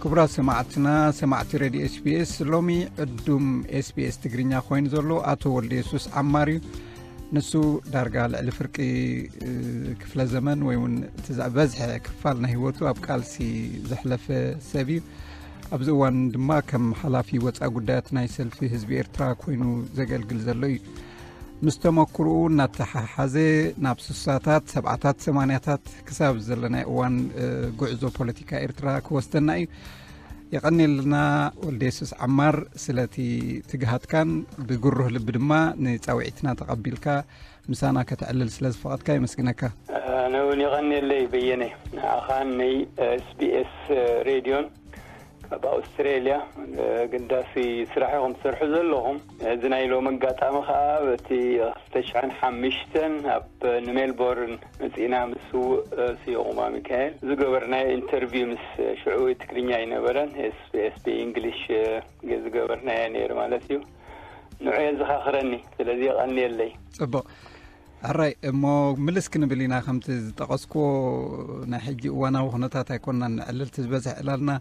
ክቡራት ሰማዕትና፣ ሰማዕቲ ሬድዮ ኤስቢኤስ፣ ሎሚ ዕዱም ኤስቢኤስ ትግርኛ ኮይኑ ዘሎ ኣቶ ወልደ የሱስ ዓማር እዩ። ንሱ ዳርጋ ልዕሊ ፍርቂ፣ እ፣ ክፍለ ዘመን ወይ እውን እቲ ዝበዝሐ ክፋል ናይ ህይወቱ ኣብ ቃልሲ ዘሕለፈ ሰብ እዩ። ኣብዚ እዋን ድማ ከም ሓላፊ ወፃኢ ጉዳያት ናይ ሰልፊ ህዝቢ ኤርትራ ኮይኑ ዘገልግል ዘሎ እዩ። ምስ ተመክርኡ እናተሓሓዘ ናብ ስሳታት፣ ሰብዓታት፣ ሰማንያታት ክሳብ ዘለናይ እዋን፣ እ፣ ጉዕዞ ፖለቲካ ኤርትራ ክወስደና እዩ። የቐንየልና ወልደ የሱስ ዓማር ስለቲ ትግሃትካን ብግሩህ ልቢ ድማ ንጻውዒትና ተቐቢልካ ምሳና ከተዕልል ስለ ዝፈቐድካ የመስግነካ። ኣነ እውን የቐንየለይ በየነ፣ ንዓኻን ናይ ኤስቢኤስ ሬድዮን ካብ ኣውስትሬልያ። ኣገዳሲ ስራሕ ኢኹም ትሰርሑ ዘለኹም። እዚ ናይ ሎሚ ኣጋጣሚ ከኣ በቲ ክልተ ሽሕን ሓሙሽተን ኣብ ንሜልቦርን መጺእና ምስ ስዉእ ስዮቑማ ሚካኤል ዝገበርናዮ ኢንተርቪው፣ ምስ ሽዑ ትግርኛ ኣይነበረን፣ ኤስቢኤስ ብእንግሊሽ ዝገበርናዮ ነይሩ ማለት እዩ። ንዑ የዘኻኽረኒ። ስለዚ የቐንየለይ። ጽቡቕ። ሕራይ እሞ ምልስ ክንብል ኢና። ከምቲ ዝጠቐስኩዎ ናይ ሕጂ እዋናዊ ኩነታት ኣይኮንና ንዕልልቲ ዝበዝሕ ዕላልና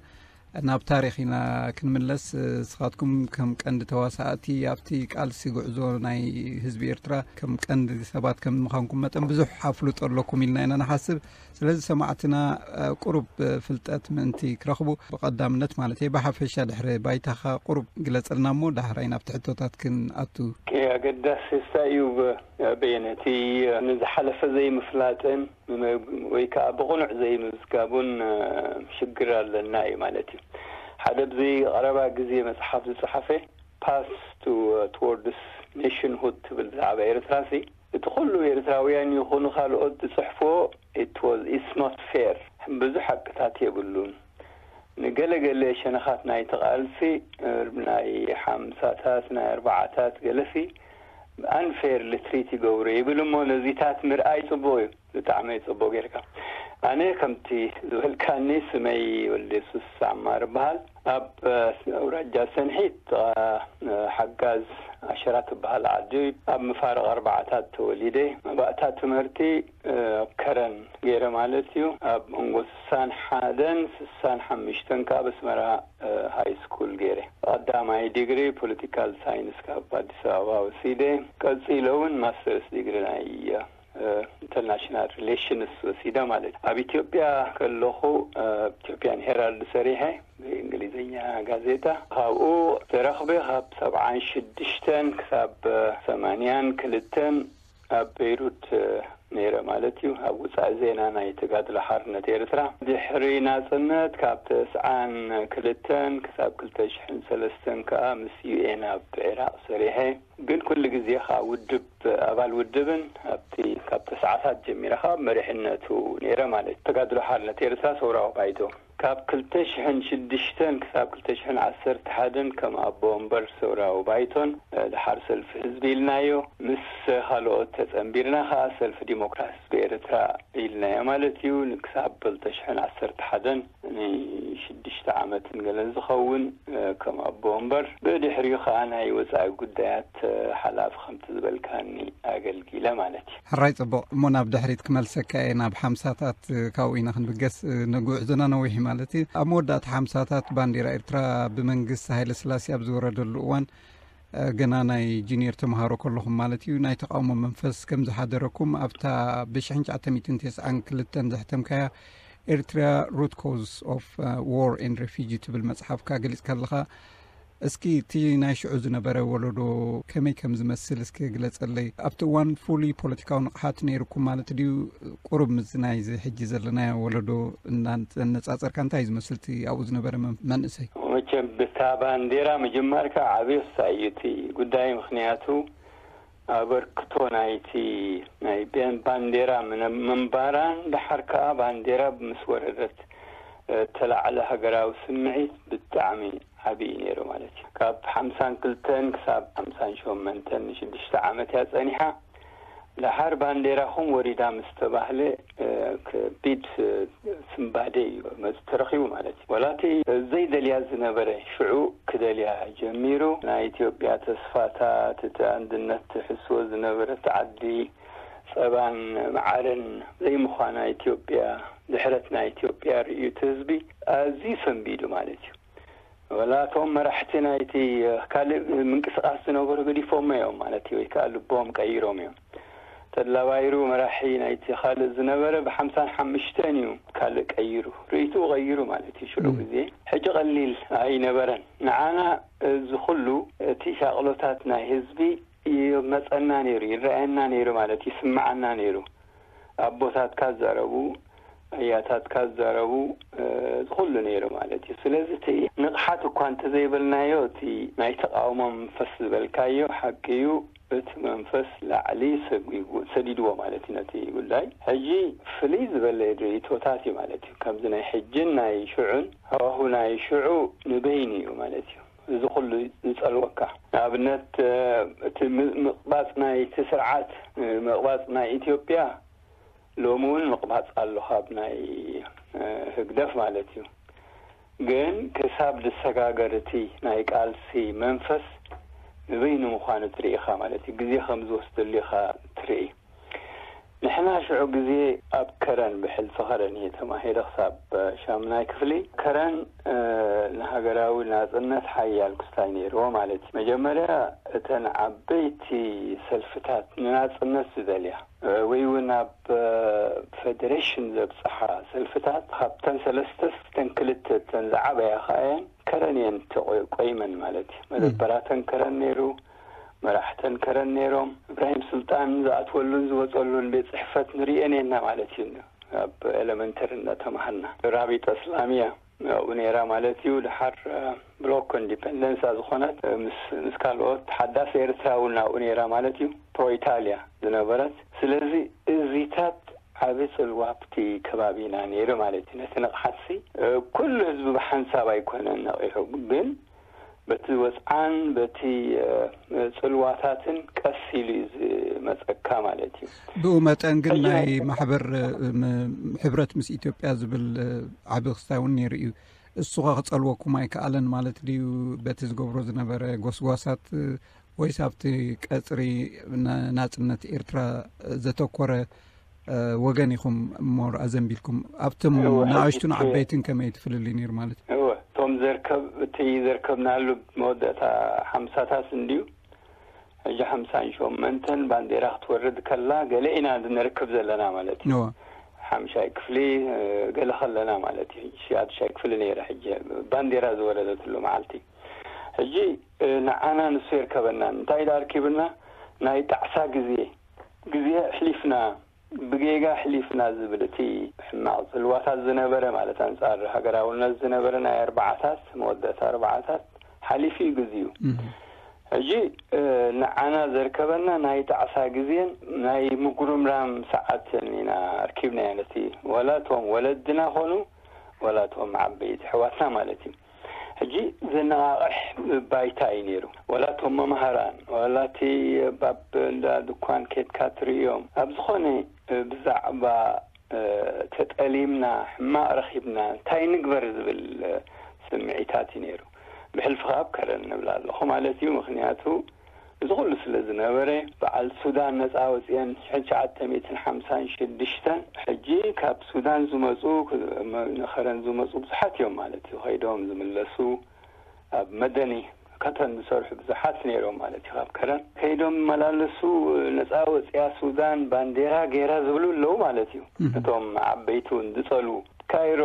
ናብ ታሪኽ ኢና ክንምለስ። ንስኻትኩም ከም ቀንዲ ተዋሳእቲ ኣብቲ ቃልሲ ጉዕዞ ናይ ህዝቢ ኤርትራ ከም ቀንዲ ሰባት ከም ምዃንኩም መጠን ብዙሕ ኣፍልጦ ኣለኩም ኢልና ኢና ንሓስብ። ስለዚ ሰማዕትና፣ እ፣ ቁሩብ፣ እ፣ ፍልጠት ምእንቲ ክረኽቡ ብቐዳምነት ማለት እየ፣ ብሓፈሻ ድሕሪ ባይታኻ ቁሩብ ግለጸልና እሞ ዳሕራይ ናብቲ ሕቶታት ክንኣቱ። ኦኬ፣ ኣገዳሲ እንታይ እዩ ብ-፣ በየነ፣ እቲ ንዝሓለፈ ዘይምፍላጥን ወይ ከዓ ብቕኑዕ ዘይምዝጋቡን፣ እ፣ ሽግር ኣለና እዩ ማለት እዩ። ሓደ ኣብዚ ቀረባ ግዜ መጽሓፍ ዝጸሓፈ ፓስ ቱ ትወርድስ ኔሽንሁድ ትብል ብዛዕባ ኤርትራ ሲ፣ እቲ ኩሉ ኤርትራውያን ይኹኑ ካልኦት ዝጽሕፍዎ it was, it's not fair፣ ብዙሕ ሓቅታት የብሉን። ንገለገለ ሸነኻት ናይቲ ቃልሲ፣ እ፣ ናይ ሓምሳታት ናይ ኣርባዓታት ገለሲ ኣንፌርሊ ትሪት ይገብሩ ይብል እሞ ነዚታት ምርኣይ ጽቡቕ እዩ። ብጣዕሚ ጽቡቕ ጌርካ። ኣነ ከምቲ ዝበልካኒ ስመይ ወልደ የሱስ ዓማር እበሃል። ኣብ፣ እ፣ ኣውራጃ ሰንሒት፣ እ፣ ሓጋዝ ኣሸራ ትበሃል ዓዲ ኣብ መፋርቕ ኣርባዓታት ተወሊደ። መባእታ ትምህርቲ፣ እ፣ ኣብ ከረን ገይረ ማለት እዩ። ኣብ መንጎ ስሳን ሓደን ስሳን ሓሙሽተን ከኣ ኣብ ኣስመራ፣ እ፣ ሃይ ስኩል ገይረ። ቀዳማይ ዲግሪ ፖለቲካል ሳይንስ ካብ ኣዲስ ኣበባ ወሲደ። ቀጺለ እውን ማስተርስ ዲግሪ ናይ፣ እ፣ ኢንተርናሽናል ሪሌሽንስ ወሲደ ማለት እዩ። ኣብ ኢትዮጵያ ከለኹ፣ እ፣ ኢትዮጵያን ሄራልድ ሰሪሐ፣ ብእንግሊዝኛ ጋዜጣ። ካብኡ ተረኽበ፣ ካብ ሰብዓን ሽዱሽተን ክሳብ ሰማንያን ክልተን ኣብ ቤይሩት፣ እ፣ ነይረ ማለት እዩ። ኣብ ውጻኢ ዜና ናይ ተጋድሎ ሓርነት ኤርትራ። ድሕሪ ናጽነት ካብ ተስዓን ክልተን ክሳብ ክልተ ሽሕን ሰለስተን ከኣ ምስ ዩ ኤን ኣብ ዒራቕ ሰሪሐ። ግን ኩሉ ግዜ ከኣ ውድብ፣ ኣባል ውድብን ኣብቲ ካብ ተስዓታት ጀሚረ ከኣ መሪሕነቱ ነይረ ማለት እዩ። ተጋድሎ ሓርነት ኤርትራ ሰውራዊ ባይቶ። ካብ ክልተ ሽሕን ሽዱሽተን ክሳብ ክልተ ሽሕን ዓሰርተ ሓደን ከም ኣቦ ወንበር ሰውራዊ ባይቶን፣ እ፣ ደሓር ሰልፊ ህዝቢ ኢልናዮ። ምስ ካልኦት ተጸንቢርና ከኣ ሰልፊ ዲሞክራሲ ብኤርትራ ኢልናዮ ማለት እዩ። ክሳብ ክልተ ሽሕን ዓሰርተ ሓደን ንሽዱሽተ ዓመትን ገለን ዝኸውን፣ እ፣ ከም ኣቦ ወንበር፣ ብድሕሪኡ ከኣ ናይ ወጻኢ ጉዳያት፣ እ፣ ሓላፊ ከምቲ ዝበልካኒ ኣገልጊለ ማለት እዩ። ሕራይ ጽቡቕ። እሞ ናብ ድሕሪት ክመልሰካ እየ፣ ናብ ሓምሳታት፣ እ፣ ካብኡ ኢና ክንብገስ፣ እ፣ ንጉዕዞና ነዊሕ እዩ ማለት እዩ። ኣብ መወዳእታ ሓምሳታት ባንዲራ ኤርትራ ብመንግስቲ ሃይለ ስላሴ ኣብ ዝወረደሉ እዋን፣ እ፣ ገና ናይ ጁኒየር ተምሃሮ ከለኹም ማለት እዩ፣ ናይ ተቃውሞ መንፈስ ከም ዝሓደረኩም ኣብታ ብሽሕን ትሽዓተ ሚእትን ተስዓን ክልተን ዘሕተምካያ ኤርትራ ሩት ኮዝ ኦፍ፣ እ፣ ዋር ኤንድ ሬፊጂ ትብል መጽሓፍካ ገሊጽካ ኣለኻ። እስኪ እቲ ናይ ሽዑ ዝነበረ ወለዶ ከመይ ከም ዝመስል እስኪ ግለጸለይ። ኣብቲ እዋን ፍሉይ ፖለቲካዊ ንቕሓት ነይርኩም ማለት ድዩ? ቁሩብ ምስዚ ናይዚ ሕጂ ዘለናዮ ወለዶ እናነጻጸርካ እንታይ እዩ ዝመስል እቲ ኣብኡ ዝነበረ መን-፣ መንእሰይ? መቸም ብታ ባንዴራ ምጅማርካ ዓብዪ ክሳይ እዩ እቲ ጉዳይ። ምኽንያቱ ኣበርክቶ ናይቲ ናይ ቤን-፣ ባንዴራ ምነ-፣ ምንባራን ደሓር ከኣ ባንዴራ ምስ ወረደት፣ እ፣ እተላዕለ ሃገራዊ ስምዒት ብጣዕሚ ዓብዪ ነይሩ ማለት እዩ። ካብ ሓምሳን ክልተን ክሳብ ሓምሳን ሸሞንተን ንሽዱሽተ ዓመት እያ ጸኒሓ። ደሓር ባንዴራኹም ወሪዳ ምስ ተባህለ፣ እ፣ ከቢድ፣ እ፣ ስንባደ እዩ መጽ-፣ ተረኺቡ ማለት እዩ። ወላ እቲ ዘይደልያ ዝነበረ ሽዑ ክደልያ ጀሚሩ። ናይ ኢትዮጵያ ተስፋታት፣ እቲ ኣንድነት ትሕስዎ ዝነበረት ዓዲ፣ ጸባን መዓርን ዘይምዃና ኢትዮጵያ፣ ድሕረት ናይ ኢትዮጵያ ርእዩ እቲ ህዝቢ ኣዝዩ ሰንቢዱ ማለት እዩ። ወላ እቶም መራሕቲ ናይቲ ካልእ ምንቅስቃስ ዝነበሩ ገዲፎሞ እዮም ማለት እዩ፣ ወይ ከዓ ልቦም ቀይሮም እዮም። ተድላ ባይሩ መራሒ ናይቲ ካልእ ዝነበረ ብሓምሳን ሓምሽተን እዩ ካልእ ቀይሩ፣ ርእይትኡ ቀይሩ ማለት እዩ ሽዑ ግዜ። ሕጂ ቀሊል ኣይነበረን። ንዓና እዚ ኩሉ እቲ ሻቕሎታት ናይ ህዝቢ ይመጸና ነይሩ፣ ይረኣየና ነይሩ ማለት ይስምዓና ነይሩ። ኣቦታትካ ዝዛረቡ፣ ኣያታትካ ዝዛረቡ፣ እዚ ኩሉ ነይሩ ማለት እዩ። ስለዚ እቲ ንቕሓት እኳ እንተዘይበልናዮ፣ እቲ ናይ ተቓውሞ መንፈስ ዝበልካዮ ሓቂ እዩ። እቲ መንፈስ ላዕሊ ሰጒጉ-፣ ሰዲድዎ ማለት እዩ ነቲ ጉዳይ። ሕጂ ፍልይ ዝበለ ርእይቶታት እዩ ማለት እዩ። ከምዚ ናይ ሕጅን ናይ ሽዑን ሃዋሁ ናይ ሽዑ ንበይኑ እዩ ማለት እዩ። እዚ ኩሉ ዝጸልወካ። ንኣብነት፣ እ፣ እቲ ም-፣ ምቕባጽ ናይቲ ስርዓት፣ እ፣ ምቕባጽ ናይ ኢትዮጵያ ሎሚ እውን ምቕባጽ ኣሎ ካብ ናይ፣ እ፣ ህግደፍ ማለት እዩ። ግን ክሳብ ዝሰጋገር እቲ ናይ ቃልሲ መንፈስ ንበይኑ ምዃኑ ትርኢ ኢኻ ማለት እዩ። ግዜ ከም ዝወስደሉ ኢኻ ትርኢ። ንሕና ሽዑ ግዜ ኣብ ከረን፣ ብሕልፊ ከረን እየ ተማሂረ ክሳብ ሻምናይ ክፍሊ። ከረን፣ እ፣ ንሃገራዊ ናጽነት ሓያል ክስታይ ነይርዎ ማለት እዩ። መጀመርያ እተን ዓበይቲ ሰልፍታት ንናጽነት ዝደልያ፣ እ፣ ወይ እውን ኣብ፣ እ፣ ፌደሬሽን ዘብጽሓ ሰልፍታት፣ ካብተን ሰለስተስ እተን ክልተ እተን ዝዓበያ ከኣ እየን ከረን እየን ተቆ-፣ ቆይመን ማለት እዩ። መደበራተን ከረን ነይሩ፣ መራሕተን ከረን ነይሮም። እብራሂም ሱልጣን ዝኣትወሉን ዝወጸሉን ቤት ጽሕፈት ንርእየን እየና ማለት እዩ። ኣብ ኤለመንተሪ እናተማሃርና። ራቢጠ እስላሚያ ኣብኡ ነይራ ማለት እዩ። ድሓር፣ እ፣ ብሎኮ ኢንዲፐንደንሳ ዝኾነት፣ እ፣ ምስ፣ ምስ ካልኦት ሓዳስ ኤርትራ እውን ኣብኡ ነይራ ማለት እዩ። ፕሮ ኢታልያ ዝነበረት። ስለዚ እዚታት ዓቢ ጽልዋ ኣብቲ ከባቢና ነይሩ ማለት እዩ። ነቲ ንቕሓትሲ፣ እ፣ ኩሉ ህዝቢ ብሓንሳብ ኣይኮነን ነቒሑ፣ ግን በቲ ወጽዓን በቲ፣ እ፣ ጽልዋታትን ቀስ ኢሉ እዩ ዝመጸካ ማለት እዩ። ብኡ መጠን ግን ሕጂ ናይ ናይ ማሕበር፣ እ፣ ም-፣ ሕብረት ምስ ኢትዮጵያ ዝብል፣ እ፣ ዓቢ ክስታይ እውን ነይሩ እዩ። እሱ ኸ ክጸልወኩም ኣይከኣለን ማለት ድዩ? በቲ ዝገብሮ ዝነበረ ጎስጓሳት፣ እ፣ ወይስ ኣብቲ ቀጽሪ ና-፣ ናጽነት ኤርትራ ዘተኮረ፣ እ፣ ወገን ኢኹም ሞር ኣዘንቢልኩም? ኣብቶም እወ፣ ንኣሽቱን ሕጂ እቲ ዓበይትን ከመይ እቲ ፍልልይ ነይሩ ማለት እዩ? እወ፣ እቶም ዘርከብ-፣ እቲ ዘርከብናሉ መወዳእታ ሓምሳታት እንድዩ። ሕጂ ሓምሳን ሸሞንተን ባንዴራ ክትወርድ ከላ ገለ ኢና ዝንርክብ ዘለና ማለት እዩ። እወ። ሓምሻይ ክፍሊ፣ እ፣ ገለ ከለና ማለት እዩ። ሽዱሽተይ ክፍሊ ነይረ ሕጂ ባንዴራ ዝወረደትሉ መዓልቲ። ሕጂ፣ እ፣ ንዓና ንሱ የርከበና። እንታይ ኢሉ ኣርኪብና? ናይ ጣዕሳ ግዜ፣ ግዜ ኣሕሊፍና፣ ብጌጋ ኣሕሊፍና ዝብል እቲ ሕማቕ ጽልዋታት ዝነበረ፣ ማለት ኣንጻር ሃገራውነት ዝነበረ ናይ ኣርባዓታት፣ መወዳእታ ኣርባዓታት ሓሊፉ እዩ ግዜኡ። እህ። ሕጂ፣ እ፣ ንዓና ዘርከበና ናይ ጣዕሳ ግዜን ናይ ምጉርምራም ሰዓትን ኢና ኣርኪብናዮ ነቲ፣ ወላ እቶም ወለድና ኾኑ፣ ወላ እቶም ዓበይቲ ኣሕዋትና ማለት እዩ። ሕጂ ዘነቓቕሕ ባይታ እዩ ነይሩ። ዋላ እቶም መምሃራን፣ ዋላ እቲ ኣብ እንዳ ድኳን ኬድካ ትርእዮም፣ ኣብ ዝኾነ ብዛዕባ፣ እ፣ ተጠሊምና፣ ሕማቕ ረኺብና፣ እንታይ ንግበር ዝብል፣ እ፣ ስምዒታት እዩ ነይሩ። ብሕልፊ ከኣ ኣብ ከረን ንብል ኣለኹ ማለት እዩ። ምኽንያቱ እዚ ኩሉ ስለ ዝነበረ፣ በዓል ሱዳን ነጻ ኣውጺኤን ሽሕን ትሽዓተ ሚእትን ሓምሳን ሽዱሽተን፣ ሕጂ ካብ ሱዳን ዝመጹ፣ ክ-፣ መ-፣ ንኸረን ዝመጹ ብዙሓት እዮም ማለት እዩ። ከይዶም ዝምለሱ፣ ኣብ መደኒ ከተን ዝሰርሑ ብዙሓት ነይሮም ማለት እዩ። ካብ ከረን ከይዶም ዝመላለሱ፣ ነጻ ወጺኣ ሱዳን ባንዴራ ገይራ ዝብሉ ኣለዉ ማለት እዩ። እህ። እቶም ዓበይቲ እውን ዝጸልዉ። ካይሮ፣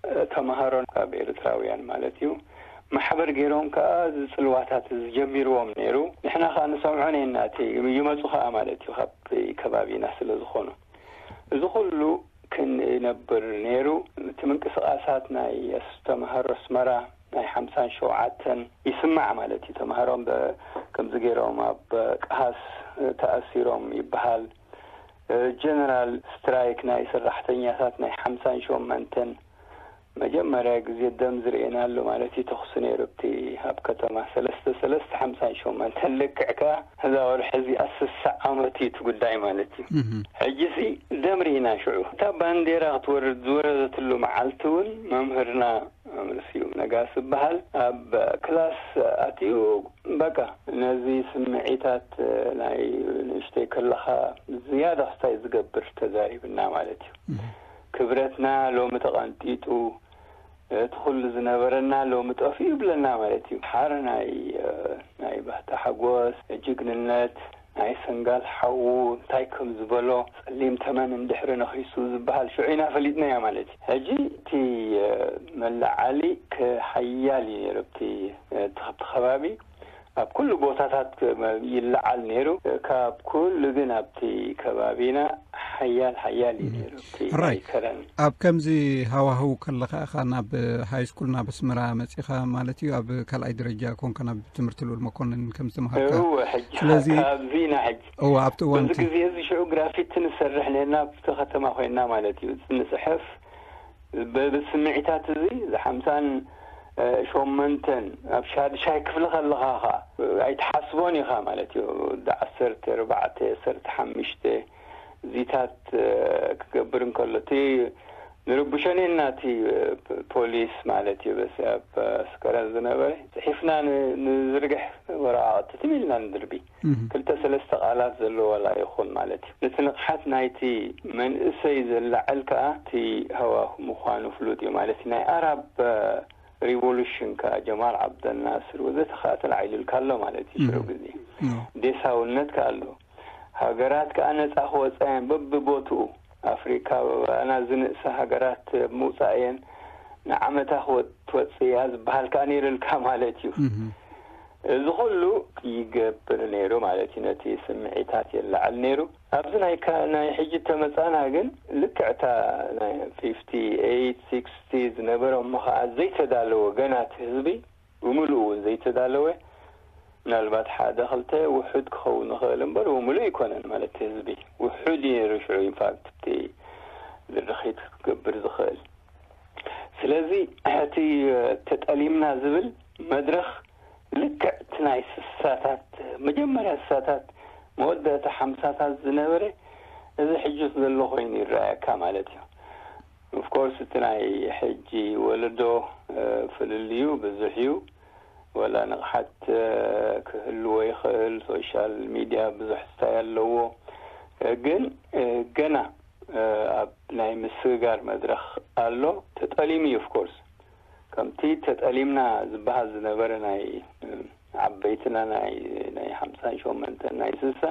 እ፣ ተምሃሮን ካብ ኤርትራውያን ማለት እዩ። ማሕበር ገይሮም ከኣ እዚ ጽልዋታት እዚ ጀሚርዎም ነይሩ። ንሕና ከኣ ንሰምዖ ነና፣ እቲ ይመጹ ከኣ ማለት እዩ፣ ካብ ከባቢና ስለ ዝኾኑ። እዚ ኩሉ ክንነብር ነይሩ። እቲ ምንቅስቓሳት ናይ ኣስ-፣ ተምሃሮ ኣስመራ ናይ ሓምሳን ሸውዓተን ይስማዕ ማለት እዩ። ተምሃሮም በ-፣ ከምዚ ገይሮም ኣብ ቀሃስ ተኣሲሮም ይበሃል። እ፣ ጀነራል ስትራይክ ናይ ሰራሕተኛታት ናይ ሓምሳን ሸሞንተን መጀመርያ ግዜ ደም ዝርእየናሉ ማለት እዩ። ተኹሲ ነይሩ ኣብቲ ኣብ ከተማ ሰለስተ ሰለስተ ሓምሳን ሸሞንተን፣ ልክዕ ከኣ እዛ ወርሒ እዚኣ ስሳ ዓመት እዩ እቲ ጉዳይ ማለት እዩ። እህ። ሕጂሲ ደም ርኢና ሽዑ። እታ ባንዴራ ክትወርድ ዝወረደትሉ መዓልቲ እውን መምህርና መምህር ስዩም ነጋሲ ዝበሃል ኣብ ክላስ ኣትዩ፣ በቃ ነዚ ስምዒታት ናይ ንእሽተይ ከለኻ ዝያዳ ክስታይ ዝገብር ተዛሪብና ማለት እዩ። እህ። ክብረትና ሎሚ ተቐንጢጡ፣ እቲ ኩሉ ዝነበረና ሎሚ ጠፊኡ ይብለና ማለት እዩ። ሓር ናይ፣ እ፣ ናይ ባህታ ሓጎስ፣ ጅግንነት፣ ናይ ሰንጋል ሓዉ እንታይ ከም ዝበሎ፣ ጸሊም ተመን እንድሕሪ ነኺሱ ዝበሃል ሽዑ ኢና ፈሊጥናዮ ማለት እዩ። ሕጂ እቲ፣ እ፣ መለዓሊ ሓያል እዩ ነይሩ። እቲ፣ እ፣ እቲ፣ እቲ ከባቢ ኣብ ኩሉ ቦታታት ይለዓል ነይሩ። ካብ ኩሉ ግን ኣብቲ ከባቢና ሓያል፣ ሓያል እዩ ነይሩ። እቲ ሕራይ። ናይ ከረን። ኣብ ከምዚ ሃዋህው ከለኻ ኢኻ ናብ ሃይ ስኩል ናብ ኣስመራ መጺኻ ማለት እዩ? ኣብ ካልኣይ ደረጃ ኮንካ ናብ ትምህርቲ ልኡል መኮንን ከም ዝተምሃርካ? እወ፣ ሕጂ ስለዚ ካብዚ ኢና ሕጂ። እወ፣ ኣብቲ እዋን በዚ እቲ ግዜ እዚ ሽዑ ግራፊቲ ንሰርሕ ነርና፣ ኣብቲ ከተማ ኮይንና ማለት እዩ። ንጽሕፍ፣ በዚ ስምዒታት እዚ፣ እዚ ሓምሳን፣ እ፣ ሸሞንተን ኣብ ሻድሻይ ክፍሊ ከለኻ ኸኣ ኣይትሓስቦን ኢኻ ማለት እዩ። ወዲ ዓሰርተ ኣርባዕተ፣ ዓሰርተ ሓሙሽተ እዚታት፣ እ፣ ክገብር እንከሎ፣ እቲ ንርብሾ ኔና፣ እቲ፣ እ፣ ፖ-፣ ፖሊስ ማለት እዩ። በስ ኣብ ኣስከረን ዝነበረ ጽሒፍና ን-፣ ንዝርግሕ ወረቓቕቲ ትም ኢልና ንድርቢ። እህ። ክልተ ሰለስተ ቃላት ዘለዎ ዋላ ይኹን ማለት እዩ። ነቲ ንቕሓት ናይቲ መንእሰይ ዘላዕል ከኣ እቲ ሃዋሁ ምዃኑ ፍሉጥ እዩ ማለት እዩ። ናይ ኣራብ፣ እ፣ ሪቮሉሽን ከኣ ጀማል ዓብደልናስር ወዘተ ከኣ ተላዒሉልካ ኣሎ ማለት እዩ። ሽዑ እህ። ግዜ እህ። ዴሳውነት ከኣ ኣሎ። ሃገራት ከኣ ነጻ ክወጻ እየን በብቦትኡ። ኣፍሪካ ባባና ዝንእሳ ሃገራት ምውጻእ እየን። ንዓመታ ክወ-፣ ትወጽእ እያ ዝበሃል ከኣ ነይሩልካ ማለት እዩ። እህ። እዚ ኩሉ ይገብር ነይሩ ማለት እዩ። ነቲ ስምዒታት የለዓል ነይሩ። ኣብዚ ናይ ካ-፣ ናይ ሕጂ ተመጻና ግን ልክዕ እታ ናይ ፊፍቲ ኤይት፣ ሲክስቲ ዝነበረ እሞ ኸኣ ዘይተዳለወ ገና እቲ ህዝቢ ብምሉኡ እውን ዘይተዳለወ፣ ምናልባት ሓደ ክልተ ውሑድ ክኸውን ይኽእል እምበር፣ ብምሉእ ኣይኮነን ማለት እቲ ህዝቢ ውሑድ እዩ ነይሩ ሽዑ። ኢንፋክት፣ እቲ ድርኺት ክትገብር ዝኽእል። ስለዚ፣ እቲ ተጠሊምና ዝብል መድረኽ ልክዕ እቲ ናይ ስሳታት፣ መጀመርያ ስሳታት፣ መወዳእታ ሓምሳታት ዝነበረ፣ እዚ ሕጂ ዘሎ ኮይኑ ይረኣየካ ማለት እዩ። ኦፍኮርስ፣ እቲ ናይ ሕጂ ወለዶ፣ እ፣ ፍልልዩ ብዙሕ እዩ። ወላ ንቕሓት፣ እ፣ ክህልዎ ይኽእል። ሶሻል ሚድያ ብዙሕ ስታይ ኣለዎ። እ፣ ግን፣ እ፣ ገና፣ እ፣ ኣብ ናይ ምስግጋር መድረኽ ኣሎ። ተጠሊሙ እዩ፣ ኦፍኮርስ። ከምቲ ተጠሊምና ዝበሃል ዝነበረ ናይ፣ እ፣ ዓበይትና ናይ፣ ናይ ሓምሳን ሸሞንተን፣ ናይ ስሳ፣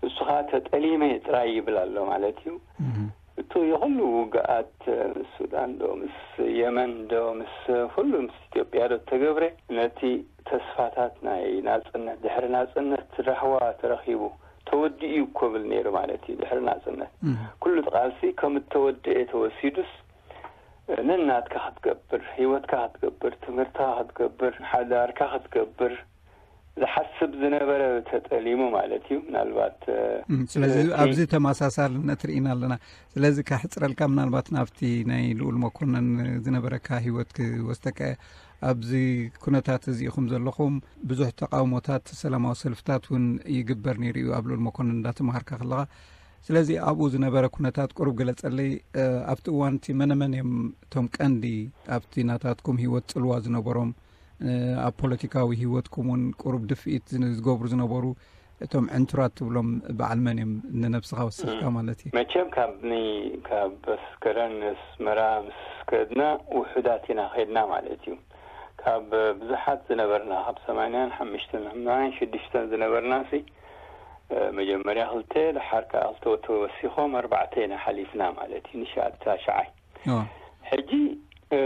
እሱ ኸዓ ተጠሊመ ጥራይ ይብል ኣሎ ማለት እዩ። እህ። እቲ የኹሉ ውግኣት ምስ ሱዳን ዶ፣ ምስ የመን ዶ፣ ምስ ኩሉ፣ ምስ ኢትዮጵያ ዶ እተገብረ፣ ነቲ ተስፋታት ናይ ናጽነት፣ ድሕሪ ናጽነት ራህዋ ተረኺቡ፣ ተወዲኡ እዩ እኮ ብል ነይሩ ማለት እዩ። ድሕሪ ናጽነት እህ። ኩሉ እቲ ቃልሲ ከም እተወደኤ ተወሲዱስ፣ ነናትካ ክትገብር፣ ህይወትካ ክትገብር፣ ትምህርትካ ክትገብር፣ ሓዳርካ ክትገብር ዝሓስብ ዝነበረ ተጠሊሙ ማለት እዩ። ምናልባት፣ እ፣ እም፣ ስለዚ እቲ ኣብዚ ተመሳሳልነት ርኢና ኣለና። ስለዚ ካሕጽረልካ፣ ምናልባት ናብቲ ናይ ልኡል መኮነን ዝነበረካ ህይወት ክወስደካ እየ። ኣብዚ ኩነታት እዚ ኢኹም ዘለኹም፣ ብዙሕ ተቃውሞታት፣ ሰላማዊ ሰልፍታት እውን ይግበር ነይሩ እዩ ኣብ ልኡል መኮነን እንዳተምሃርካ ከለኻ። ስለዚ ኣብኡ ዝነበረ ኩነታት ቁሩብ ግለጸለይ። እ፣ ኣብቲ እዋን እቲ መነመን እዮም እቶም ቀንዲ ኣብቲ ናታትኩም ህይወት ጽልዋ ዝነበሮም፣ እ፣ ኣብ ፖለቲካዊ ህይወትኩም እውን ቁሩብ ድፍኢት ዝን-፣ ዝገብሩ ዝነበሩ እቶም ዕንቱራት ትብሎም በዓል መን እዮም? ንነብስኻ ወሲኽካ እም። ማለት እዩ። መቸም ካብ ኒ-፣ ካብ ኣስከረን ኣስመራ ምስ ከድና ውሑዳት ኢና ኸድና ማለት እዩ። ካብ ብዙሓት ዝነበርና፣ ካብ ሰማንያን ሓሙሽተን፣ ሰማንያን ሽዱሽተን ዝነበርና ሲ፣ እ፣ መጀመርያ ክልተ፣ ደሓር ከኣ ክልተ ተወሲኾም ኣርባዕተ ኢና ሓሊፍና ማለት እዩ፣ ንሻ-፣ ታሽዓይ። ኦ። ሕጂ፣ እ፣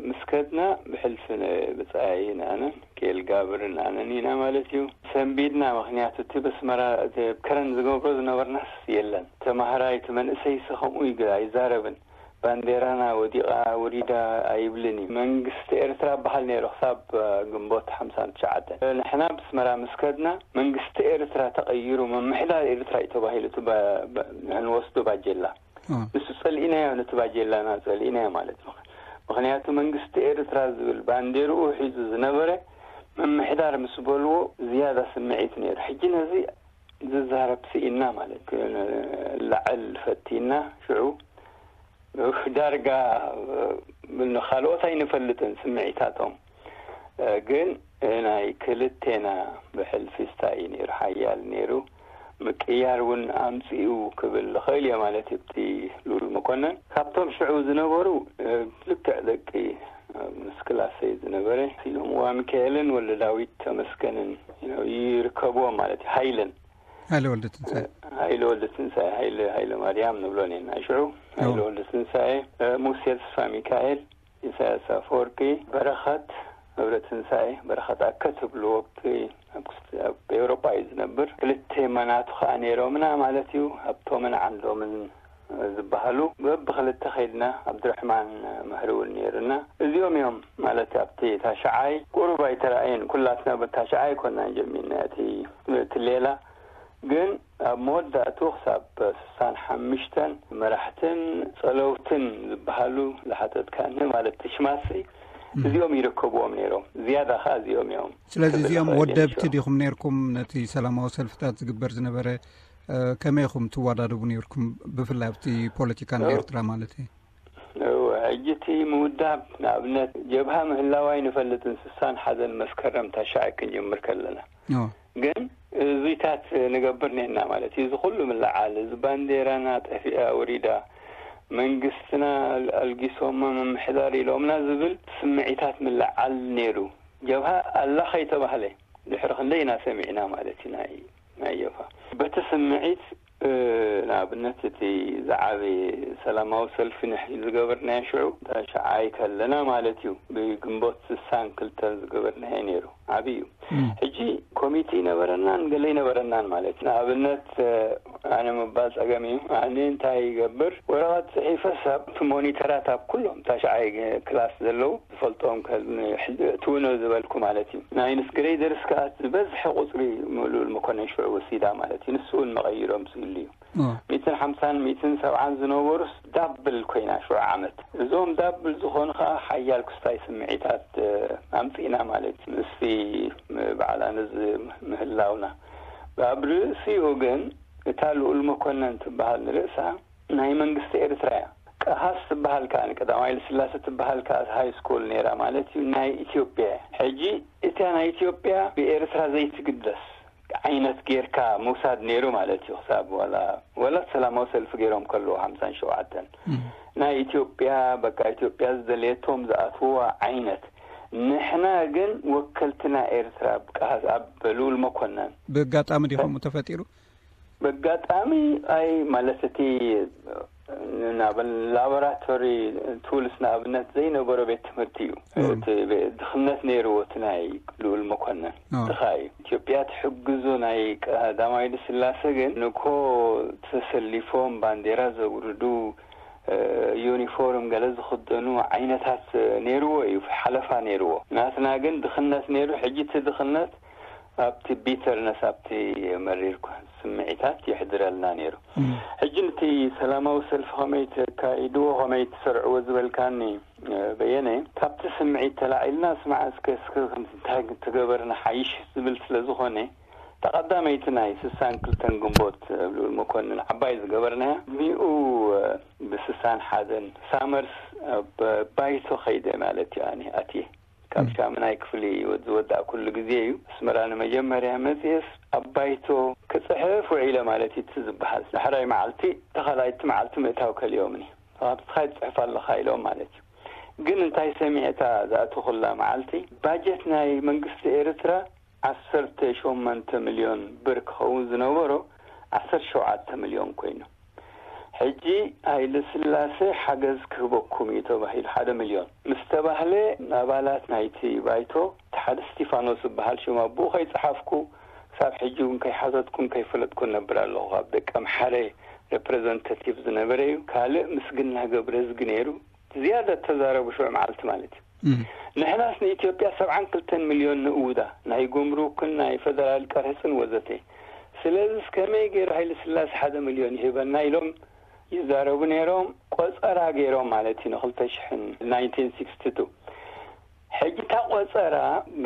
ምስ ከድና ብሕልፊ ነ-፣ ብጻይን ኣነን ኬል ጋብርን ኣነን ኢና ማለት እዩ። ሰንቢድና፣ ምኽንያቱ እቲ በስመራ፣ እቲ ኣብ ከረን ዝገብሮ ዝነበርናስ የለን። ተማሃራይ፣ እቲ መንእሰይሲ ከምኡ ይግ-፣ ኣይዛረብን። ባንዴራና ወዲቓ፣ ውሪዳ ኣይብልን እዩ። መንግስቲ ኤርትራ በሃል ነይሩ ክሳብ፣ እ፣ ግንቦት ሓምሳን ትሽዓተን። ንሕና ብስመራ ምስ ከድና፣ መንግስቲ ኤርትራ ተቐይሩ፣ ምምሕዳር ኤርትራ እዩ ተባሂሉ፣ እቲ ባ-፣ ባ-፣ ንወስዶ ባጀላ። እ። ንሱ ጸሊእናዮ፣ ነቲ ባጀላና ጸሊእናዮ ማለት ነው። ምኽንያቱ መንግስቲ ኤርትራ ዝብል ባንዴርኡ ሒዙ ዝነበረ ምምሕዳር ምስ በልዎ ዝያዳ ስምዒት ነይሩ። ሕጂ ነዚ ዝዛረብ ስኢና ማለት፣ ክላዕል ፈቲና፣ ሽዑ ዳርጋ ካልኦት ኣይንፈልጥን ስምዒታቶም። ግን ናይ ክልቴና ብሕልፊ ስታይ እዩ ነይሩ፣ ሓያል ነይሩ። ምቅያር እውን ኣምፅኡ ክብል ዝኽእል እየ ማለት እዩ። እቲ ልኡል መኮነን ካብቶም ሽዑ ዝነበሩ ልክዕ ደቂ ምስ ክላሰይ ዝነበረ ኢሎም ዋ ሚካኤልን ወልደ ዳዊት ተመስገንን ይርከብዎም ማለት እዩ። ሃይለን ሃይለ ወልደ ትንሳኤ ሃይለ ወልደ ትንሳኤ ሃይለ ሃይለ ማርያም ንብሎ ኔና ሽዑ ሃይለ ወልደ ትንሳኤ፣ ሙሴ ተስፋ ሚካኤል፣ ኢሳያስ ኣፈወርቂ፣ በረኸት ገብረ ትንሳኤ፣ በረኸት ኣከ ትብልዎ ኣብ ኤውሮጳ እዩ ዝነብር። ክልተ መናቱ ከዓ ነይሮምና ማለት እዩ። ሃብቶምን ዓንዶምን ዝበሃሉ በብክልተ ከይድና ኣብድረሕማን መህሪ እውን ነይሩና። እዚኦም እዮም ማለት ኣብቲ ታሽዓይ ቁሩብ ኣይተራእየን። ኩላትና በታሽዓይ ኮናን ጀሚርና እቲ እቲ ሌላ ግን ኣብ መወዳእቱ ክሳብ ስሳን ሓምሽተን መራሕትን ጸለውትን ዝበሃሉ ዝሓተትካኒ ማለት ትሽማሲ እዚኦም ይርከብዎም ነይሮም። ዝያዳ ከዓ እዚኦም እዮም። ስለዚ እዚኦም ወደብቲ ዲኹም ነርኩም ነቲ ሰላማዊ ሰልፍታት ዝግበር ዝነበረ ከመይ ኢኹም ትወዳደቡ ነርኩም? ብፍላይ ኣብቲ ፖለቲካ ንኤርትራ ማለት እዩ። ሕጂ እቲ ምውዳብ ንኣብነት ጀብሃ ምህላዋይ ንፈልጥን ስሳን ሓደን መስከረም ታሽዓይ ክንጅምር ከለና ግን እዙታት ንገብር ኔና ማለት እዩ። እዚ ኩሉ ምልዓል እዚ ባንዴራና ጠፊኣ ወሪዳ መንግስትና ኣልጊሶማ ምምሕዳር ኢሎምና ዝብል ስምዒታት ምልዓል ነይሩ። ጀብሃ ኣላ ከይተባህለ ድሕሪ ክንደይ ኢና ሰሚዕና ማለት እዩ። ናይ ናይ ጀብሃ በቲ ስምዒት ንኣብነት እቲ ዝዓበየ ሰላማዊ ሰልፊ ንሕ ዝገበርናዮ ሽዑ ታሽዓይ ከለና ማለት እዩ። ብግንቦት ስሳን ክልተን ዝገበርናዮ ነይሩ። ዓብዪ እዩ። ሕጂ ኮሚቴ ይነበረናን ገለ ይነበረናን ማለት እዩ። ንኣብነት ኣነ ምባል ጸገም እዩ። ኣነ እንታይ ይገብር ወረቐት ጽሒፈ ሳብ ሞኒተራት ኣብ ኩሎም ታሽዓይ ክላስ ዘለዉ ዝፈልጦም ትውነ ዝበልኩ ማለት እዩ። ናይ ንስ ግሬደርስ ከዓ ዝበዝሐ ቁፅሪ ምሉል መኮነን ሽዑ ወሲዳ ማለት እዩ። ንሱ እውን መቐይሮም ዝህሉ እዩ። ሚትን ሓምሳን ሚትን ሰብዓን ዝነበሩስ ዳብል ኮይና ሽዑ ዓመት። እዞም ዳብል ዝኾኑ ከዓ ሓያል ክስታይ ስምዒታት ኣምፂእና ማለት እዩ። ምስቲ በዓል ኣነ ምህላውና ኣብ ርእሲኡ ግን እታ ልኡል መኮነን ትበሃል ንርእሳ ናይ መንግስቲ ኤርትራ እያ። ቀሃስ ትበሃል ከኣ ንቀዳማዊ ኃይለ ሥላሴ ትበሃል ከኣ ሃይ ስኩል ነይራ ማለት እዩ። ናይ ኢትዮጵያ ሕጂ እታ ናይ ኢትዮጵያ ብኤርትራ ዘይትግደስ ዓይነት ጌርካ ምውሳድ ነይሩ ማለት እዩ። ክሳብ ወላ ወላ ሰላማዊ ሰልፊ ገይሮም ከለዉ ሓምሳን ሸውዓተን ናይ ኢትዮጵያ በቃ ኢትዮጵያ ዝደለየቶም ዝኣትውዋ ዓይነት ንሕና ግን ወከልትና ኤርትራ ብቃ- ኣብ ልኡል መኮነን ብጋጣሚ ዲኹም ተፈጢሩ በጋጣሚ ኣይ ማለት እቲ ናብ ላቦራቶሪ ቱልስ ንኣብነት ዘይነበሮ ቤት ትምህርቲ እዩ። እቲ ድኽነት ነይርዎ እቲ ናይ ልኡል መኮነን ድኻ እዩ። ኢትዮጵያ ትሕግዞ ናይ ቀዳማዊ ስላሴ ግን ንኮ ተሰሊፎም ባንዴራ ዘውርዱ ዩኒፎርም ገለ ዝኽደኑ ዓይነታት ነይርዎ እዩ፣ ሓለፋ ነይርዎ። ናትና ግን ድኽነት ነይሩ። ሕጂ እቲ ድኽነት ኣብቲ ቢተርነስ ኣብቲ መሪር ስምዒታት ይሕድረልና ነይሩ። ሕጂ ነቲ ሰላማዊ ሰልፊ ከመይ ተካይድዎ ከመይ ትሰርዕዎ ዝበልካኒ በየነ ካብቲ ስምዒት ተላዒልና ስማዕ እስከ እስከ እንታይ ተገበርና ሓይሽ ዝብል ስለ ዝኾነ ተቐዳመይቲ ናይ ስሳን ክልተን ግንቦት ልኡል መኮንን ዓባይ ዝገበርናያ ሚኡ ብስሳን ሓደን ሳመርስ ኣብ ባይቶ ከይደ ማለት እዩ። ኣነ ኣትየ ካብ ሻምናይ ክፍሊ ዝወዳእ ኩሉ ግዜ እዩ። ኣስመራ ንመጀመርያ መፅኤስ ኣብ ባይቶ ክፅሕፍ ውዒለ ማለት እዩ። እቲ ዝበሃል ዳሕራይ መዓልቲ ተኻላይቲ መዓልቲ ምእታው ከልዮምኒ ካብቲ ካይ ትፅሕፍ ኣለኻ ኢሎም ማለት እዩ። ግን እንታይ ሰሚዐታ ዝኣተኹላ መዓልቲ ባጀት ናይ መንግስቲ ኤርትራ ዓሰርተ ሸሞንተ ሚልዮን ብር ክኸውን ዝነበሮ ዓሰርተ ሸውዓተ ሚልዮን ኮይኑ ሕጂ ሃይለ ስላሴ ሓገዝ ክህበኩም እዩ ተባሂሉ ሓደ ሚልዮን ምስ ተባህለ ኣባላት ናይቲ ባይቶ እቲ ሓደ ስቲፋኖስ ዝበሃል ሽም ኣቦኡ ከይጸሓፍኩ ክሳብ ሕጂ እውን ከይሓተትኩን ከይፈለጥኩን ነብር ኣለኹ። ካብ ደቂ ኣምሓረ ሬፕሬዘንታቲቭ ዝነበረ እዩ። ካልእ ምስግና ገብረዝጊ ነይሩ። ዝያዳ እተዛረቡ ሽዑ መዓልቲ ማለት እዩ። ንሕናስ ንኢትዮጵያ ሰብዓን ክልተን ሚልዮን ንእውዳ ናይ ጉምሩክን ናይ ፈደራል ቀረፅን ወዘተ። ስለዚ ከመይ ገይሩ ሃይለ ስላሴ ሓደ ሚልዮን ይህበና ኢሎም ይዛረቡ ነይሮም። ቆፀራ ገይሮም ማለት እዩ ንክልተ ሽሕን ናይንቲን ሲክስቲ ቱ። ሕጂ እታ ቆፀራ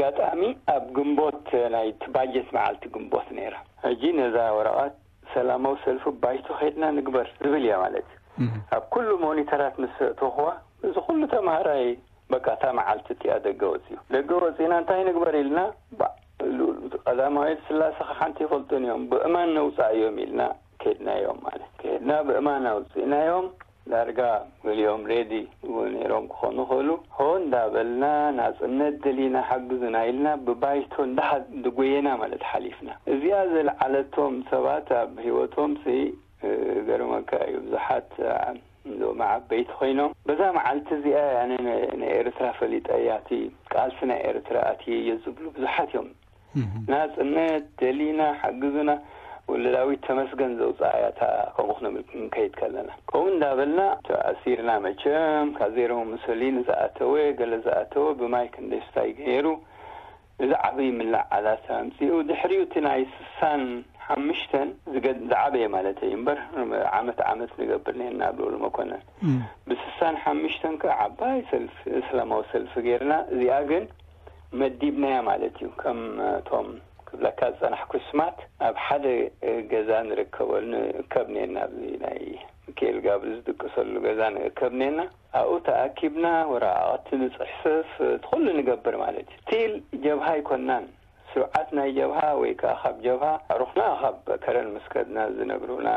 ጋጣሚ ኣብ ግንቦት ናይ ባጀት መዓልቲ ግንቦት ነይራ። ሕጂ ነዛ ወረቐት ሰላማዊ ሰልፊ ባይቶ ከይድና ንግበር ዝብል እያ ማለት እዩ። ኣብ ኩሉ ሞኒተራት ምስ ኣእተኹዋ እዚ ኩሉ ተምሃራይ በቃ እታ መዓልቲ እቲኣ ደገ ወፂኡ። ደገ ወፂእና እንታይ ንግበር ኢልና ቀዳማዊ ኃይለ ሥላሴ ሓንቲ ይፈልጡን እዮም። ብእማን ነውፃእ እዮም ኢልና ከድናዮም ማለት ከድና ብእማን ኣውፅእናዮም። ዳርጋ ገሊኦም ሬዲ እውን ነይሮም ክኾኑ ይኽእሉ። ሆ እንዳበልና ናጽነት ደሊና ሓግዙና ኢልና ብባይቶ እንዳሓ-፣ ድጎየና ማለት ሓሊፍና። እዚኣ ዘልዓለቶም ሰባት ኣብ ህይወቶም ሲ፣ እ፣ ገርመካ እዩ። ብዙሓት፣ እ፣ ሎሚ ዓበይቲ ኮይኖም በዛ መዓልቲ እዚኣ ኣነ ን-፣ ንኤርትራ ፈሊጠያ፣ እቲ ቃልሲ ናይ ኤርትራ ኣትየ እየ ዝብሉ ብዙሓት እዮም። ናጽነት ደሊና ሓግዙና። ወልደ ዳዊት ተመስገን ዘውፅኣያ እታ ከምኡ ክንብል ክንከይድ ከለና። ከምኡ እንዳበልና ተኣሲርና መቸም። ካብ ዜሮ ሙሶሊኒ ዝኣተወ፣ ገለ ዝኣተወ ብማይ ክንደይ ስታይ ገይሩ። እዚ ዓብዪ ምላዓላት ኣምፂኡ። ድሕሪኡ እቲ ናይ ስሳን ሓምሽተን ዝገ-፣ ዝዓበየ ማለት እዩ እምበር ዓመት ዓመት ንገብር ነርና ኣብ ልኡል መኮነን። ብስሳን ሓምሽተን ከዓ ዓባይ ሰልፊ፣ ሰላማዊ ሰልፊ ገይርና። እዚኣ ግን መዲብናያ ማለት እዩ። ከም እቶም ክብለካ ዝጸናሕኩ ስማት ኣብ ሓደ ገዛ ንርከበሉ፣ ንእከብ ኔና፣ ኣብዚ ናይ ሚካኤል ጋብር ዝድቅሰሉ ገዛ ንእከብ ኔና። ኣብኡ ተኣኪብና ወረቓቕቲ ንጽሕፍፍ፣ እቲ ኩሉ ንገብር ማለት እዩ። ስቲል ጀብሃ ኣይኮናን። ስርዓት ናይ ጀብሃ ወይ ከኣ ካብ ጀብሃ ኣዕሩኽና ካብ ከረን ምስ ከድና ዝነግሩና፣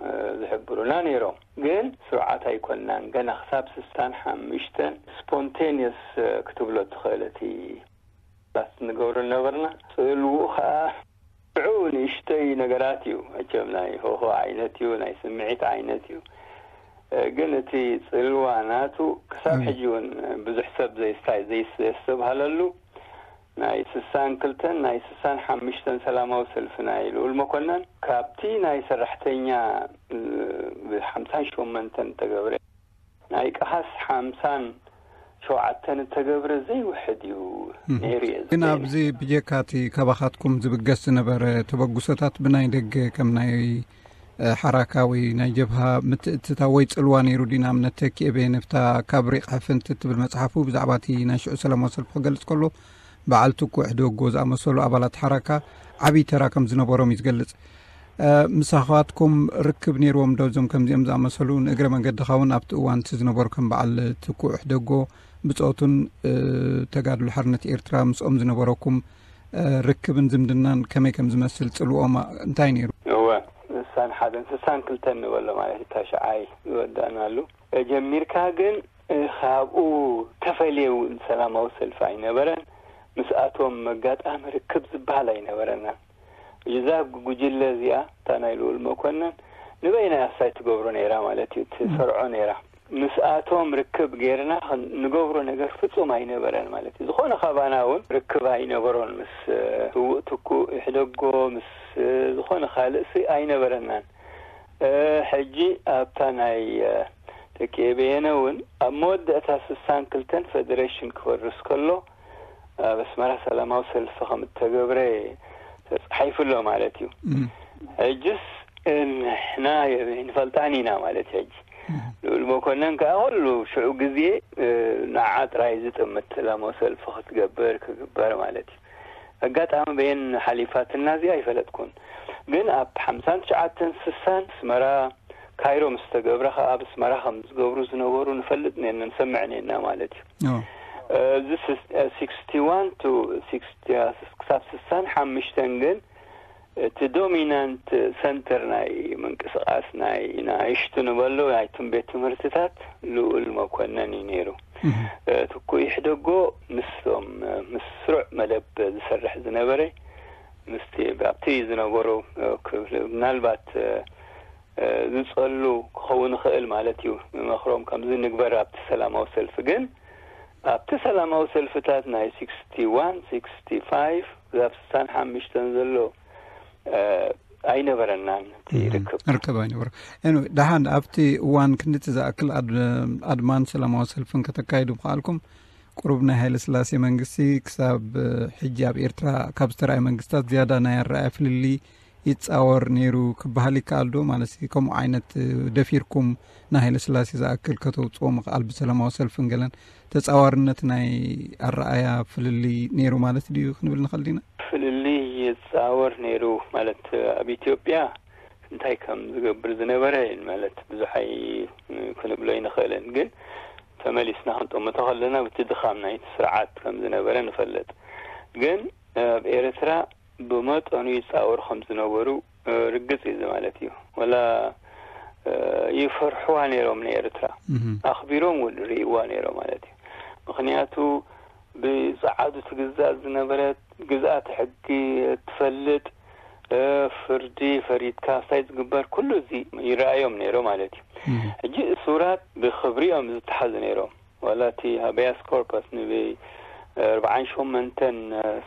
እ፣ ዝሕብሩና ነይሮም። ግን ስርዓት ኣይኮናን። ገና ክሳብ ስሳን ሓምሽተን ስፖንቴንየስ፣ እ፣ ክትብሎ ትኽእል። እቲ ባት ንገብሮ ነበርና። ጽልውኡ ከኣ ሽዑ ንእሽተይ ነገራት እዩ። መቸም ናይ ሆሆ ዓይነት እዩ፣ ናይ ስምዒት ዓይነት እዩ። እ፣ ግን እቲ ጽልዋ ናቱ ክሳብ ሕጂ እውን ብዙሕ ሰብ ዘይስታይ-፣ ዘይስ-፣ ዘይስተብሃለሉ ናይ ስሳን ክልተን ናይ ስሳን ሓምሽተን ሰላማዊ ሰልፊ ናይ ልኡል መኮነን፣ ካብቲ ናይ ሰራሕተኛ፣ እ፣ ብሓምሳን ሸሞንተን እተገብረ፣ ናይ ቀሃስ ሓምሳን ሸውዓተን እተገብረ ዘይውሕድ እዩ ነይሩ እየ ግን ዝብል። ኣብዚ ብጀካ እቲ ካባኻትኩም ዝብገስ ዝነበረ ተበግሶታት ብናይ ደገ ከም ናይ፣ እ፣ ሓራካ ወይ ናይ ጀብሃ ምትእትታው ወይ ጽልዋ ነይሩ ድዩ? ንኣብነት ተኪኤ በየነ ኣብታ ካብ ሪቕ ሕፍንቲ እትብል መጽሓፉ ብዛዕባ እቲ ናይ ሽዑ ሰላማዊ ሰልፊ ክገልጽ ከሎ በዓል ትኩ ሕደጎ ዝኣመሰሉ ኣባላት ሓራካ ዓብዪ ተራ ከም ዝነበሮም እዩ ዝገልጽ። እ፣ ምሳኻትኩም ርክብ ነይርዎም ዶ እዞም ከምዚኦም ዝኣመሰሉ? ንእግረ መንገድኻ እውን ኣብቲ እዋን እቲ ዝነበሩ ከም በዓል ትኩ ሕደጎ ብጾቱን፣ እ፣ ተጋድሎ ሓርነት ኤርትራ ምስኦም ዝነበረኩም፣ እ፣ ርክብን ዝምድናን ከመይ ከም ዝመስል ጽልዎም እንታይ ነይሩ? እወ፣ ስሳን ሓደን ስሳን ክልተን ንበሎ ማለት እዩ። እታ ሸዓይ ዝወዳእናሉ ጀሚርካ ግን፣ እ፣ ካብኡ ተፈልየ እውን ሰላማዊ ሰልፊ ኣይነበረን። ምስኣቶም መጋጣሚ ርክብ ዝበሃል ኣይነበረናን። እዛ ጉጅለ እዚኣ፣ እታ ናይ ልኡል መኮነን፣ ንበይና እያ ትገብሮ ነይራ ማለት እዩ፣ ትሰርዖ ነይራ። ምስኣቶም ርክብ ጌርና ክን-፣ ንገብሮ ነገር ፍጹም ኣይነበረን ማለት እዩ። ዝኾነ ካባና እውን ርክብ ኣይነበሮን ምስ፣ እ፣ ስዉእ ትኩእ ይሕደጎ፣ ምስ፣ እ፣ ዝኾነ ካልእሲ ኣይነበረናን። እ፣ ሕጂ ኣብታ ናይ፣ እ፣ ተኪኤ በየነ እውን ኣብ መወዳእታ ስሳን ክልተን ፈደሬሽን ክፈርስ ከሎ ኣብ ኣስመራ ሰላማዊ ሰልፊ ከም እተገብረ ተጻሒፉ ኣሎ ማለት እዩ። እም። ሕጅስ ንሕና ንፈልጣን ኢና ማለት እዩ። ሕጂ እም። ልኡል መኮነን ከኣ ኩሉ ሽዑ ግዜ፣ እ፣ ንዓ ጥራይ ዝጥምት ሰላማዊ ሰልፊ ክትገብር ክግበር ማለት እዩ። ኣጋጣሚ በየን ሓሊፋትና እዚኣ ኣይፈለጥኩን። ግን ኣብ ሓምሳን ትሽዓተን ስሳን ኣስመራ ካይሮ ምስ ተገብረ ከኣ ኣብ ኣስመራ ከም ዝገብሩ ዝነበሩ ንፈልጥ ኔና፣ ንሰምዕ ኔና ማለት እዩ። ኦ። እዚ ስስ-፣ እ፣ ሲክስቲ ዋን ቱ ሲክስቲ፣ ክሳብ ስሳን ሓምሽተን ግን እቲ ዶሚናንት ሰንተር ናይ ምንቅስቓስ ናይ ንኣሽቱ ንበሎ ናይቶም ቤት ትምህርትታት ልኡል መኮነን እዩ ነይሩ። እህ። እ፣ ትኩእ ይሕደጎ ምስቶም፣ እ፣ ምስ ስሩዕ መደብ ዝሰርሕ ዝነበረ ምስቲ ኣብቲ ዝነበሩ፣ እ፣ ክፍሊ ምናልባት፣ እ፣ እ፣ ዝጸሉ ክኸውን ይኽእል ማለት እዩ። ንመኽሮም ከምዚ ንግበር ኣብቲ ሰላማዊ ሰልፊ። ግን ኣብቲ ሰላማዊ ሰልፍታት ናይ ሲክስቲ ዋን፣ ሲክስቲ ፋይቭ ክሳብ ስሳን ሓምሽተን ዘሎ፣ እ፣ ኣይነበረናን እቲ እም፣ ርክብ። ርክብ ኣይነበረ። ኤንዌ፣ ደሓን ኣብቲ እዋን ክንድቲ ዝኣክል ኣድ-፣ ኣድማን ሰላማዊ ሰልፍን ከተካይዱ ምኽኣልኩም፣ ቁሩብ ናይ ሃይለ ስላሴ መንግስቲ ክሳብ፣ እ፣ ሕጂ ኣብ ኤርትራ ካብ ዝተራእየ መንግስታት ዝያዳ ናይ ኣረኣእያ ፍልልይ ይጻወር ነይሩ ክበሃል ይከኣል ዶ? ማለት ከምኡ ዓይነት፣ እ፣ ደፊርኩም ንሃይለ ስላሴ ዝኣክል ከተውጽኦ ምኽኣል ብሰላማዊ ሰልፍን ገለን ተጻዋርነት ናይ ኣረኣእያ ፍልልይ ነይሩ ማለት ድዩ ክንብል ንኽእል ዲና? ፍልልይ ይጻወር ነይሩ ማለት ኣብ ኢትዮጵያ እንታይ ከም ዝገብር ዝነበረ ማለት ብዙሕ ኣይ-፣ ክንብሎ ኣይንኽእልን። ግን ተመሊስና ክንጥምቶ ከለና፣ በቲ ድኻም ናይቲ ስርዓት ከም ዝነበረ ንፈልጥ። ግን ኣብ ኤርትራ ብመጠኑ ይጻወሩ ከም ዝነበሩ ርግጽ እዩ ማለት እዩ። ወላ ይፈርሕዋ ነይሮም ንኤርትራ፣ ኣኽቢሮም እውን ርእይዋ ነይሮም ማለት እዩ። ምኽንያቱ ብጸዓዱ ትግዛእ ዝነበረት፣ ግዝኣት ሕጊ ትፈልጥ፣ ፍርዲ ፈሪድካ እንታይ ዝግበር ኩሉ እዚ ይረኣዮም ነይሮ ማለት እዩ። ሕጂ እሱራት ብኽብሪ እዮም ዝተሓዙ ነይሮም። ዋላ እቲ ሃበያስ ኮርፐስ ንብ ኣርባዓን ሸሞንተን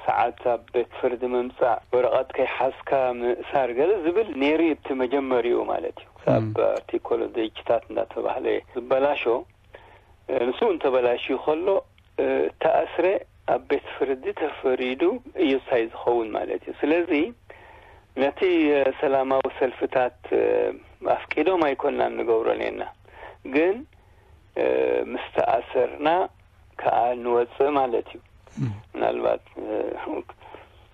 ሰዓት ኣብ ቤት ፍርዲ ምምጻእ፣ ወረቐት ከይሓዝካ ምእሳር ገለ ዝብል ነይሩ እዩ። እቲ መጀመሪኡ ማለት እዩ። ክሳብ ኣርቲኮል ዘይችታት እንዳተባህለ ዝበላሾ፣ ንሱ እውን ተበላሽዩ ከሎ፣ እተኣስረ ኣብ ቤት ፍርዲ ተፈሪዱ እዩ ሳይ ዝኸውን ማለት እዩ። ስለዚ ነቲ ሰላማዊ ሰልፍታት ኣፍቂዶም ኣይኮናን ንገብሮ ነና፣ ግን ምስ ተኣሰርና ከኣ ንወጽእ ማለት እዩ። ምናልባት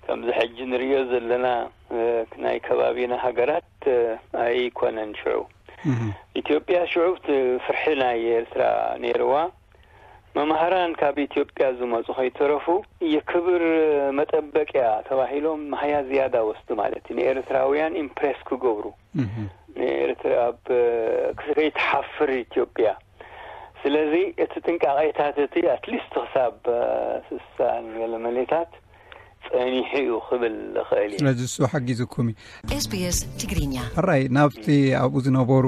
ከምዚ ሕጂ ንርእዮ ዘለና ናይ ከባቢና ሃገራት ኣይኮነን። ሽዑ ኢትዮጵያ ሽዑ እቲ ፍርሒ ናይ ኤርትራ ነይርዋ። መማህራን ካብ ኢትዮጵያ ዝመጹ ከይተረፉ የክብር መጠበቂያ ተባሂሎም መሃያ ዝያዳ ወስዱ ማለት እዩ። ንኤርትራውያን ኢምፕሬስ ክገብሩ፣ ንኤርትራ ኣብ ከይትሓፍር ኢትዮጵያ። ስለዚ እቲ ጥንቃቄታት እቲ ኣትሊስት ክሳብ ስሳን ገለ መሌታት ጸኒሑ እዩ ክብል ዝኽእል እዩ። ስለዚ እሱ ሓጊዙኩም እዩ። SBS ትግርኛ። ሕራይ፣ ናብቲ ኣብኡ ዝነበሩ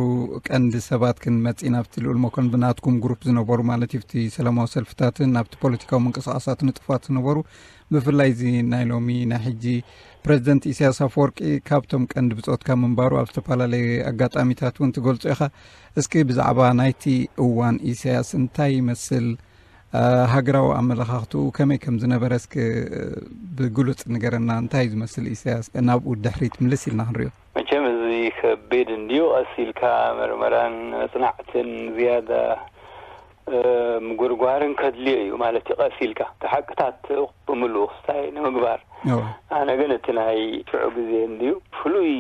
ቀንዲ ሰባት ክንመጽእ ኢና። ኣብቲ ልኡል መኮንን ብናትኩም ግሩፕ ዝነበሩ ማለት እዩ፣ ኣብቲ ሰላማዊ ሰልፍታትን ኣብቲ ፖለቲካዊ ምንቅስቃሳት ንጡፋት ዝነበሩ፣ ብፍላይ እዚ ናይ ሎሚ ናይ ሕጂ ፕረዚደንት ኢሳያስ ኣፈወርቂ ካብቶም ቀንዲ ብጾትካ ምንባሩ ኣብ ዝተፈላለየ ኣጋጣሚታት እውን ትገልጾ ኢኻ። እስኪ ብዛዕባ ናይቲ እዋን ኢሳያስ እንታይ ይመስል፣ ሃገራዊ ኣመለኻኽትኡ ከመይ ከም ዝነበረ እስኪ ብግሉጽ ንገረና። እንታይ እዩ ዝመስል ኢሳያስ? ናብኡ ድሕሪት ምልስ ኢልና ክንሪኦ። መቸም እዚ ከቢድ እንድዩ። ቀስ ኢልካ መርመራን መጽናዕትን ዝያዳ ምጉርጓርን ከድልዮ እዩ ማለት እዩ። ቀስ ኢልካ እቲ ሓቅታት ብምሉኡ ክስታይ ንምግባር። ኣነ ግን እቲ ናይ ሽዑ ግዜ እንድዩ ፍሉይ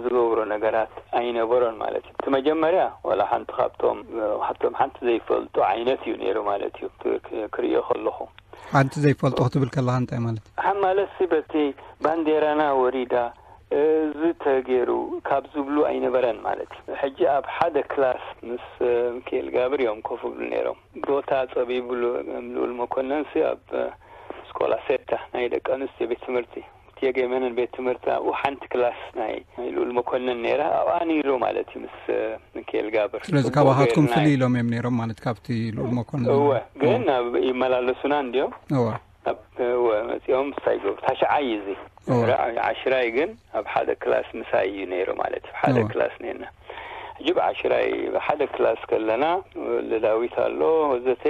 ዝገብሮ ነገራት ኣይነበሮን ማለት እዩ። እቲ መጀመርያ ዋላ ሓንቲ ካብቶም ካብቶም ሓንቲ ዘይፈልጦ ዓይነት እዩ ነይሩ ማለት እዩ። ክርእዮ ከለኹ ሓንቲ ዘይፈልጦ ክትብል ከለኻ እንታይ ማለት እዩ? ማለት ሲ በቲ ባንዴራና ወሪዳ እዚ ተገይሩ ካብ ዝብሉ ኣይነበረን ማለት እዩ። ሕጂ ኣብ ሓደ ክላስ ምስ ሚካኤል ጋብር እዮም ኮፍ ብሉ ነይሮም። ቦታ ጸቢብሉ ልኡል መኮነንሲ ኣብ ስኮላ ሴታ ናይ ደቂ ኣንስትዮ ቤት ትምህርቲ እትየ ገመንን ቤት ትምህርቲ ኣብኡ ሓንቲ ክላስ ናይ ናይ ልኡል መኮነን ነይራ። ኣብኣ ነይሩ ማለት እዩ ምስ ሚካኤል ጋብር። ስለዚ ካባኻትኩም ፍልይ ኢሎም እዮም ነይሮም ማለት ካብቲ ልኡል መኮነን። እወ፣ ግን ይመላለሱና እንድዮም። እወ። መፂኦም ሳይገቡ ታሽዓይ እዚ ዓሽራይ ግን ኣብ ሓደ ክላስ ምሳይ እዩ ነይሩ ማለት እዩ። ሓደ ክላስ ነና ሕጂ ብዓሽራይ ብሓደ ክላስ ከለና ልዳዊት ኣሎ ወዘተ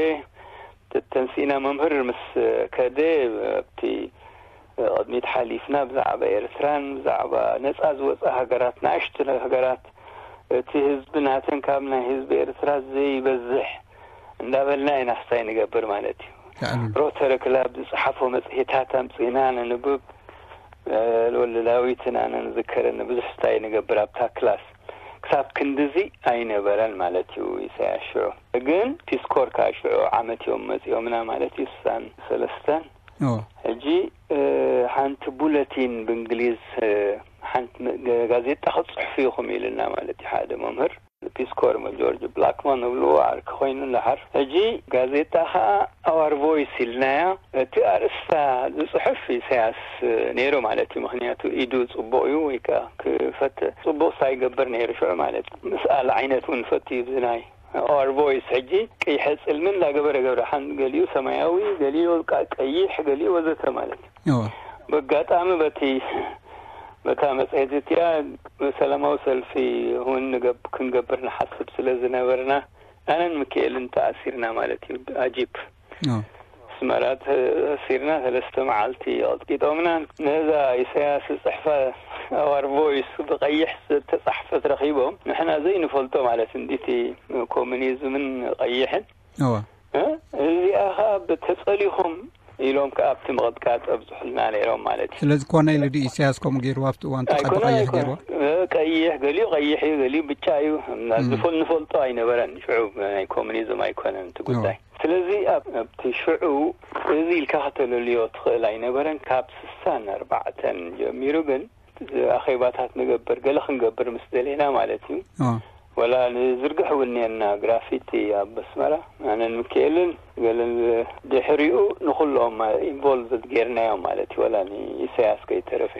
ተተንሲእና መምህር ምስ ከደ ኣብቲ ቅድሚት ሓሊፍና ብዛዕባ ኤርትራን ብዛዕባ ነፃ ዝወፃ ሃገራት ናእሽቱ ሃገራት እቲ ህዝቢ ናተን ካብ ናይ ህዝቢ ኤርትራ ዘይበዝሕ እንዳበልና ኢና ክስታይ ንገብር ማለት እዩ። ሮተሪ ክላብ ዝፅሓፎ መፅሄታት ኣምፅእና ነንብብ። ወልደ ዳዊትን ኣነን ዝከረኒ ብዙሕ ስታይ ንገብር ኣብታ ክላስ። ክሳብ ክንድዚ ኣይነበረን ማለት እዩ ኢሳያስ ሽዑ። ግን ፒስኮር ከዓ ሽዑ ዓመት እዮም መፂኦምና ማለት እዩ ስሳን ሰለስተን። ሕጂ ሓንቲ ቡለቲን ብእንግሊዝ ሓንቲ ጋዜጣ ክትፅሕፉ ኢኹም ኢልና ማለት እዩ ሓደ መምህር ፒስኮር ጆርጅ ብላክማን ንብልዎ ዓርኪ ኮይኑ እንዳሓር። ሕጂ ጋዜጣ ከዓ ኣዋር ቮይስ ኢልናያ። እቲ ኣርእስታ ዝፅሕፍ ኢሳያስ ነይሩ ማለት እዩ። ምክንያቱ ኢዱ ፅቡቕ እዩ ወይ ከዓ ክፈት ፅቡቕ ሳይገብር ነይሩ ሽዑ ማለት እዩ። ምስኣል ዓይነት እውን ፈት እዩ ብዝናይ ኣዋር ቮይስ ሕጂ ቀይሐ ፅልሚ እንዳገበረ ገብረ ሓን ገሊኡ ሰማያዊ ገሊኡ ቀይሕ ገሊኡ ወዘተ ማለት እዩ። ብኣጋጣሚ በቲ በታ መፅሄት እቲኣ ሰላማዊ ሰልፊ እውን ክንገብር ንሓስብ ስለ ዝነበርና ኣነን ምክኤልን ተኣሲርና ማለት እዩ። ኣጂፕ ኣስመራ ተኣሲርና ሰለስተ መዓልቲ ቀጥቂጦምና። ነዛ ኢሳያስ ዝፅሕፋ ኣዋር ቮይስ ብቀይሕ ዝተፃሕፈት ረኪቦም ንሕና ዘይንፈልጦ ማለት እንዲቲ ኮሙኒዝምን ቀይሕን እዚኣ ከዓ ብተፀሊኹም ኢሎም ከዓ ኣብቲ ምቕጥቃጥ ኣብዝሑልና ነይሮም ማለት እዩ። ስለዚ ኮነ ኢሉ ድዩ ኢሳያስ ከምኡ ገይርዋ ኣብቲ እዋን ተቐዲ ኣይኮነ ቀይሕ ኣይኮነ ገይርዋ? ቀይሕ ገሊኡ ቀይሕ እዩ ገሊኡ ብጫ እዩ። ዝፈል ንፈልጦ ኣይነበረን ሽዑ ናይ ኮሙኒዝም ኣይኮነን እቲ ጉዳይ። ስለዚ ኣብ ኣብቲ ሽዑ እዚ ኢልካ ከተለልዮ ትኽእል ኣይነበረን። ካብ ስሳን ኣርባዕተን ጀሚሩ ግን ኣኼባታት ንገብር፣ ገለ ክንገብር ምስ ደሌና ማለት እዩ። ወላ ንዝርግሕ እውን እኒአና ግራፊቲ ኣብ ኣስመራ፣ ኣነን ምክኤልን ገለን። ድሕሪኡ ንኹሎም ኢንቮልቭድ ጌርናዮም ማለት እዩ፣ ወላ ንኢሳያስ ከይተረፈ።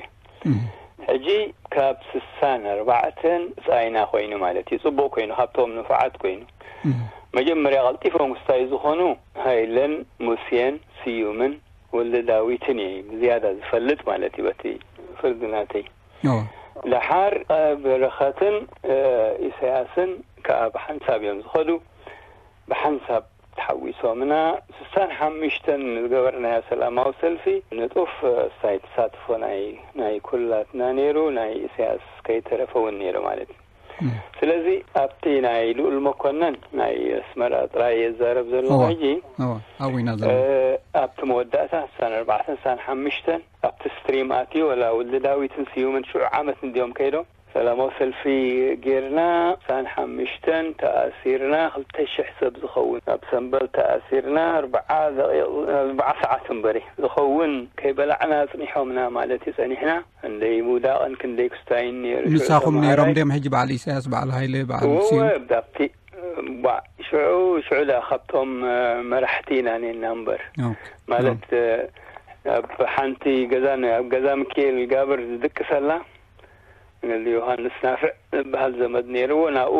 ሕጂ ካብ ስሳን ኣርባዕተን ጻይና ኮይኑ ማለት እዩ፣ ጽቡቕ ኮይኑ፣ ካብቶም ንፉዓት ኮይኑ። መጀመርያ ቀልጢፎም ክስታይ ዝኾኑ ሃይለን፣ ሙሴን፣ ስዩምን፣ ወልደ ዳዊትን እየ ብዝያዳ ዝፈልጥ ማለት እዩ፣ በቲ ፍርዲ ናተይ። ደሓር በረኸትን ኢሳያስን ከኣ ብሓንሳብ እዮም ዝኸዱ። ብሓንሳብ ተሓዊሶምና። ስሳን ሓሙሽተን ዝገበርናዮ ሰላማዊ ሰልፊ ንጡፍ ስታይ ተሳትፎ ናይ ናይ ኩላትና ነይሩ፣ ናይ ኢሳያስ ከይተረፈ እውን ነይሩ ማለት እዩ። ስለዚ ኣብቲ ናይ ልኡል መኮነን ናይ ኣስመራ ጥራይ የዛረብ ዘለኹ ሕጂ። ኣብቲ መወዳእታ ሳን ኣርባዕተን ሳን ሓሙሽተን ኣብቲ ስትሪም ኣትዩ፣ ወላ ውልዲ ዳዊትን ስዩምን ሽዑ ዓመት እንዲዮም ከይዶም ሰላማዊ ሰልፊ ጌርና። ሳን ሓሙሽተን ተኣሲርና፣ ክልተ ሽሕ ሰብ ዝኸውን ኣብ ሰንበል ተኣሲርና። ኣርባዓ ደቂቕ፣ ኣርባዓ ሰዓት እምበሪ ዝኸውን ከይበላዕና ኣጽኒሖምና ማለት እዩ። ጸኒሕና። ክንደይ ምውዳቕን ክንደይ ክስታይን ነይሩ። ንሳኹም ነይሮም ድዮም ሕጂ በዓል ኢሳያስ፣ በዓል ሃይለ፣ በዓል ስዩም? ኣብቲ ሽዑ ሽዑ ዳ ካብቶም መራሕቲ ኢና ነና እምበር፣ ማለት ኣብ ሓንቲ ገዛ፣ ኣብ ገዛ ምክኤል ጋብር ዝድቅሰላ፣ ዮሃንስ ናፍዕ ዝበሃል ዘመድ ነይርዎ። ናብኡ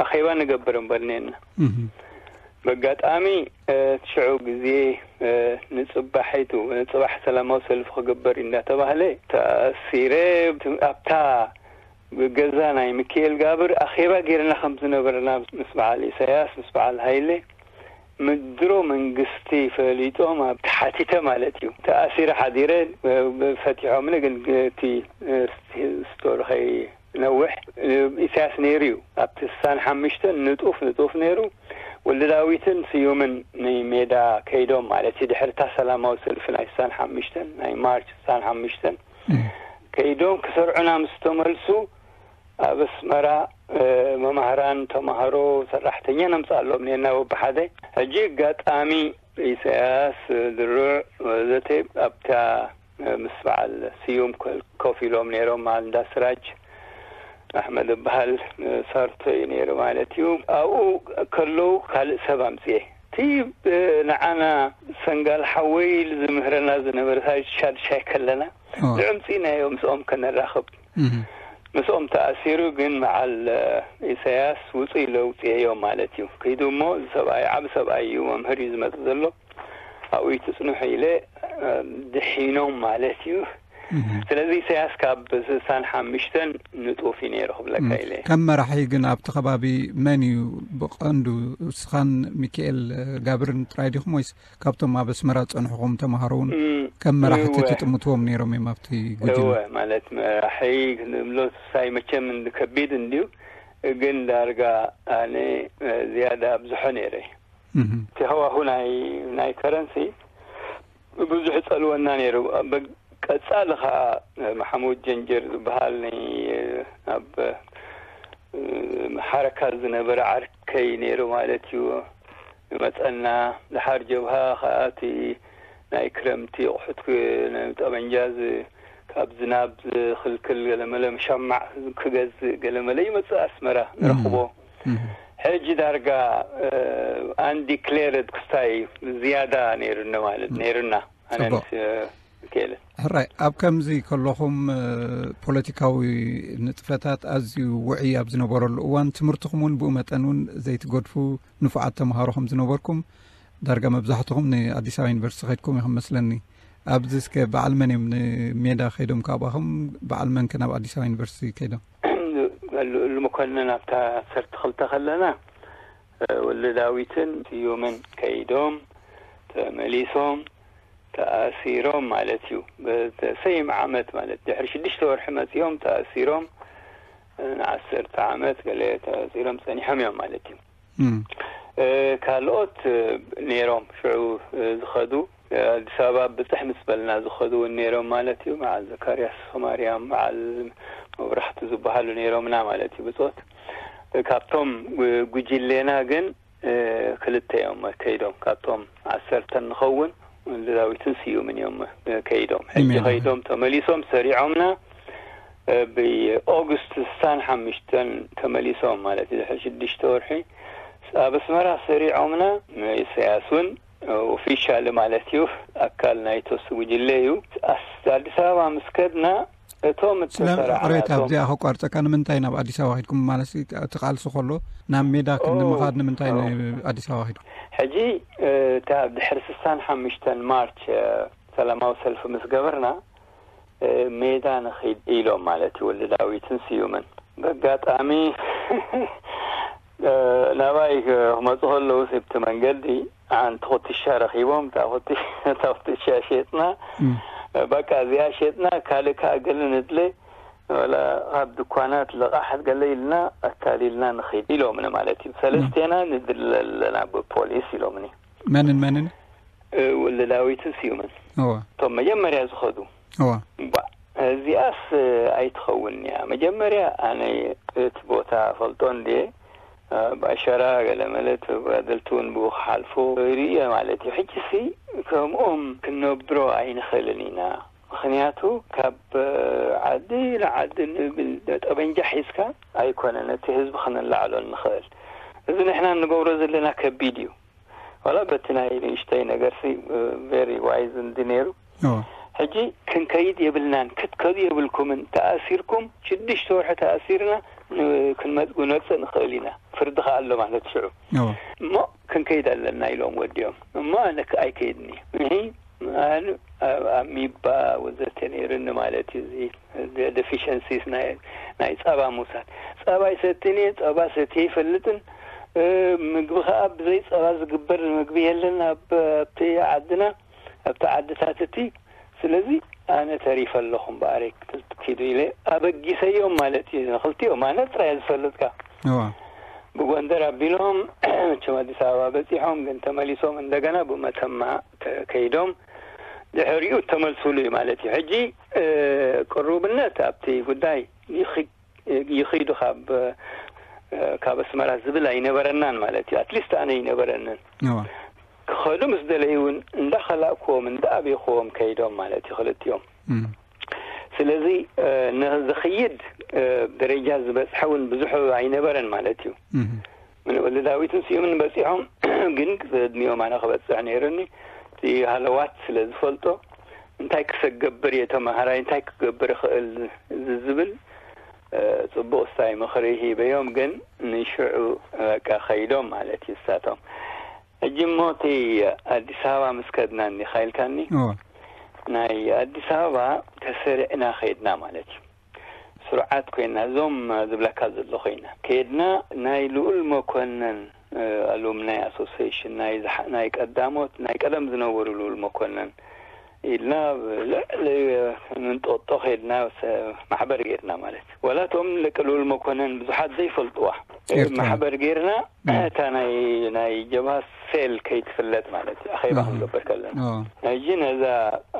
ኣኼባ ንገብር እምበር ነና። በጋጣሚ ሽዑ ግዜ ንጽባሒቱ፣ ንጽባሕ ሰላማዊ ሰልፊ ክግበር እንዳተባህለ ተኣሲረ። ኣብታ ገዛ ናይ ምክኤል ጋብር ኣኼባ ጌርና ከም ዝነበርና ምስ በዓል ኢሳያስ፣ ምስ በዓል ሃይለ ምድሮ መንግስቲ ፈሊጦም ኣብ ተሓቲተ ማለት እዩ። ተኣሲረ ሓዲረ፣ ፈቲሖምኒ፣ ግን እቲ ስቶሪ ከይነውሕ ኢሳያስ ነይሩ እዩ። ኣብቲ ስሳን ሓሙሽተን ንጡፍ ንጡፍ ነይሩ። ወልደ ዳዊትን ስዩምን ንሜዳ ከይዶም ማለት እዩ። ድሕርታ ሰላማዊ ሰልፊ ናይ ስሳን ሓሙሽተን፣ ናይ ማርች ስሳን ሓሙሽተን ከይዶም ክሰርዑና ምስ ተመልሱ፣ ኣብ ኣስመራ መማህራን፣ ተማሃሮ፣ ሰራሕተኛ ነምጽኣሎም ኔና በብሓደ። ሕጂ ኣጋጣሚ ኢሳያስ፣ ድሩዕ ወዘተ ኣብታ ምስ በዓል ስዩም ኮ-፣ ኮፍ ኢሎም ነይሮም። በዓል እንዳ ስራጅ ኣሕመድ ዝበሃል ሳርቶ እዩ ነይሩ ማለት እዩ። ኣብኡ ከለዉ ካልእ ሰብ ኣምጽኤ። እቲ ንዓና ሰንጋል ሓወይ ዝምህረና ዝነበረ ሻድሻይ ከለና ንዕምጺናዮ ምስኦም ከነራኽብ። ምስኦም ተኣሲሩ ግን መዓል ኢሳያስ ውጹ ኢለ ውጽኤዮ ማለት እዩ። ከይዱ እሞ እዚ ሰብኣይ ዓቢ ሰብኣይ እዩ፣ መምህር እዩ ዝመጽእ ዘሎ፣ ኣብኡ ትጽንሑ ኢለ ድሒኖም ማለት እዩ። ስለዚ ኢሳያስ ካብ ስሳን ሓሙሽተን ንጡፍ እዩ ነይሩ ክብለካ ኢለ። ከም መራሒ ግን ኣብቲ ከባቢ መን እዩ ብቐንዱ? እስኻን ሚካኤል ጋብርን ጥራይ ዲኹም ወይስ ካብቶም ኣብ ኣስመራ ዝጸንሕኹም ተማሃሮ እውን ከም መራሕቲ ትጥምትዎም ነይሮም እዮም ኣብቲ ጉጅለ? እወ፣ ማለት መራሒ ክንብሎ ሳይ መቸም እንዲ ከቢድ እንድዩ፣ ግን ዳርጋ ኣነ ዝያዳ ኣብዝሖ ነይረ። እቲ ሃዋሁ ናይ ናይ ከረንሲ ብዙሕ ጸልወና ነይሩ። ቀጻሊ ኸኣ ማሕሙድ ጀንጀር ዝበሃል ናይ ኣብ ሓረካ ዝነበረ ዓርከይ ነይሩ ማለት እዩ። ይመጸና። ድሓር ጀብሃ ኸኣ እቲ ናይ ክረምቲ ኣቑሑት ክ-፣ ጠበንጃ ዝ-፣ ካብ ዝናብ ዝኽልክል ገለመለ፣ ሸማዕ ክገዝእ ገለመለ ይመጽእ ኣስመራ፣ ንረኽቦ። ሕጂ ዳርጋ ኣንዲክሌርድ ክስታይ ዝያዳ ነይሩኒ ማለት ነይሩና። ኣነ ጽቡቕ። ምስ ክእለ። ሕራይ፣ ኣብ ከምዚ ከለኹም፣ ፖለቲካዊ ንጥፈታት ኣዝዩ ውዑይ ኣብ ዝነበረሉ እዋን፣ ትምህርትኹም እውን ብኡ መጠን እውን ዘይትገድፉ ንፉዓት ተምሃሮ ከም ዝነበርኩም፣ ዳርጋ መብዛሕትኹም ንኣዲስ ኣበባ ዩኒቨርሲቲ ከድኩም ኢኹም መስለኒ። ኣብዚ እስከ በዓል መን እዮም ንሜዳ ከይዶም ካብኣኹም? በዓል መን ከ ናብ ኣዲስ ኣበባ ዩኒቨርሲቲ ከይዶም? ልኡል መኮንን ኣብታ ዓሰርተ ክልተ ከለና፣ ወልደ ዳዊትን ስዩምን ከይዶም ተመሊሶም ተኣሲሮም ማለት እዩ። በተሰይም ዓመት ማለት ድሕሪ ሽዱሽተ ወርሒ መጺኦም ተኣሲሮም ንዓሰርተ ዓመት ገለ ተኣሲሮም ጸኒሖም እዮም ማለት እዩ። እም። እ፣ ካልኦት፣ እ፣ ነይሮም ሽዑ፣ እ፣ ዝኸዱ፣ እ፣ ኣዲስ ኣበባ ብጽሕ ምስ በልና ዝኸዱ እውን ነይሮም ማለት እዩ። በዓል ዘካርያስ ማርያም፣ በዓል መብራህቱ ዝበሃሉ ነይሮምና ማለት እዩ ብጾት። እ፣ ካብቶም ጉ-፣ ጉጅሌና ግን ክልተ እዮም ከይዶም፣ ካብቶም ዓሰርተ ንኸውን ወልደዳዊትን ስዩምን እዮም ከይዶም። ሕጂ ከይዶም ተመሊሶም ሰሪዖምና። ብኦግስት ስሳን ሓምሽተን ተመሊሶም ማለት እዩ፣ ድሕሪ ሽዱሽተ ወርሒ ኣብ ኣስመራ ሰሪዖምና። ኢሳያስ እውን ኦፊሻል ማለት እዩ፣ ኣካል ናይቶስ ጉጅለ እዩ። ኣዲስ ኣበባ ምስ ከድና እቶም እተሰራዕናቶም ኣብዚኣ ከቋርፀካ፣ ንምንታይ ናብ ኣዲስ ኣበባ ኪድኩም ማለት እቲ ቃልሲ ከሎ ናብ ሜዳ ክንምኻድ ንምንታይ ኣዲስ ኣበባ ኪድኩም? ሕጂ እታ ድሕሪ ስሳን ሓምሽተን ማርች ሰላማዊ ሰልፊ ምስ ገበርና ሜዳ ንኺድ ኢሎም ማለት እዩ፣ ወልደ ዳዊትን ስዩምን። በጋጣሚ ናባይ ክመፁ ከለዉ፣ ሲብቲ መንገዲ ሓንቲ ኩትሻ ረኺቦም፣ እታ ኩትሻ ሸጥና። በቃ እዚኣ ሸጥና፣ ካልእ ከዓ ገለ ንድለ፣ ወላ ካብ ድኳናት ልቓሕ ገለ ኢልና ኣታሊልና ንኺድ ኢሎምኒ ማለት እዩ። ሰለስቴና ንድለ ኣለና ብፖሊስ ኢሎምኒ። መንን መንን? ወልደ ዳዊትን ስዩምን፣ እቶም መጀመርያ ዝኸዱ። እባ እዚኣስ ኣይትኸውን እያ። መጀመርያ ኣነ እቲ ቦታ ፈልጦ እንዴ፣ ብኣሸራ ገለ ማለት ተጋደልቲ እውን ብኡ ክሓልፉ ርእየ ማለት እዩ። ሕጂ ሲ ከምኦም ክንነብሮ ኣይንኽእልን ኢና። ምኽንያቱ ካብ ዓዲ ንዓዲ ንብል ጠበንጃ ሒዝካ ኣይኮነን እቲ ህዝቢ ክነላዕሎ እንኽእል። እዚ ንሕና እንገብሮ ዘለና ከቢድ እዩ። ዋላ በቲ ናይ ንእሽተይ ነገርሲ ቨሪ ዋይዝ እንዲ ነይሩ። ሕጂ ክንከይድ የብልናን፣ ክትከዱ የብልኩምን፣ ተኣሲርኩም ሽዱሽተ ወርሒ ተኣሲርና ክንመፅእ ንኽእል ኢና፣ ፍርዲ ከኣ ኣሎ ማለት ሽዑ። እሞ ክንከይድ ኣለና ኢሎም ወዲኦም። እሞ ኣነ ኣይከይድኒ። ኣሚባ ወዘተ ነይርኒ ማለት እዩ። እዚ ዴፊሽንሲስ ናይ ጸባ ምውሳድ። ጸባ ይሰትን እየ፣ ጸባ ሰትየ ይፈልጥን። ምግቢ ከኣ ብዘይ ጸባ ዝግበር ምግቢ የለን ኣብቲ ዓድና፣ ኣብቲ ዓድታት እቲ። ስለዚ ኣነ ተሪፈ ኣለኹ እምበኣር ኪዱ ኢለ ኣበጊሰዮም ማለት እዩ። ንክልቲኦም ኣነ ጥራይ ዝፈልጥካ። ብጎንደር ኣቢሎም መቸም ኣዲስ ኣበባ በጺሖም፣ ግን ተመሊሶም እንደገና ብመተማ ከይዶም ድሕሪኡ ተመልሱሉ እዩ ማለት እዩ። ሕጂ ቅሩብነት ኣብቲ ጉዳይ ይኺድ ይኺዱ ካብ ካብ ኣስመራ ዝብል ኣይነበረናን ማለት እዩ። ኣትሊስት ኣነ ኣይነበረንን። ክኸዱ ምስ ደለዩ እውን እንዳኸላእክዎም እንዳኣቤኽዎም ከይዶም ማለት እዩ ክልቲኦም። ስለዚ ንዝኽይድ ደረጃ ዝበፅሐ እውን ብዙሕ ኣይነበረን ማለት እዩ። ወልደ ዳዊትን ስዩምን በፂሖም ግን ቅድሚኦም ኣነ ክበፅሕ ነይሩኒ። እቲ ሃለዋት ስለ ዝፈልጦ እንታይ ክሰገብር እየ ተምሃራይ እንታይ ክገብር ይኽእል ዝብል ፅቡቅ ስታይ ምኽሪ ሂበዮም። ግን ንሽዑ በቃ ከይዶም ማለት እዩ እሳቶም። ሕጂ እሞ እቲ ኣዲስ ኣበባ ምስ ከድና እኒኻ ኢልካኒ፣ ናይ ኣዲስ ኣበባ ተሰሪዕና ከይድና ማለት እዩ። ስሩዓት ኮይና፣ እዞም ዝብለካ ዘለኹ ኢና ከይድና፣ ናይ ልኡል መኮነን ኣሉምናይ ኣሶሲሽን ናይ ቀዳሞት ናይ ቀደም ዝነበሩ ልኡል መኮነን ኢልና ልዕሊ ምንጦጦ ከይድና ማሕበር ጌርና ማለት እዩ። ወላ እቶም ደቂ ልኡል መኮነን ብዙሓት ዘይፈልጥዋ ማሕበር ጌርና እታ ናይ ናይ ጀብሃ ሴል ከይትፍለጥ ማለት እዩ። ኣኼባ ክንገብር ከለና ሕጂ ነዛ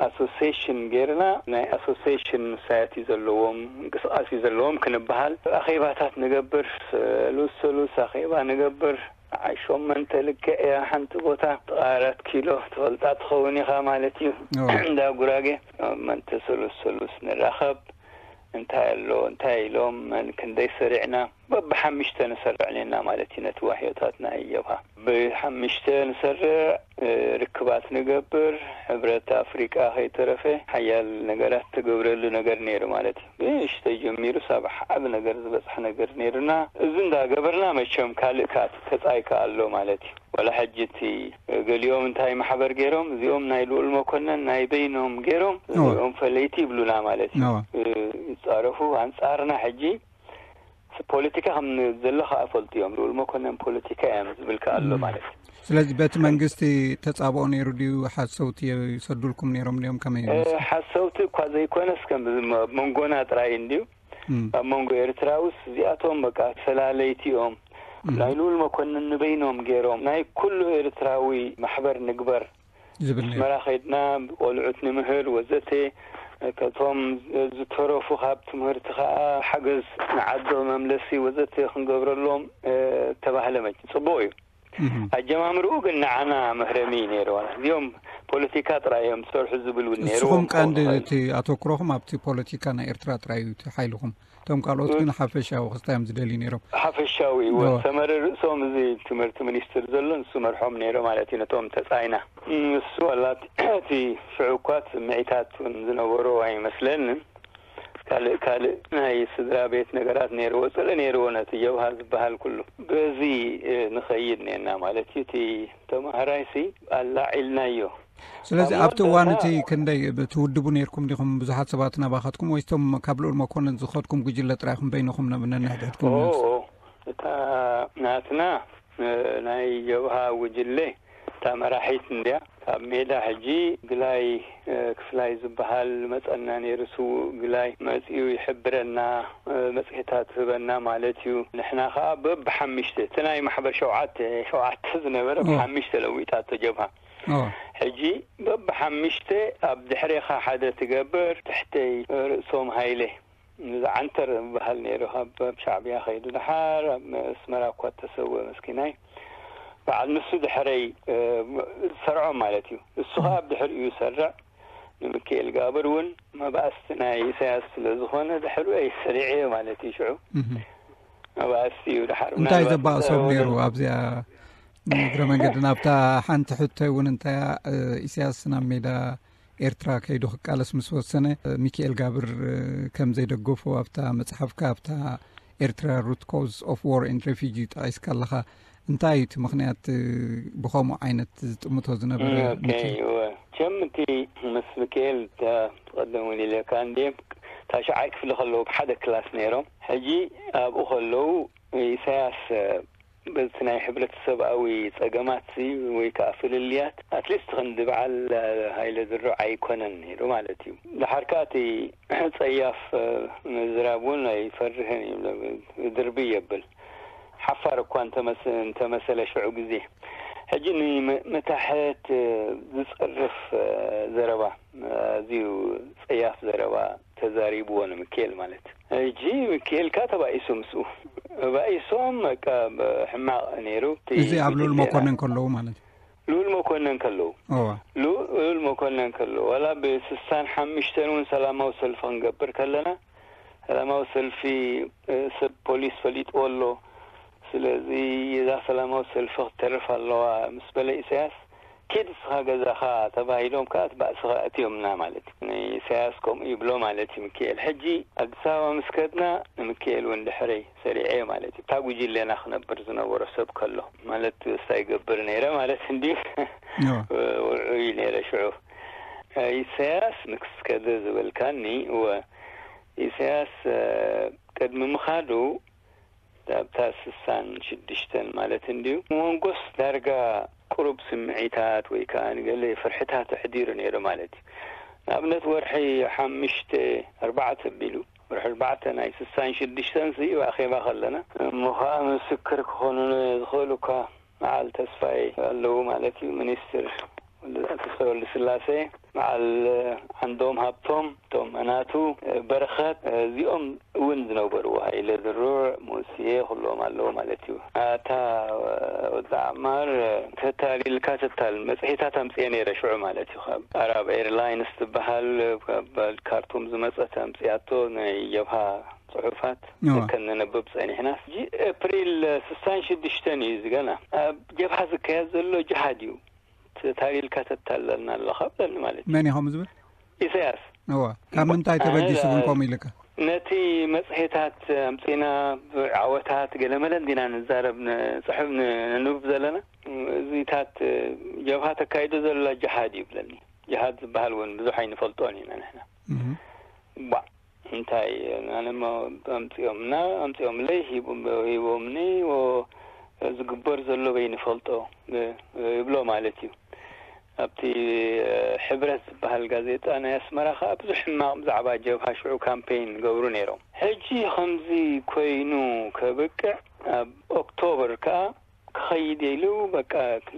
ኣሶሲሽን ጌርና ናይ ኣሶሲሽን ሳይቲ ዘለዎም ምንቅስቃስ እዩ ዘለዎም ክንበሃል ኣኼባታት ንገብር፣ ሰሉስ ሰሉስ ኣኼባ ንገብር። ዓይ ሸመንተ ልክዕ እያ ሓንቲ ቦታ ጥቓ ኣራት ኪሎ ትፈልጣ ትኸውን ኢኻ ማለት እዩ። እንዳ ጉራጌ ሸመንተ ሰሉስ ሰሉስ ንራኸብ እንታይ ኣሎ እንታይ ኢሎም መን ክንደይ ሰሪዕና በብሓምሽተ ንሰርዕ ኔና ማለት እዩ። ነቲ ዋህዮታት ናይ ጀብሃ ብሓምሽተ ንሰርዕ ርክባት ንገብር። ሕብረት ኣፍሪቃ ከይተረፈ ሓያል ነገራት ተገብረሉ ነገር ነይሩ ማለት እዩ። ንእሽተይ ጀሚሩ ሳብ ዓቢ ነገር ዝበፅሐ ነገር ነይሩና። እዚ እንዳገበርና መቸም ካልእ ከኣ ተፃይ ከኣ ኣሎ ማለት እዩ። ወላ ሕጂ እቲ ገሊኦም እንታይ ማሕበር ገይሮም እዚኦም ናይ ልኡል መኮነን ናይ በይኖም ገይሮም እዚኦም ፈለይቲ ይብሉና ማለት እዩ። ይፃረፉ ኣንፃርና ሕጂ ፖለቲካ ከም ዘሎ ከዓ ፈልጡ እዮም። ልኡል መኮነን ፖለቲካ እዮም ዝብል ከዓ ኣሎ ማለት እዩ። ስለዚ በቲ መንግስቲ ተፃብኦ ነይሩ ድዩ? ሓሰውቲ ይሰዱልኩም ነይሮም ድዮም? ከመይ? ሓሰውቲ እኳ ዘይኮነስ ከም መንጎና ጥራይ እንድዩ። ኣብ መንጎ ኤርትራውስ እዚኣቶም በቃ ፈላለይቲ እዮም። ናይ ልኡል መኮንን ንበይኖም ገይሮም ናይ ኩሉ ኤርትራዊ ማሕበር ንግበር ዝብል ነይሩ። ኣስመራ ከይድና ቆልዑት ንምህር ወዘተ፣ ከቶም ዝተረፉ ካብ ትምህርቲ ከዓ ሓገዝ ንዓዲ መምለሲ ወዘተ ክንገብረሎም ተባህለ። መቸም ፅቡቕ እዩ። ኣጀማምርኡ ግን ንዓና መህረሚ እዩ ነይሩ። እዚኦም ፖለቲካ ጥራይ እዮም ዝሰርሑ ዝብል እውን ነይሩ። ንስኹም ቀንዲ እቲ ኣተኩሮኹም ኣብቲ ፖለቲካ ናይ ኤርትራ ጥራይ እዩ፣ እቲ ሓይልኹም። እቶም ካልኦት ግን ሓፈሻዊ ክስታይ እዮም ዝደልዩ ነይሮም። ሓፈሻዊ እዩ። ሰመረ ርእሶም እዚ ትምህርቲ ሚኒስትር ዘሎ ንሱ መርሖም ነይሩ ማለት እዩ። ነቶም ተጻይና ንሱ ዋላ እቲ ሽዑ እኳ ስምዒታት እውን ዝነበሮ ኣይመስለንን። ካልእ ካልእ ናይ ስድራ ቤት ነገራት ነይርዎ፣ ጽልኢ ነይርዎ ነቲ ጀብሃ ዝበሃል ኩሉ። በዚ ንኸይድ ነና ማለት እዩ። እቲ ተማሃራይሲ ኣላዒልናዮ። ስለዚ ኣብቲ እዋን እቲ ክንደይ ትውድቡ ነይርኩም ዲኹም? ብዙሓት ሰባት ናባኻትኩም ወይስ እቶም ካብ ልኡል መኮንን ዝኸድኩም ጉጅለ ጥራይኹም በይንኹም ነንሕድሕድኩም? እታ ናትና ናይ ጀብሃ ጉጅለ እታ መራሒት እንድያ። ካብ ሜዳ ሕጂ ግላይ ክፍላይ ዝበሃል መጸና ነይሩ። ስዉእ ግላይ መጺኡ ይሕብረና፣ መጽሔታት ህበና ማለት እዩ። ንሕና ከኣ በብሓምሽተ እቲ ናይ ማሕበር ሸውዓተ ሸውዓተ ዝነበረ ብሓምሽተ ለዊጣቶ ጀብሃ። ሕጂ በብሓምሽተ ኣብ ድሕሬኻ ሓደ ትገብር፣ ትሕተይ ርእሶም ሃይለ ዝዓንተር ዝበሃል ነይሩ። ካብ ሻዕብያ ከይዱ ድሓር ኣብ ኣስመራ እኳ እተሰወ መስኪናይ በዓል ንሱ ድሕረይ ዝሰርዖም ማለት እዩ። እሱ ከዓ ኣብ ድሕሪኡ ይሰርዕ። ንምክኤል ጋብር እውን መባእስቲ ናይ ኢሳያስ ስለ ዝኾነ ድሕሪኡ ኣይሰሪዐ ማለት እዩ። ሽዑ መባእስቲ እዩ። ድሓር እንታይ ዘባእሶም ነይሩ ኣብዚኣ? ንእግረ መንገዲ ናብታ ሓንቲ ሕቶ እውን እንታይ ኢሳያስ ናብ ሜዳ ኤርትራ ከይዱ ክቃለስ ምስ ወሰነ፣ ሚኪኤል ጋብር ከም ዘይደገፎ ኣብታ መጽሓፍካ ኣብታ ኤርትራ ሩት ኮዝ ኦፍ ዋር ኤንድ ሬፊጂ ጠቒስካ ኣለኻ። እንታይ እዩ እቲ ምኽንያት ብኸምኡ ዓይነት ዝጥምቶ ዝነበረ? ከም እቲ ምስ ሚኪኤል ትቐደም እውን ኢለካ እንዲ ታሽዓይ ክፍሊ ከለዉ ብሓደ ክላስ ነይሮም። ሕጂ ኣብኡ ከለዉ ኢሳያስ በቲ ናይ ሕብረተሰብኣዊ ጸገማት ወይ ከዓ ፍልልያት ኣትሊስት ክንዲ በዓል ሃይለ ድሮ ኣይኮነን ነይሩ ማለት እዩ። ድሓር ከዓ እቲ ጸያፍ ምዝራብ እውን ኣይፈርህን እዩ። ድርቢ የብል ሓፋር እኳ እንተመሰለ ሽዑ ግዜ ሕጂ ንምታሕት ዝጸርፍ ዘረባ ኣዝዩ ጸያፍ ዘረባ ተዛሪብዎ ንምክኤል ማለት። ሕጂ ምክኤል ካ ተባኢሱ ምስኡ ተባኢሶም በቃ ሕማቕ ነይሩ። እዚ ኣብ ልኡል መኮነን ከለዉ ማለት እዩ። ልኡል መኮነን ከለዉ እዋ ልኡል መኮነን ከለዉ ዋላ ብስሳን ሓምሽተን እውን ሰላማዊ ሰልፊ ክንገብር ከለና ሰላማዊ ሰልፊ ሰብ ፖሊስ ፈሊጥዎ ኣሎ። ስለዚ እዛ ሰላማዊ ሰልፊ ክትተርፍ ኣለዋ ምስ በለ ኢሳያስ ኪድ እስኻ ገዛኻ ተባሂሎም ከዓ እቲ ባእስኻ ኣእትዮምና ማለት እዩ። ንኢሳያስ ከምኡ ይብሎ ማለት እዩ ምክኤል። ሕጂ ኣዲስ ኣበባ ምስ ከድና ንምክኤል እውን ድሕረይ ሰሪዐዮ ማለት እዩ። እታ ጉጅለና ክነብር ዝነበሮ ሰብ ከሎ ማለት እስታ ይገብር ነይረ ማለት እንድዩ። ውዑይ ነይረ ሽዑ። ኢሳያስ ንክስከደ ዝበልካኒ እወ ኢሳያስ ቅድሚ ምኻዱ ኣብታ ስሳን ሽዱሽተን ማለት እንድዩ መንጎስ ዳርጋ ቁሩብ ስምዒታት ወይ ከዓ ንገለ ፍርሕታት ኣሕዲሩ ነይሩ ማለት እዩ። ንኣብነት ወርሒ ሓምሽተ ኣርባዕተ ኣቢሉ ወርሒ ኣርባዕተ ናይ ስሳን ሽዱሽተን ሲ ኣኼባ ከለና እሞ ከዓ ምስክር ክኾኑነ ዝኽእሉ እኳ በዓል ተስፋይ ኣለዉ ማለት እዩ። ሚኒስትር ተስፋይ ወልደስላሴ፣ በዓል ዓንዶም ሃብቶም፣ እቶም ናቱ በረኸት እዚኦም እውን ዝነበርዎ ሃይለ ድሩዕ፣ ሙስየ ኩሎም ኣለዉ ማለት እዩ። ኣታ ወዲ ዓማር ተታሊልካ ተታል መፅሄታት ኣምፅኤ ነይረ ሽዑ ማለት እዩ። ካብ ኣራብ ኤርላይንስ ትበሃል ካብ ካርቱም ዝመፀት ኣምፅኣቶ ናይ ጀብሃ ፅሑፋት ከነንብብ ፀኒሕና። ሕጂ ኤፕሪል ስሳን ሽዱሽተን እዩ እዚ ገና ኣብ ጀብሃ ዝካየድ ዘሎ ጅሃድ እዩ። ተታሊልካ ተታለልና ኣለኻ ብለኒ ማለት እዩ። መን ኢኹም ዝብል? ኢሳያስ። እዋ ካብ ምንታይ ተበጊሱ ግን ከምኡ ኢልካ? ነቲ መፅሄታት ኣምፂና ዓወታት ገለመለ እንዲና ንዛረብ ንፅሕፍ ነንብብ ዘለና እዚታት ጀብሃ ተካይዶ ዘላ ጅሃድ እዩ ብለኒ። ጅሃድ ዝበሃል እውን ብዙሕ ኣይንፈልጦን ኢና ንሕና። ባ እንታይ ኣነሞ ኣምፂኦምና ኣምፂኦምለይ ሂቦምኒ ዝግበር ዘሎ በይንፈልጦ ይብሎ ማለት እዩ። ኣብቲ ሕብረት ዝበሃል ጋዜጣ ናይ ኣስመራ ከዓ ብዙሕ ሕማቕ ብዛዕባ ጀብሃ ሽዑ ካምፔይን ገብሩ ነይሮም። ሕጂ ከምዚ ኮይኑ ከብቅዕ ኣብ ኦክቶበር ከዓ ክኸይድ ኢሉ በቃ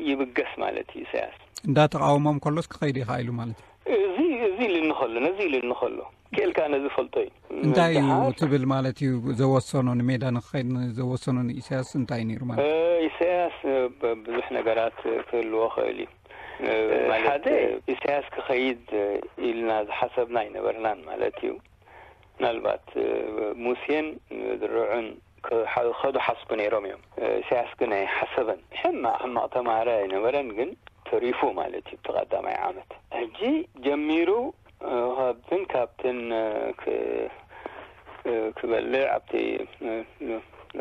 ይብገስ ማለት እዩ ኢሳያስ። እንዳተቃወሞም ከሎስ ክኸይድ ኢኻ ኢሉ ማለት እዩ። እዚ እዚ ኢሉኒ ከሎ ነዚ ኢሉኒ ከሎ ክእልካ ነዚ ፈልጦ እዩ። እንታይ እዩ ትብል ማለት እዩ? ዘወሰኖ ንሜዳ ንክኸይድ ዘወሰኖ ንኢሳያስ እንታይ ነይሩ ማለት እዩ? ኢሳያስ ኢሳያስ ብ-፣ ብዙሕ ነገራት ክህልዎ ክእል እዩ። እ፣ ማለት ሓደ እ፣ ኢሳያስ ክኸይድ ኢልና ዝሓሰብና ኣይነበርናን ማለት እዩ። ምናልባት እ፣ ሙሴን ድርዑን ክሓ-፣ ክኸዱ ሓስቡ ነይሮም እዮም። እ፣ ኢሳያስ ግን ኣይሓሰበን። ሕማቕ ሕማቕ ተማሃራይ ኣይነበረን፣ ግን ተሪፉ ማለት እዩ። እቲ ቀዳማይ ዓመት ሕጂ ጀሚሩ እ፣ ካብትን ካብትን እ፣ ክ-፣ እ፣ ክበልዕ ኣብቲ እ፣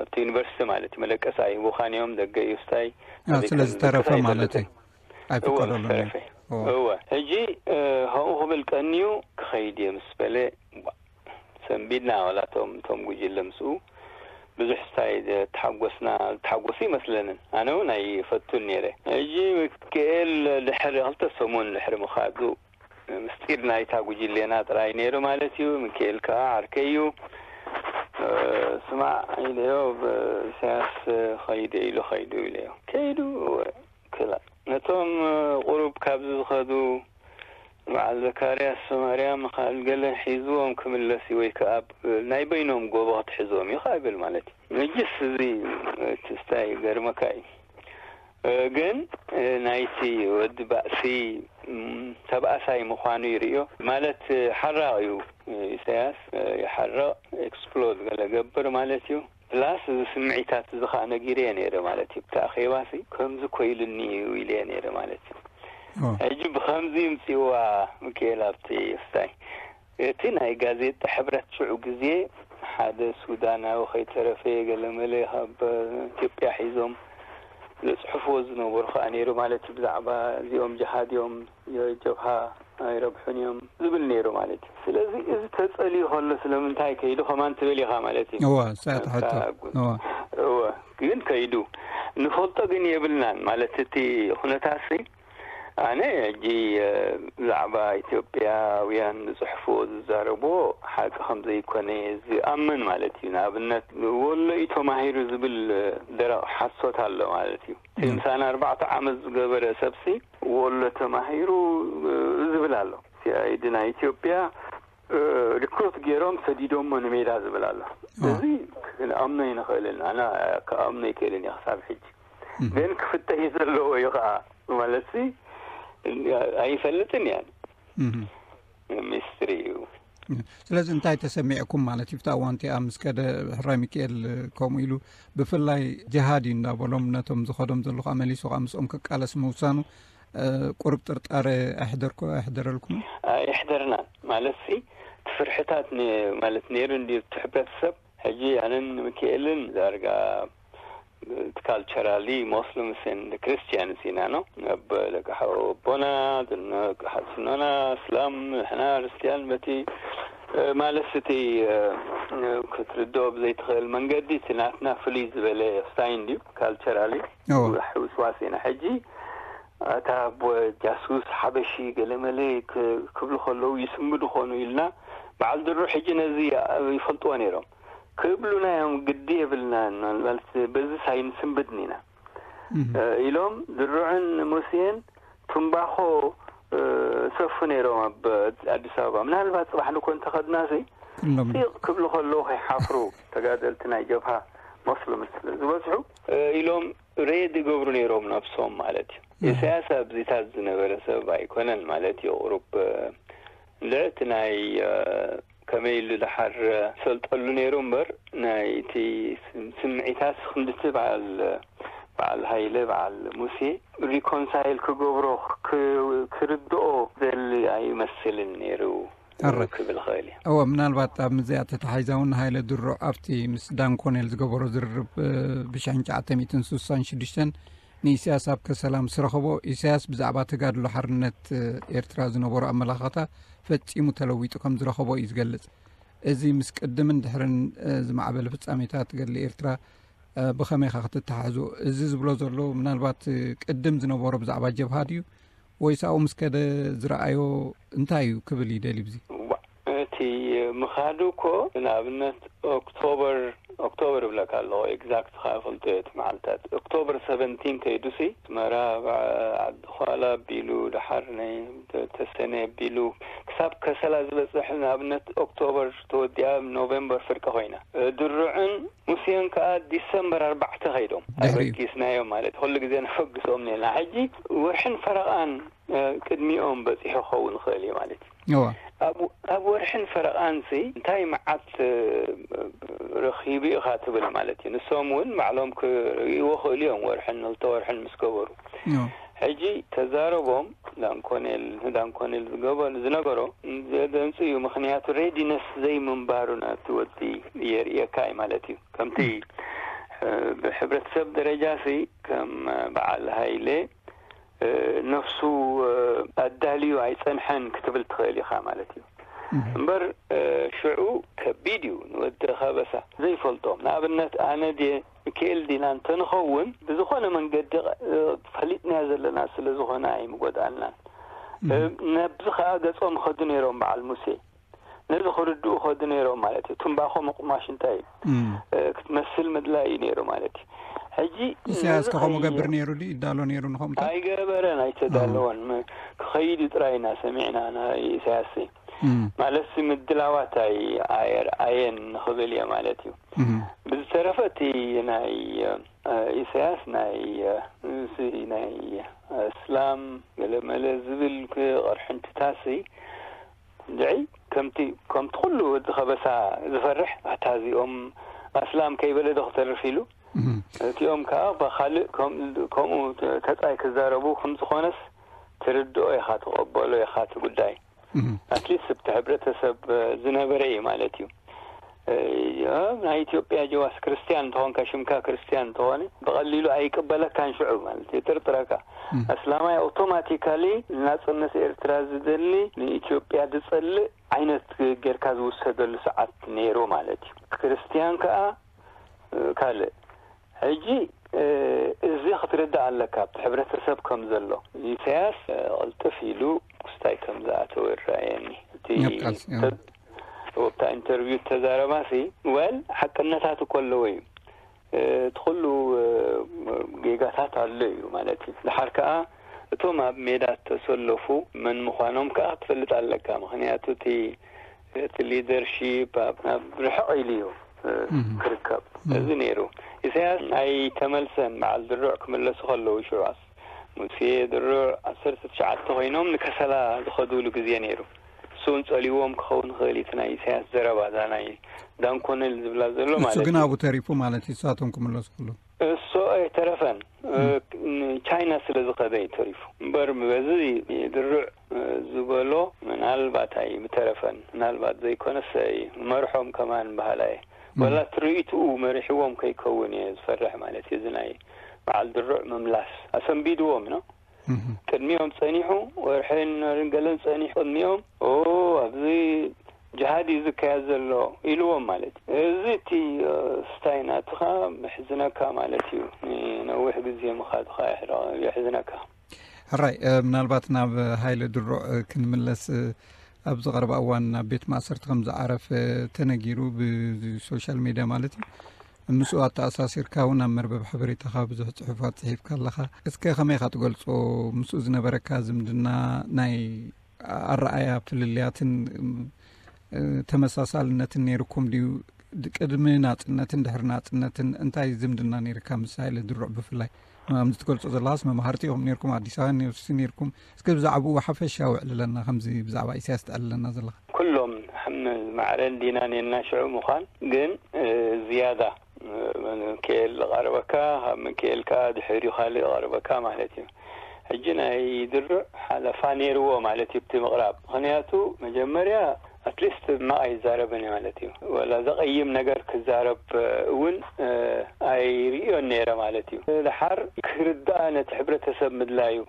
ኣብቲ ዩኒቨርሲቲ ማለት እዩ። መደቀሲ ኣይህቡኻን እዮም፣ ደገ እዩ ስታይ። አ፣ ስለዚ ተረፈ ማለት እዩ። እወ፣ ኣይፍቀደሉን እዩ። ተረፈ። እወ። እወ። ሕጂ እ፣ ከምኡ ክብል ቀንዩ ክኸይድ እየ ምስ በለ፣ ዋ፣ ሰንቢድና ዋላ እቶም፣ እቶም ጉጅለ ምስኡ ብዙሕ ስታይ ተሓጎስና፣ ተሓጎሱ ይመስለንን። ኣነ እውን ኣይፈቱን ነይረ። ሕጂ ሚካኤል ድሕሪ ክልተ ሰሙን ድሕሪ ምኻዱ፣ ምስጢር ናይታ ጉጅሌና ጥራይ ነይሩ ማለት እዩ። ሚካኤል ከኣ ዓርከይ እዩ። እ፣ ስማዕ ኢለዮ፣ ብ-፣ ኢሳያስ ኸይደ ኢሉ ኸይዱ ኢለዮ። ከይዱ ክላ-፣ ነቶም ቁሩብ ካብዚ ዝኸዱ በዓል ዘካርያስ ማርያም፣ ካልእ ገለ ሒዝዎም ክምለስ እዩ ወይ ከኣ ብ-፣ ናይ በይኖም ጎቦ ክትሕዝዎም እዩ ከኣ ይብል ማለት እዩ። ሕጅስ እዚ እቲ ስታይ ገርመካ እዩ። እ፣ ግን እ፣ ናይቲ ወዲ ባእሲ ም፣ ተባእሳይ ምዃኑ ይርእዮ። ማለት እ፣ ሓራቕ እዩ። እ፣ ኢሳያስ እ፣ ይሓርቕ፣ ኤክስፕሎድ ገለ ገብር ማለት እዩ። ፕላስ እዚ ስምዒታት እዚ ኸዓ ነጊረዮ ነይረ ማለት እዩ። ብቲ ኣኼባሲ ከምዚ ኮይሉኒ እዩ ኢለዮ ነይረ ማለት እዩ። ኦ። ሕጂ ብኸምዚ ይምፅእዋ ሚካኤል ኣብቲ ስታይ። እቲ ናይ ጋዜጣ ሕብረት ሽዑ ግዜ ሓደ ሱዳናዊ ከይተረፈ ገለመለ ካብ ኢትዮጵያ ሒዞም ዘፅሕፍዎ ዝነበሩ ኸዓ ነይሩ ማለት እዩ። ብዛዕባ እዚኦም ጅሃድ እዮም፣ ጀብሃ ኣይረብሑን እዮም ዝብል ነይሩ ማለት እዩ። ስለዚ እዚ ተጸልዩ ከሎ ስለምንታይ ከይዱ ከማን ትብል ኢኻ ማለት እዩ። እወ፣ እሳ እያ ትሕቶ። እታ ጉ-፣ እወ። እወ፣ ግን ከይዱ ንፈልጦ ግን የብልናን ማለት እቲ ኩነታሲ። ኣነ ሕጂ እ፣ ብዛዕባ ኢትዮጵያውያን ዝጽሕፍዎ ዝዛረብዎ ሓቂ ከም ዘይኮነ ዝኣምን ማለት እዩ። ንኣብነት ወሎ እዩ ተማሂሩ ዝብል እ፣ ደረቕ ሓሶት ኣሎ ማለት እዩ። እቲ እም። ምሳና ኣርባዕተ ዓመት ዝገበረ ሰብሲ ወሎ ተማሂሩ እ፣ ዝብል ኣሎ። ሲኣይዲ ናይ ኢትዮጵያ እ፣ ሪክሩት ገይሮም ሰዲዶሞ ንሜዳ ዝብል ኣሎ። እ። እዚ ክንኣምኖ ኣይንኽእልን። ኣነ ክኣምኖ ኣይክእልን እየ ክሳብ ሕጂ። እም። ግን ክፍተሽ ዘለዎ እዩ ኸዓ። ማለትሲ ኣይፈልጥን እየ። እም። ሚስትሪ እዩ። ስለዚ እንታይ ተሰሚዕኩም ማለት እዩ? ኣብቲ እዋን እቲኣ ምስ ከደ ሕራይ ሚካኤል ከምኡ ኢሉ ብፍላይ ጅሃድ እዩ እንዳበሎም ነቶም ዝኸዶም ዘለኹ መሊሱ ከዓ ምስኦም ክቃለስ ምውሳኑ እ፣ ቁሩብ ጥርጣረ ኣሕደርኩ-፣ ኣሕደረልኩም? ኣይሕደርናን። ማለትሲ እቲ ፍርሕታት ነ-፣ ማለት ነይሩ እንድዩ እቲ ሕብረተሰብ። ሕጂ ኣነን ሚካኤልን ዳርጋ እቲ ካልቸራሊ ሞስሊምስ ኤንድ ክርስቲያንስ ኢና ነው። ኣብ ደቂ ሓው ኣቦና፣ ደቂ ሓትኖና፣ እስላም፣ ንሕና ክርስቲያን በቲ እ፣ ማለት እቲ እ፣ ክትርድኦ ብዘይትኽእል መንገዲ እቲ ናትና ፍልይ ዝበለ ስታይ እንድዩ ካልቸራሊ እዎ። ውስዋስ ኢና። ሕጂ ኣታ ኣቦ ጃሱስ ሓበሺ ገለመለ ክ-፣ ክብሉ ከለዉ ይስምዱ ኾኑ ኢልና በዓል ድሩ ሕጂ ነዚ ይፈልጥዎ ነይሮም። ክብሉና እዮም፣ ግዲ የብልናን። ማለት በዚ ሳይንስንብድን ኢና። እህ። እ፣ ኢሎም ድሩዕን ሙሴን ትምባኾ እ፣ ሰፉ ነይሮም ኣብ ኣዲስ ኣበባ። ምናልባት ጽባሕ ንኮ እንተኸድናሲ ኩሎም። ጢቕ ክብሉ ከለዉ ከይሓፍሩ ተጋደልቲ ናይ ጀብሃ ሞስሊም ስለ ዝበዝሑ እ፣ ኢሎም ሬድ ይገብሩ ነይሮም ነብሶም ማለት እዩ። እህ። ኢሳያስ ኣብዚታት ዝነበረ ሰብ ኣይኮነን ማለት እዩ። ቁሩብ እ፣ እንድዒ እቲ ናይ እ፣ ከመይ ኢሉ ድሓር ሰልጠሉ ነይሩ እምበር ናይ እቲ ስም-፣ ስምዒታት ክንድቲ በዓል በዓል ሃይለ በዓል ሙሴ ሪኮንሳይል ክገብሮ ክ-፣ ክርድኦ ዘሊ ኣይመስልን ነይሩ ኣረ። ክብል ኽእል እየ። እወ፣ ምናልባት ኣብ ምዚኣ ተታሒዛ እውን ሃይለ ድሮ ኣብቲ ምስ ዳን ኮኔል ዝገበሮ ዝርርብ እ፣ ብሽሕን ትሽዓተ ሚእትን ስሳን ሽዱሽተን ንኢሳያስ ኣብ ከሰላ ምስ ረኸቦ፣ ኢሳያስ ብዛዕባ ተጋድሎ ሓርነት እ፣ ኤርትራ ዝነበሮ ኣመላኻታ ፈጺሙ ተለዊጡ ከም ዝረኸቦ እዩ ዝገልጽ። እዚ ምስ ቅድምን ድሕርን እ፣ ዝማዕበለ ፍጻሜታት ገድሊ ኤርትራ እ፣ ብኸመይ ኢኻ ክትተሓሕዞ? እዚ ዝብሎ ዘሎ ምናልባት እ፣ ቅድም ዝነበሮ ብዛዕባ ጀብሃ ድዩ? ወይስ ኣብኡ ምስ ከደ ዝረኣዮ እንታይ እዩ ክብል ይደሊ ብዚ? ዋ፣ እቲ ምኻዱ እኮ ንኣብነት ኦክቶበር ኦክቶበር እብለካ ኣለኹ፣ ኤግዛክት ኸኣ ፈልጦ እየ እቲ መዓልታት። ኦክቶበር ሰቨንቲን ከይዱሲ ኣስመራ፣ ዓዲ ዃላ ኣቢሉ፣ ደሓር ናይ ተሰነ ኣቢሉ፣ ክሳብ ከሰላ ዝበጽሕ፣ ንኣብነት ኦክቶበር ተወዲኣ ኖቬምበር ፍርቂ ኮይና። ድሩዕን ሙሴን ከኣ ዲሰምበር ኣርባዕተ ከይዶም። ድሕሪኡ። ኣበጊስናዮም ማለት፣ ኩሉ ግዜ ነፈግሶም ነና። ሕጂ ወርሕን ፈረቓን፣ እ፣ ቅድሚኦም በጺሑ ክኸውን ይኽእል እዩ ማለት እዩ። እዋ። ኣብ፣ ኣብ ወርሕን ፈረቓንሲ እንታይ መዓት፣ እ፣ ረኺቡ ኢኻ ትብል ማለት እዩ። ንሶም እውን ባዕሎም ክርእይዎ ክእሉ እዮም፣ ወርሕን ክልተ ወርሕን ምስ ገበሩ። እዋ። ሕጂ ተዛረቦም ዳንኮኔል፣ ዳንኮኔል ዝገበ-፣ ዝነገሮ ዘደንጽ እዩ። ምኽንያቱ ሬዲነስ ዘይምንባሩ ነቲ ወዲ የርእየካ እዩ ማለት እዩ። ከምቲ፣ እ፣ ብሕብረተሰብ ደረጃሲ ከም በዓል ሃይለ፣ እ፣ ነፍሱ፣ እ፣ ኣዳልዩ ኣይጸንሐን ክትብል ትኽእል ኢኻ ማለት እዩ። እምበር፣ እ፣ ሽዑ ከቢድ እዩ ንወዲ ከበሳ ዘይፈልጦም። ንኣብነት ኣነ ድየ ሚካኤል ዲና እንተንኸውን ብዝኾነ መንገዲ፣ እ፣ ፈሊጥናዮ ዘለና ስለ ዝኾነ ኣይምጎድኣልናን። እ፣ ነብዚ ከኣ ገጾም ኸዱ ነይሮም በዓል ሙሴ። ነዚ ክርድኡ ኸዱ ነይሮም ማለት እዩ። ትምባኾ ምቁማሽ እንታይ እዩ? እም። እ፣ ክትመስል ምድላይ እዩ ነይሩ ማለት እዩ። ሕጂ ኢሳያስ ነዚ ከ ከምኡ ከይ- ገብር ነይሩ ድዩ? ይዳሎ ነይሩ ንኸምኡ? ኣይገበረን፣ ኣይተዳለወን። ም-፣ ክኸይድ እዩ ጥራይ ኢና ሰሚዕና፣ ናይ ኢሳያስ። እም። ማለትሲ ምድላዋት ኣይ-፣ ኣየርኣየን ንኽብል እየ ማለት እዩ። እም። ብዝተረፈ እቲ ናይ፣ እ፣ ኢሳያስ ናይ፣ እ፣ እዚ ናይ እስላም ገለመለ ዝብል ክ-፣ ቅርሕንትታሲ እንድዒ ከምቲ፣ ከምቲ ኩሉ ወዲ ከበሳ ዝፈርሕ፣ ኣታ እዚኦም ኣስላም ከይበለ ዶ ክተርፍ ኢሉ፣ እም። እቲኦም ከኣ ብኻልእ ከም-፣ ከምኡ ተ-፣ ተጻይ ክዛረቡ ከም ዝኾነስ ትርድኦ ኢኻ፣ ትቐበሎ ኢኻ እቲ ጉዳይ። እም። ኣትሊስት ኣብቲ ሕብረተሰብ ዝነበረ እዩ ማለት እዩ። እ፣ ናይ ኢትዮጵያ ጀዋስ ክርስትያን እንተኾንካ፣ ሽምካ ክርስትያን እንተኾነ ብቐሊሉ ኣይቅበለካን ሽዑ ማለት እዩ፣ ይጥርጥረካ። እም። ኣስላማይ ኣውቶማቲካሊ ናጽነት ኤርትራ ዝደሊ፣ ንኢትዮጵያ ዝጸልእ ዓይነት ጌርካ ዝውሰደሉ ሰዓት ነይሩ ማለት እዩ። ክርስትያን ከኣ፣ እ፣ ካልእ። ሕጂ፣ እ፣ እዚ ክትርዳእ ኣለካ፣ ኣብቲ ሕብረተሰብ ከም ዘሎ። ኢሳያስ፣ እ፣ ቅልጥፍ ኢሉ ክስታይ ከም ዝኣተወ ይረኣየኒ። እቲ ናብ ቃልሲ፣ እ። ተ-፣ ኣብታ ኢንተርቪው ተዛረባሲ፣ ወል፣ ሓቅነታት እኮ ኣለዎ እዩ። እ፣ እቲ ኩሉ፣ እ፣ ጌጋታት ኣሎ እዩ ማለት እዩ። ድሓር ከኣ እቶም ኣብ ሜዳ እተሰለፉ መን ምዃኖም ከኣ ክትፈልጥ ኣለካ። ምኽንያቱ እቲ፣ እቲ ሊደርሺፕ ኣብ፣ ኣብ ርሕቕ ኢሉ እዩ፣ እ፣ እም። ክርከብ። እም። እዚ ነይሩ። ኢሳያስ ኣይተመልሰን፣ በዓል ድሩዕ ክምለሱ ከለዉ ሽዑ። ሙሴ ድሩዕ ዓሰርተ ትሽዓተ ኮይኖም ንከሰላ ዝኸዱሉ ግዜ ነይሩ። እሱ እውን ጸልይዎም ክኸውን ይኽእል እዩ፣ እቲ ናይ ኢሳያስ ዘረባ፣ እዛ ናይ ዳንኮነል ዝብላ ዘሎ ንሱ ማለት ግን እዩ። ኣብኡ ተሪፉ ማለት እዩ፣ ንሳቶም ክምለሱ ከለዉ። እሱ ኣይተረፈን። እ፣ እም። ንቻይና ስለ ዝኸደ እዩ ተሪፉ። እምበር በዚ ድሩዕ፣ እ፣ ዝበሎ ምናልባት ኣይምተረፈን። ምናልባት ዘይኮነስ ኣይመርሖም ከማን በሃላይ። እም። ወላ ትርኢትኡ መሪሕዎም ከይከውን እየ ዝፈርሕ ማለት እዩ። እዚ ናይ በዓል ድሩዕ ምምላስ ኣሰንቢድዎም ነው። እም። ቅድሚኦም ጸኒሑ፣ ወርሕን ወርን ገለን ጸኒሑ ቅድሚኦም፣ "ኦ፣ ኣብዚ ጅሃድ እዩ ዝካየድ ዘሎ" ኢልዎም ማለት እዩ። እዚ እቲ፣ እ፣ ስታይ ናትኻ የሕዝነካ ማለት እዩ። ንነዊሕ ግዜ ምኻድኻ የሕረ-፣ የሕዝነካ። ሕራይ፣ እ፣ ምናልባት ናብ ሃይለ ድሩዕ፣ እ፣ ክንምለስ፣ እ፣ ኣብዚ ቀረባ እዋን ናብ ቤት ማእሰርቲ ከም ዝዓረፈ ተነጊሩ፣ ብሶሻል ሜድያ ማለት እዩ። ምስኡ ኣተኣሳሲርካ እውን ኣብ መርበብ ሓበሬታኻ ብዙሕ ጽሑፋት ጽሒፍካ ኣለኻ። እስከ ከመይ ኢኻ ትገልጾ? ምስኡ ዝነበረካ ዝምድና፣ ናይ ኣረኣያ ፍልልያትን፣ እ፣ ተመሳሳልነትን ነይርኩም ድዩ? ድ-፣ ቅድሚ ናጽነትን ድሕሪ ናጽነትን እንታይ ዝምድና ነይርካ ምስ ሃይለ ድሩዕ ብፍላይ? ከምዚ ትገልጾ ዘለኻስ መማህርቲ ኢኹም ነይርኩም፣ ኣዲስ ኣበባ ዩኒቨርሲቲ ነይርኩም። እስከ ብዛዕባኡ ሓፈሻዊ ኣዕልለና፣ ከምዚ ብዛዕባ ኢሳያስ ተዕልለና ዘለኻ። ኩሎም ሓመ-፣ ማዕረን ዲናን የናሽዑ ምዃን ግን፣ እ፣ ዝያዳ፣ እ፣ ሚካኤል ዝቐርበካ፣ ካብ ሚካኤል ከኣ ድሕሪኡ ካልእ ይቐርበካ ማለት እዩ። ሕጂ ናይ ድሩዕ ሓለፋ ነይርዎ ማለት እዩ፣ ብቲ ምቕራብ። ምኽንያቱ መጀመርያ ኣትሊስት ሕማቕ ኣይዛረብን እዩ ማለት እዩ። ወላ ዘቐይም ነገር ክዛረብ እውን፣ እ፣ ኣይርእዮን ነይረ ማለት እዩ። ድሓር ክርዳእ ነቲ ሕብረተሰብ ምድላዩ።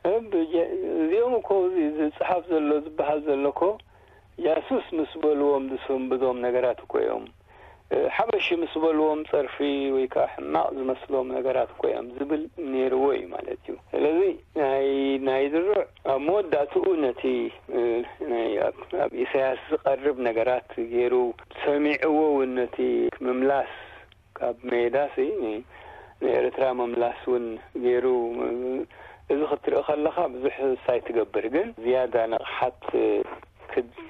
እ፣ ብጀ-፣ እዚኦም እኮ እዚ ዝጸሓፍ ዘሎ፣ ዝበሃል ዘሎ እኮ ጃሱስ ምስ በልዎም ዝሰንብዶም ነገራት እኮ እዮም። እ፣ ሓበሺ ምስ በልዎም ጸርፊ ወይ ከኣ ሕማቕ ዝመስሎም ነገራት እኮ እዮም ዝብል ነይርዎ እዩ ማለት እዩ። ስለዚ ናይ፣ ናይ ድሩዕ ኣብ መወዳእትኡ ነቲ፣ እ፣ ናይ ኣብ፣ ኣብ ኢሳያስ ዝቐርብ ነገራት ገይሩ ሰሚዕዎ እውን ነቲ ምምላስ ካብ ሜዳሲ ንኤርትራ ምምላስ እውን ገይሩ። እዚ ክትርኢ ከለኻ ብዙሕ ሳይ ትገብር፣ ግን ዝያዳ ንቕሓት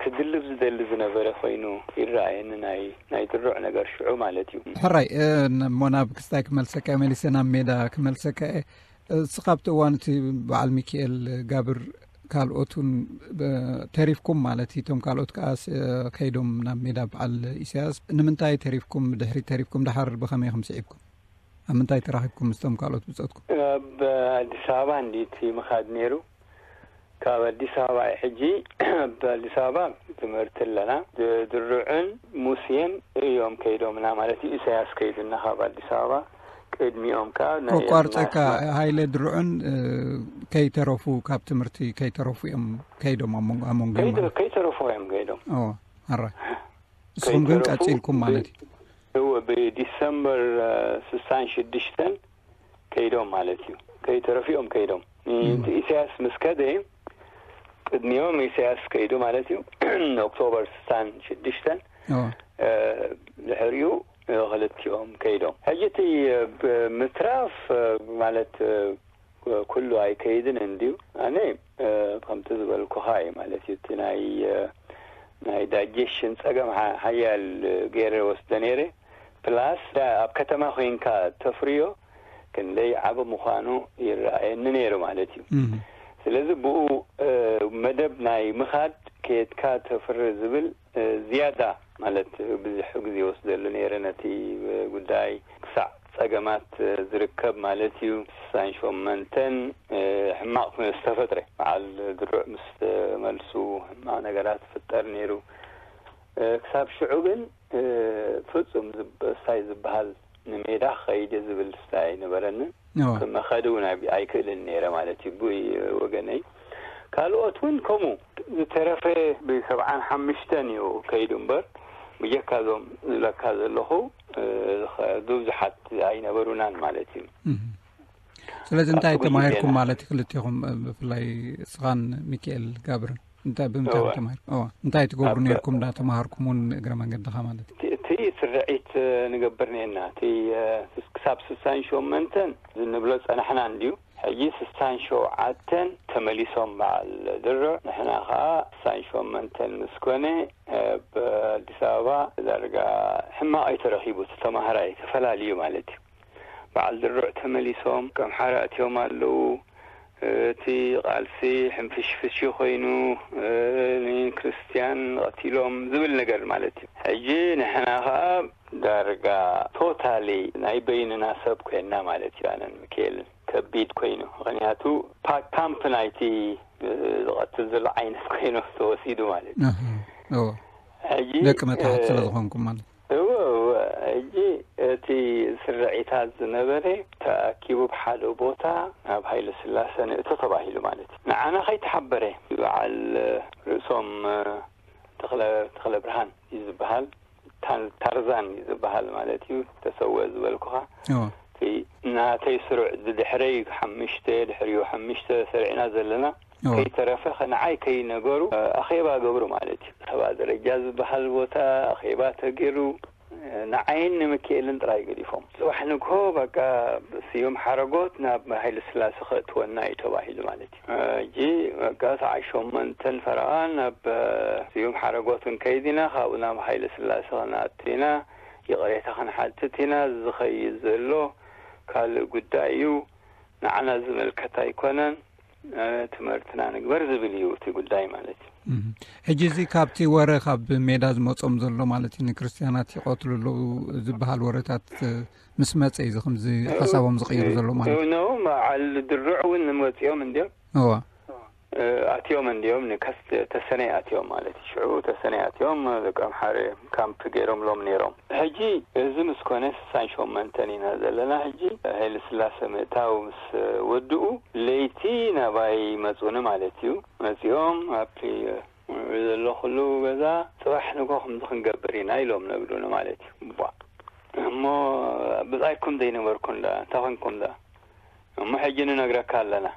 ክድልብ ዝደሊ ዝነበረ ኮይኑ ይረኣየኒ፣ ናይ ናይ ድሩዕ ነገር ሽዑ ማለት እዩ። ሕራይ። እሞ ናብ ክስታይ ክመልሰካ፣ መሊሰ ናብ ሜዳ ክመልሰካ እየ። እስኻ ኣብቲ እዋን እቲ በዓል ሚኪኤል ጋብር ካልኦት እውን ተሪፍኩም ማለት እዩ። እቶም ካልኦት ከዓ ከይዶም ናብ ሜዳ በዓል ኢሳያስ። ንምንታይ ተሪፍኩም? ድሕሪ ተሪፍኩም ደሓር ብኸመይ ከም ስዒብኩም? ኣብ ምንታይ ተራኺብኩም ምስቶም ካልኦት ብጾትኩም? ኣብ ኣዲስ ኣበባ እንዲ እቲ ምኻድ ነይሩ። ካብ ኣዲስ ኣበባ እዩ። ሕጂ ኣብ ኣዲስ ኣበባ ትምህርቲ ኣለና። ድሩዕን ሙስየን እዮም ከይዶምና ማለት እዩ። ኢሳያስ ከይዱና ካብ ኣዲስ ኣበባ ቅድሚኦም ከዓ ናይ ኮቋርፀካ። ሃይለ ድሩዕን ከይተረፉ፣ ካብ ትምህርቲ ከይተረፉ እዮም ከይዶም። ኣሞንጎ ኣሞንጎ እዮም ማለት። ከይተረፉ እዮም ከይዶም። ኣራ ንስኹም ግን ቀፂልኩም ማለት እዩ። እወ፣ ብዲሰምበር ስሳን ሽዱሽተን ከይዶም ማለት እዩ። ከይተረፊኦም ከይዶም። ኢሳያስ ምስ ከደ ቅድሚኦም ኢሳያስ ከይዱ ማለት እዩ። ኦክቶበር ስሳን ሽዱሽተን ድሕሪኡ ክልቲኦም ከይዶም። ሕጂ እቲ ምትራፍ ማለት ኩሉ ኣይከይድን እንድዩ። ኣነ ከምቲ ዝበልኩኻ እዩ ማለት እዩ። እቲ ናይ ናይ ዳይጀሽን ጸገም ሓያል ገይረ ወስደ ነይረ። ፕላስ ኣብ ከተማ ኮይንካ ተፍርዮ ክንደይ ዓቢ ምዃኑ ይረኣየኒ ነይሩ ማለት እዩ። ስለዚ ብኡ መደብ ናይ ምኻድ ከየድካ ተፍሪ ዝብል ዝያዳ ማለት ብዙሕ ግዜ ወስደሉ ነይረ ነቲ ጉዳይ ክሳዕ ጸገማት ዝርከብ ማለት እዩ። ስሳን ሸመንተን ሕማቕ ዝተፈጥረ በዓል ድሩዕ ምስ ተመልሱ ሕማቕ ነገራት ይፍጠር ነይሩ። ክሳብ ሽዑ ግን ፍጹም ሳይ ዝበሃል ንሜዳ ክኸይድ ዝብል ስታይ ኣይነበረንን። ክመኸድ እውን ኣይክእልን ነይረ ማለት እዩ። ብይ ወገነይ ካልኦት እውን ከምኡ ዝተረፈ ብሰብዓን ሓምሽተን እዩ ከይዱ እምበር ብጀካ እዞም ዝብለካ ዘለኹ ብዙሓት ኣይነበሩናን ማለት እዩ። ስለዚ እንታይ ተማሂርኩም ማለት እዩ ክልቴኹም፣ ብፍላይ ስኻን ሚካኤል ጋብርን? እንታይ ብምንታይ ተማሂርኩም? እንታይ ትገብሩ ነርኩም? ዳ ተማሃርኩም እውን እግረ መንገድኻ ማለት እዩ። እቲ ስርዒት ንገብር ነና እቲ ክሳብ ስሳን ሸመንተን ንብሎ ጸናሕና እንድዩ። ሕጂ ስሳን ሸውዓተን ተመሊሶም በዓል ድርዕ፣ ንሕና ከዓ ስሳን ሸመንተን ምስ ኮነ ኣብ ኣዲስ ኣበባ ዳርጋ ሕማቕ እዩ ተረኺቡ። እቲ ተማሃራይ ተፈላልዩ ማለት እዩ። በዓል ድርዕ ተመሊሶም ከም ሓራ እትዮም ኣለዉ። እቲ ቃልሲ ሕንፍሽፍሽ ኮይኑ ንክርስትያን ቀቲሎም ዝብል ነገር ማለት እዩ። ሕጂ ንሕና ከዓ ዳርጋ ቶታሊ ናይ በይንና ሰብ ኮይንና ማለት እዩ። ኣነን ሚካኤልን ከቢድ ኮይኑ፣ ምክንያቱ ፓክ ካምፕ ናይቲ ዝቐትል ዘሎ ዓይነት ኮይኑ ተወሲዱ ማለት እዩ። ሕጂ ደቂ መታሕት ስለ ዝኾንኩም ማለት እወ እወ። ሕጂ እቲ ስርዒታት ዝነበረ ተኣኪቡ ብሓደ ቦታ ናብ ሃይለ ስላሰ ንእቶ ተባሂሉ ማለት እዩ። ንዓና ከይተሓበረ በዓል ርእሶም ተኽለ ተኽለ ብርሃን እዩ ዝበሃል። ታን- ታርዛን እዩ ዝበሃል ማለት እዩ። ተሰወ ዝበልኩኻ እቲ ናተይ ስሩዕ ብድሕረይ ሓምሽተ ድሕሪኡ ሓምሽተ ሰሪዕና ዘለና ከይተረፈ ንዓይ ከይነገሩ ኣኼባ ገብሩ ማለት እዩ። ሰባ ደረጃ ዝበሃል ቦታ ኣኼባ ተገይሩ ንዓይን ንምክኤልን ጥራይ ገዲፎም። ጽባሕ ንግሆ በቃ ስዩም ሓረጎት ናብ ሃይለ ስላሴ ከእትወና እዩ ተባሂሉ ማለት እዩ። ሕጂ በቃ ሰዓት ሸሞንተን ፈረቓ ናብ ስዩም ሓረጎት ክንከይድ ኢና፣ ካብኡ ናብ ሃይለ ስላሴ ክንኣቱ ኢና፣ ይቕሬታ ክንሓትት ኢና። ዝኸይድ ዘሎ ካልእ ጉዳይ እዩ፣ ንዓና ዝምልከት ኣይኮነን። ትምህርትና ንግበር ዝብል እዩ እቲ ጉዳይ ማለት እዩ። ሕጂ እዚ ካብቲ ወረ ካብ ሜዳ ዝመጾም ዘሎ ማለት እዩ፣ ንክርስትያናት ይቐትሉ ኣለዉ ዝበሃል ወረታት ምስ መጸ እዩ ከምዚ ሓሳቦም ዝቕይሩ ዘሎ ማለት እዩ። ኖ በዓል ድሩዕ እውን መጺኦም እንድዮም። እዋ ኣትዮም እንድዮም ንከስ ተሰነይ ኣትዮም ማለት እዩ። ሽዑ ተሰነይ ኣትዮም ደቂ ኣምሓረ ካምፕ ገይሮምሎም ነይሮም። ሕጂ እዚ ምስ ኮነ ስሳን ሸሞንተን ኢና ዘለና። ሕጂ ሃይለ ስላሰ ምእታው ምስ ወድኡ ለይቲ ናባይ መጹኒ ማለት እዩ። መጺኦም ኣብቲ ዘለኹሉ ገዛ ጽባሕ ንግሆ ከምዚ ክንገብር ኢና ኢሎም ነግሩኒ ማለት እዩ። ቧዕ እሞ ብጻይኩም ዘይነበርኩ እንዳ እንታይ ኮንኩም ዳ እሞ ሕጂ ንነግረካ ኣለና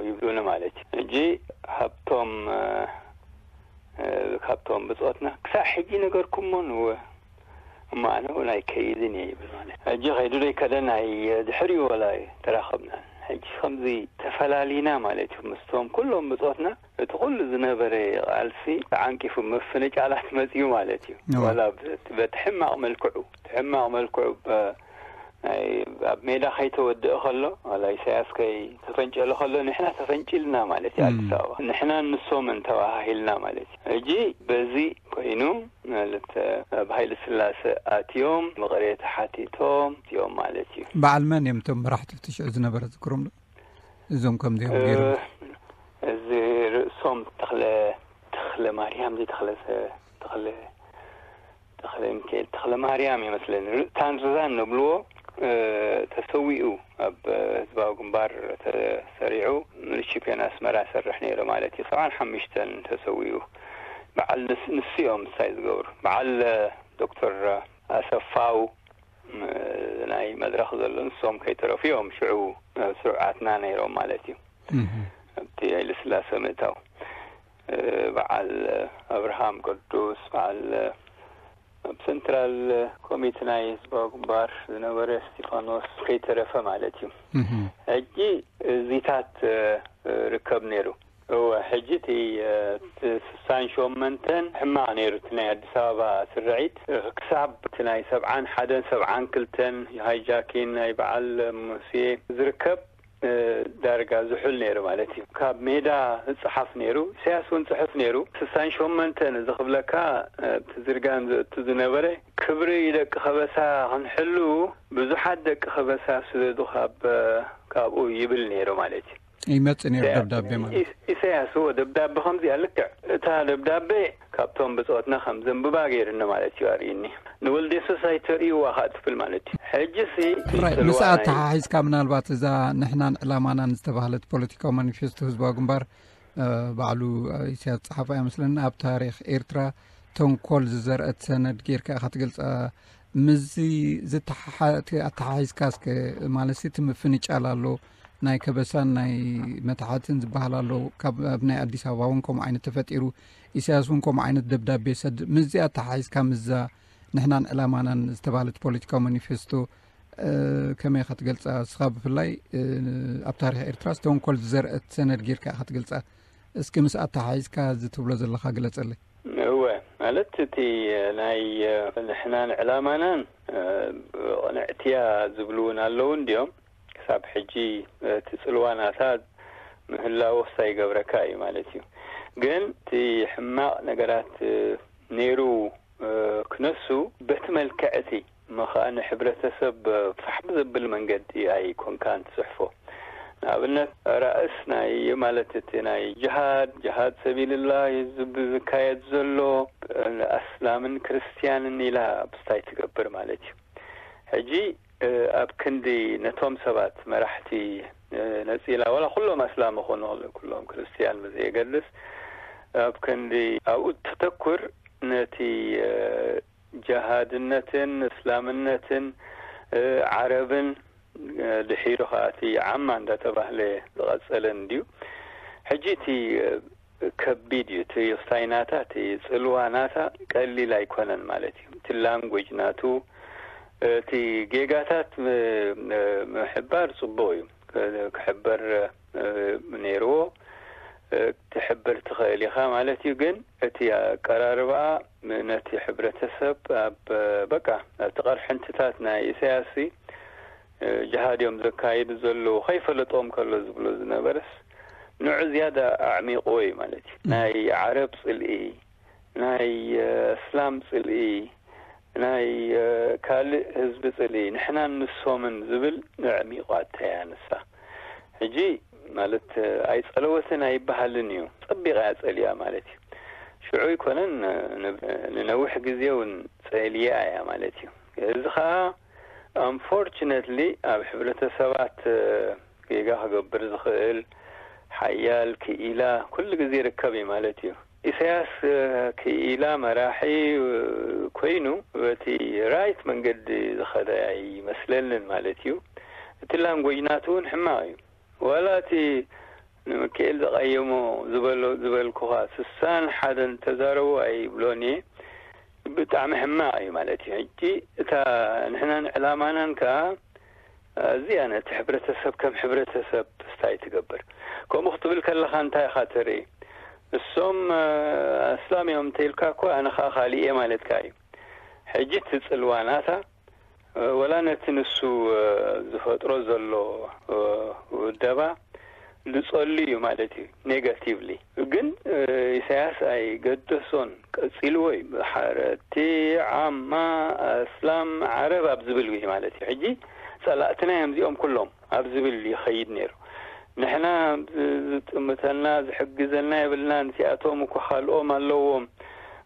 ይብሉኒ ማለት እዩ። ሕጂ ሃብቶም ኣብቶም ብጾትና ክሳዕ ሕጂ ነገርኩሞ ንወ እሞ ኣነ እውን ኣይከይድን እየ ይብል ማለት ሕጂ ከይዱ ዘይከደ ናይ ድሕሪኡ ወላ ተራኸብና ሕጂ ከምዚ ተፈላሊና ማለት እዩ ምስቶም ኩሎም ብጾትና እቲ ኩሉ ዝነበረ ቃልሲ ተዓንቂፉ ምፍንጫላት መጽኡ ማለት እዩ ወላ በቲ ሕማቕ መልክዑ እቲ ሕማቕ መልክዑ ናይ ኣብ ሜዳ ከይተወደአ ከሎ ዋላ ኢሳያስ ከይተፈንጨለ ከሎ ንሕና ተፈንጭልና ማለት እዩ ኣዲስ ኣበባ ንሕናን ንሶምን ተባሃሂልና ማለት እዩ ሕጂ በዚ ኮይኑ ማለት ኣብ ሃይለ ስላሰ ኣትዮም ምቕሬታ ሓቲቶም እዮም ማለት እዩ። በዓል መን እዮም እቶም መራሕቲ እቲ ሽዑ ዝነበረ ዝክሮም ዶ? እዞም ከምዚኦም ገይሮም እዚ ርእሶም ተክለ ተክለ ማርያም ዚ ተክለ ተክለ ተክለ ሚካኤል ተክለ ማርያም ይመስለኒ ታንዛን ንብልዎ ተሰዊኡ ኣብ ህዝባዊ ግንባር ተሰሪዑ ንሽፒዮን ኣስመራ ሰርሕ ነይሩ ማለት እዩ ሰብዓን ሓሙሽተን ተሰዊኡ በዓል ንስኦም ምሳይ ዝገብሩ በዓል ዶክተር ኣሰፋው ናይ መድረኽ ዘሎ ንሶም ከይተረፉ እዮም ሽዑ ስሩዓትና ነይሮም ማለት እዩ ኣብቲ ሃይለ ስላሰ ምእታው በዓል ኣብርሃም ቅዱስ በዓል ኣብ ሰንትራል ኮሚት ናይ ህዝባዊ ግንባር ዝነበረ እስጢፋኖስ ከይተረፈ ማለት እዩ ሕጂ እዚታት ርከብ ነይሩ እወ ሕጂ እቲ ስሳን ሸመንተን ሕማቕ ነይሩ እቲ ናይ ኣዲስ ኣበባ ስርዒት ክሳብ እቲ ናይ ሰብዓን ሓደን ሰብዓን ክልተን ሃይጃኪን ናይ በዓል ሙሴ ዝርከብ ዳርጋ ዝሑል ነይሩ ማለት እዩ ካብ ሜዳ ዝፀሓፍ ነይሩ ኢሳያስ እውን ፅሑፍ ነይሩ ስሳን ሸመንተን እዚ ክብለካ እቲ ዝርጋን ዘእቱ ዝነበረ ክብሪ ደቂ ከበሳ ክንሕሉ ብዙሓት ደቂ ከበሳ ስደዱ ካብ ካብኡ ይብል ነይሩ ማለት እዩ ይመጽእ ነይሩ ደብዳቤ ማለት ኢሳያስ እዎ ደብዳቤ ከምዚኣ ልክዕ እታ ደብዳቤ ካብቶም ብፆትና ከም ዘንብባ ገይርኒ ማለት እዩ ኣርእኒ ንወልደ የሱስ ኣይተርእይዋ ከዓ ትብል ማለት እዩ ሕጂ ሲ ራይ ምስ ኣተሓሒዝካ ምናልባት እዛ ንሕናን ዕላማናን ዝተባህለት ፖለቲካዊ ማኒፌስቶ ህዝባዊ ግንባር ባዕሉ ኢሳያስ ዝፀሓፋ እያ መስለኒ ኣብ ታሪክ ኤርትራ ተንኮል ዝዘርአት ሰነድ ጌርካ ኢኻ ትገልፃ ምስዚ ዝተሓሓ እቲ ኣተሓሒዝካ እስከ ማለት እቲ ምፍንጫል ኣሎ ናይ ከበሳን ናይ መታሕትን ዝበሃል ኣሎ ካብ ኣብ ናይ ኣዲስ ኣበባ እውን ከምኡ ዓይነት ተፈጢሩ ኢሳያስ እውን ከምኡ ዓይነት ደብዳቤ ሰድ ምስዚ ኣተሓሒዝካ ምስዛ ንሕናን ዕላማናን ዝተባህለት ፖለቲካዊ ማኒፌስቶ ከመይ ኢኻ ትገልፃ እስኻ ብፍላይ ኣብ ታሪክ ኤርትራ ዝተንኮል ዝዘርአት ሰነድ ጌርካ ኢኻ ትገልፃ እስኪ ምስ ኣተሓሒዝካ እዚ ትብሎ ዘለኻ ግለፀለይ እወ ማለት እቲ ናይ ንሕናን ዕላማናን ቅንዕትያ ዝብሉ እውን ኣለዉ እንዲዮም ክሳብ ሕጂ እቲ ፅልዋ ናታ ምህላዎ ክሳይ ይገብረካ እዩ ማለት እዩ ግን እቲ ሕማቕ ነገራት ነይሩ ክነሱ በቲ መልክዕ እቲ እሞ ከዓ ንሕብረተሰብ ፋሕ ብዘብል መንገዲ ኣይኮንካን ትፅሕፎ ንኣብነት ራእስ ናይ ማለት እቲ ናይ ጅሃድ ጅሃድ ሰቢልላህ ዝካየድ ዘሎ ኣስላምን ክርስትያንን ኢላ ብስታይ ትገብር ማለት እዩ ሕጂ ኣብ ክንዲ ነቶም ሰባት መራሕቲ ነፂላ ዋላ ኩሎም ኣስላም ይኾኑ ኩሎም ክርስትያን ብዘየገድስ ኣብ ክንዲ ኣብኡ ተተኩር ነቲ ጀሃድነትን እስላምነትን ዓረብን ድሒሩ ከዓ እቲ ዓማ እንዳተባህለ ዝቐፀለን ድዩ ሕጂ እቲ ከቢድ እዩ እቲ ውሳይናታ እቲ ፅልዋ ናታ ቀሊል ኣይኮነን ማለት እዩ እቲ ላንጉጅ ናቱ እቲ ጌጋታት ምሕባር ፅቡቅ እዩ ክሕበር ነይርዎ ትሕብር ትኽእል ኢኻ ማለት እዩ ግን እቲ ኣቀራርባኣ ነቲ ሕብረተሰብ ኣብ በቃ ኣብቲ ቀርሕንትታት ናይ ኢሳያስ ጅሃድ እዮም ዘካይዱ ዘለዉ ከይፈለጦም ከሎ ዝብሎ ዝነበረስ ንዑ ዝያዳ ኣዕሚቕዎ እዩ ማለት እዩ ናይ ዓረብ ፅልኢ ናይ እስላም ፅልኢ ናይ ካልእ ህዝቢ ፅልኢ ንሕናን ንሶምን ዝብል ንዕሚቋ ተያ ንሳ ሕጂ ማለት ኣይፀለወትን ኣይበሃልን እዩ ፀቢቓ እያ ፀሊኣ ማለት እዩ ሽዑ ኣይኮነን ንነዊሕ ግዜ እውን ፀሊኣ እያ ማለት እዩ እዚ ከዓ unfortunately ኣብ ሕብረተሰባት ጌጋ ክገብር ዝኽእል ሓያል ክኢላ ኩሉ ግዜ ይርከብ እዩ ማለት እዩ ኢሳያስ ክኢላ መራሒ ኮይኑ በቲ right መንገዲ ዝኸደ ኣይመስለንን ማለት እዩ እቲ language ናቱ እውን ሕማቕ እዩ ዋላ እቲ ንምክኤል ዘቐየሞ ዝበሎ ዝበልኩኻ ስሳን ሓደን ተዛረቡ ኣይብሎን እየ። ብጣዕሚ ሕማቕ እዩ ማለት እዩ። ሕጂ እታ ንሕናን ዕላማናን ከኣ እዚኣ ነቲ ሕብረተሰብ ከም ሕብረተሰብ ስታይ ትገብር። ከምኡ ክትብል ከለኻ እንታይ ኢኻ ትርኢ? እሶም ኣስላም እዮም እንተኢልካ እኮ ኣነ ኸዓ ካሊእ እየ ማለትካ እዩ። ሕጂ እቲ ጽልዋ ናታ ወላ ነቲ ንሱ ዝፈጥሮ ዘሎ ውደባ ዝጸሉ እዩ ማለት እዩ። ኔጋቲቭሊ ግን ኢሳያስ ኣይገደሶን፣ ቀጺልዎ እዩ። ብሓረቲ ዓማ ኣስላም ዓረብ ኣብ ዝብል እዩ ማለት እዩ። ሕጂ ጸላእትና እዮም እዚኦም ኩሎም ኣብ ዝብል ይኸይድ ነይሩ። ንሕና ዝጥምተና ዝሕግዘና የብልናን፣ እዚኣቶም እኮ ካልኦም ኣለዎም፣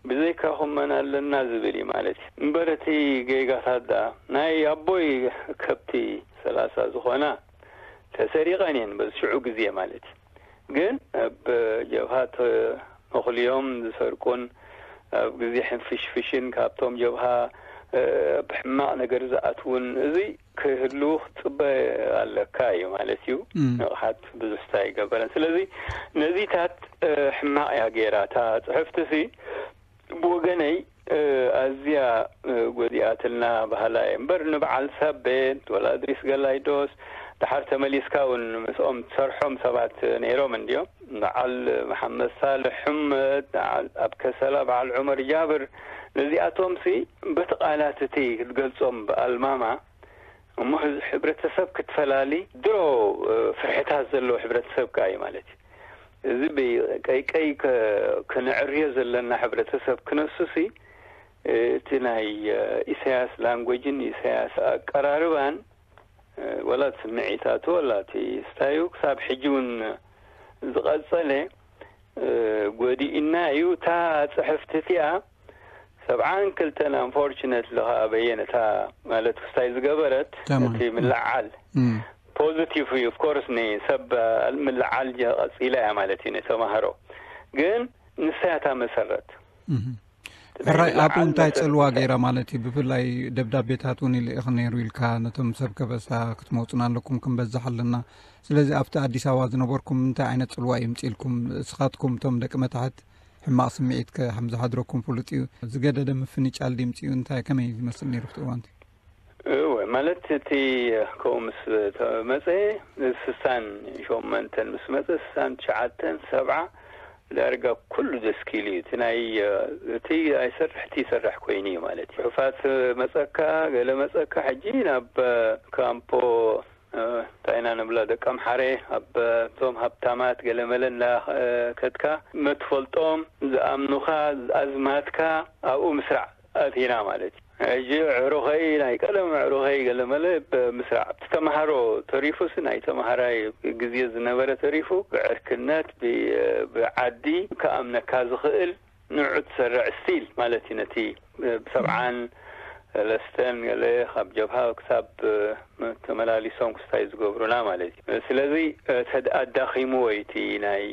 ብዘይካኹም መን ኣለና ዝብል እዩ ማለት እዩ። እምበር እቲ ጌጋታት ደኣ ናይ ኣቦይ ከብቲ ሰላሳ ዝኾና ተሰሪቐን እየን በዚ ሽዑ ግዜ ማለት እዩ። ግን ኣብ ጀብሃ ተመኹልዮም ዝሰርቁን ኣብ ግዜ ሕንፍሽፍሽን ካብቶም ጀብሃ ብሕማቕ ነገር ዝኣትውን እዚ ክህልዉ ክትጽበ ኣለካ እዩ ማለት እዩ። ንቕሓት ብዙሕ ስታይ ኣይገበረን። ስለዚ ነዚታት ሕማቕ እያ ገይራ እታ ጽሕፍቲ ሲ ብወገነይ ኣዝያ ጎዲኣትልና ባህላ እየ እምበር ንበዓል ሳቤት ወላ እድሪስ ገላይዶስ ደሓር ተመሊስካ እውን ምስኦም ትሰርሖም ሰባት ነይሮም እንድዮም። በዓል መሓመድ ሳልሕ ሕመድ፣ በዓል ኣብ ከሰላ በዓል ዑመር ጃብር፣ ነዚኣቶም ሲ በቲ ቃላት እቲ ክትገልጾም ብኣልማማ እሞ ህዝ- ሕብረተሰብ ክትፈላሊ ድሮ ፍርሕታት ዘለዎ ሕብረተሰብ ከኣ እዩ ማለት እዩ። እዚ ብቀይቀይ ከ- ክነዕርዮ ዘለና ሕብረተሰብ ክነሱ ሲ እቲ ናይ ኢሳያስ ላንጎጅን ኢሳያስ ኣቀራርባን ወላ እቲ ስምዒታቱ ወላ እቲ ስታዩ ክሳብ ሕጂ እውን ዝቐጸለ ጎዲእና እዩ። እታ ጽሕፍቲ እቲኣ ሰብዓን ክልተን ኣንፎርችነትሊ ከኣ በየን እታ ማለት ክስታይ ዝገበረት ተማን። እቲ ምልዓል ፖዚቲቭ እዩ። ኦፍኮርስ ንሰብ ምልዓል ቀጺላ እያ ማለት እዩ ንተማሃሮ ግን ንሳ እያ እታ መሰረት። ሕራይ ኣብኡ እንታይ ጽልዋ ገይራ ማለት እዩ? ብፍላይ ደብዳቤታት እውን ይልእኽ ነይሩ ኢልካ ነቶም ሰብ ከበሳ ክትመውፅና ኣለኩም ክንበዝሕ ኣለና። ስለዚ ኣብቲ ኣዲስ ኣበባ ዝነበርኩም እንታይ ዓይነት ጽልዋ እዩ ምጽኢልኩም? እስኻትኩም እቶም ደቂ መታሕት ሕማቕ ስምዒት ከም ዝሓድረኩም ፍሉጥ እዩ። ዝገደደ ምፍንጫል ድምፂኡ እንታይ ከመይ ዝመስል ነይሩ ኣብቲ እዋንቲ? እወ ማለት እቲ ከምኡ ምስ ተመፀ ስሳን ሸመንተን ምስ መፀ ስሳን ትሽዓተን ሰብዓ ዳርጋ ኩሉ ደስኪሉ እዩ። እቲ ናይ እቲ ኣይሰርሕ እቲ ይሰርሕ ኮይኑ እዩ ማለት እዩ። ጽሑፋት መጸካ ገለ መጸካ ሕጂ ናብ ካምፖ እንታይ ኢና ንብላ ደቂ ኣምሓረ ኣብቶም ሃብታማት ገለመለ እንዳከድካ መትፈልጦም ዝኣምኑኻ ኣዝማትካ ኣብኡ ምስራዕ ኣቲና ማለት እዩ። ሕጂ ዕሩኸይ ናይ ቀደም ዕሩኸይ ገለመለ ብምስራዕ እቲ ተምሃሮ ተሪፉስ ናይ ተምሃራይ ግዜ ዝነበረ ተሪፉ ብዕርክነት ብዓዲ ክኣምነካ ዝኽእል ንዑ ትሰርዕ ስቲል ማለት እዩ። ነቲ ብሰብዓን ሰለስተን ገለ ካብ ጀብሃ ክሳብ ተመላሊሶም ክስታይ ዝገብሩና ማለት እዩ። ስለዚ ኣዳኺምዎ እዩ እቲ ናይ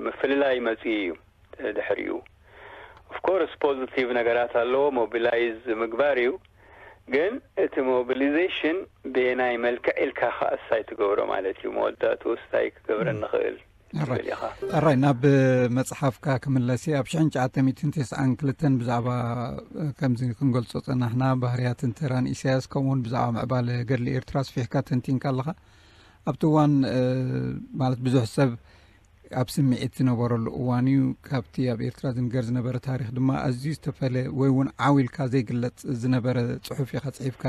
ምፍልላይ መፅኡ እዩ። ድሕሪኡ ኦፍኮርስ ፖዚቲቭ ነገራት ኣለዎ ሞቢላይዝ ምግባር እዩ። ግን እቲ ሞቢሊዜሽን ብየናይ መልክዕ ኢልካ ከኣሳይ ትገብሮ ማለት እዩ። መወዳእትኡ ስታይ ክገብረ ንኽእል ትብል ኢኻ። ኣራይ ናብ መፅሓፍካ ክምለስ ኣብ ሽሕን ትሽዓተ ሚእትን ተስዓን ክልተን ብዛዕባ ከምዚ ክንገልፆ ፀናሕና ባህርያትን ተራን ኢሳያስ ከምኡውን ብዛዕባ ምዕባለ ገድሊ ኤርትራ ስፊሕካ ተንቲንካ ኣለኻ። ኣብቲ እዋን ማለት ብዙሕ ሰብ ኣብ ስምዒት ዝነበረሉ እዋን እዩ። ካብቲ ኣብ ኤርትራ ዝንገር ዝነበረ ታሪኽ ድማ ኣዝዩ ዝተፈለ ወይ እውን ዓው ኢልካ ዘይግለጽ ዝነበረ ጽሑፍ ኢኻ ጽሒፍካ።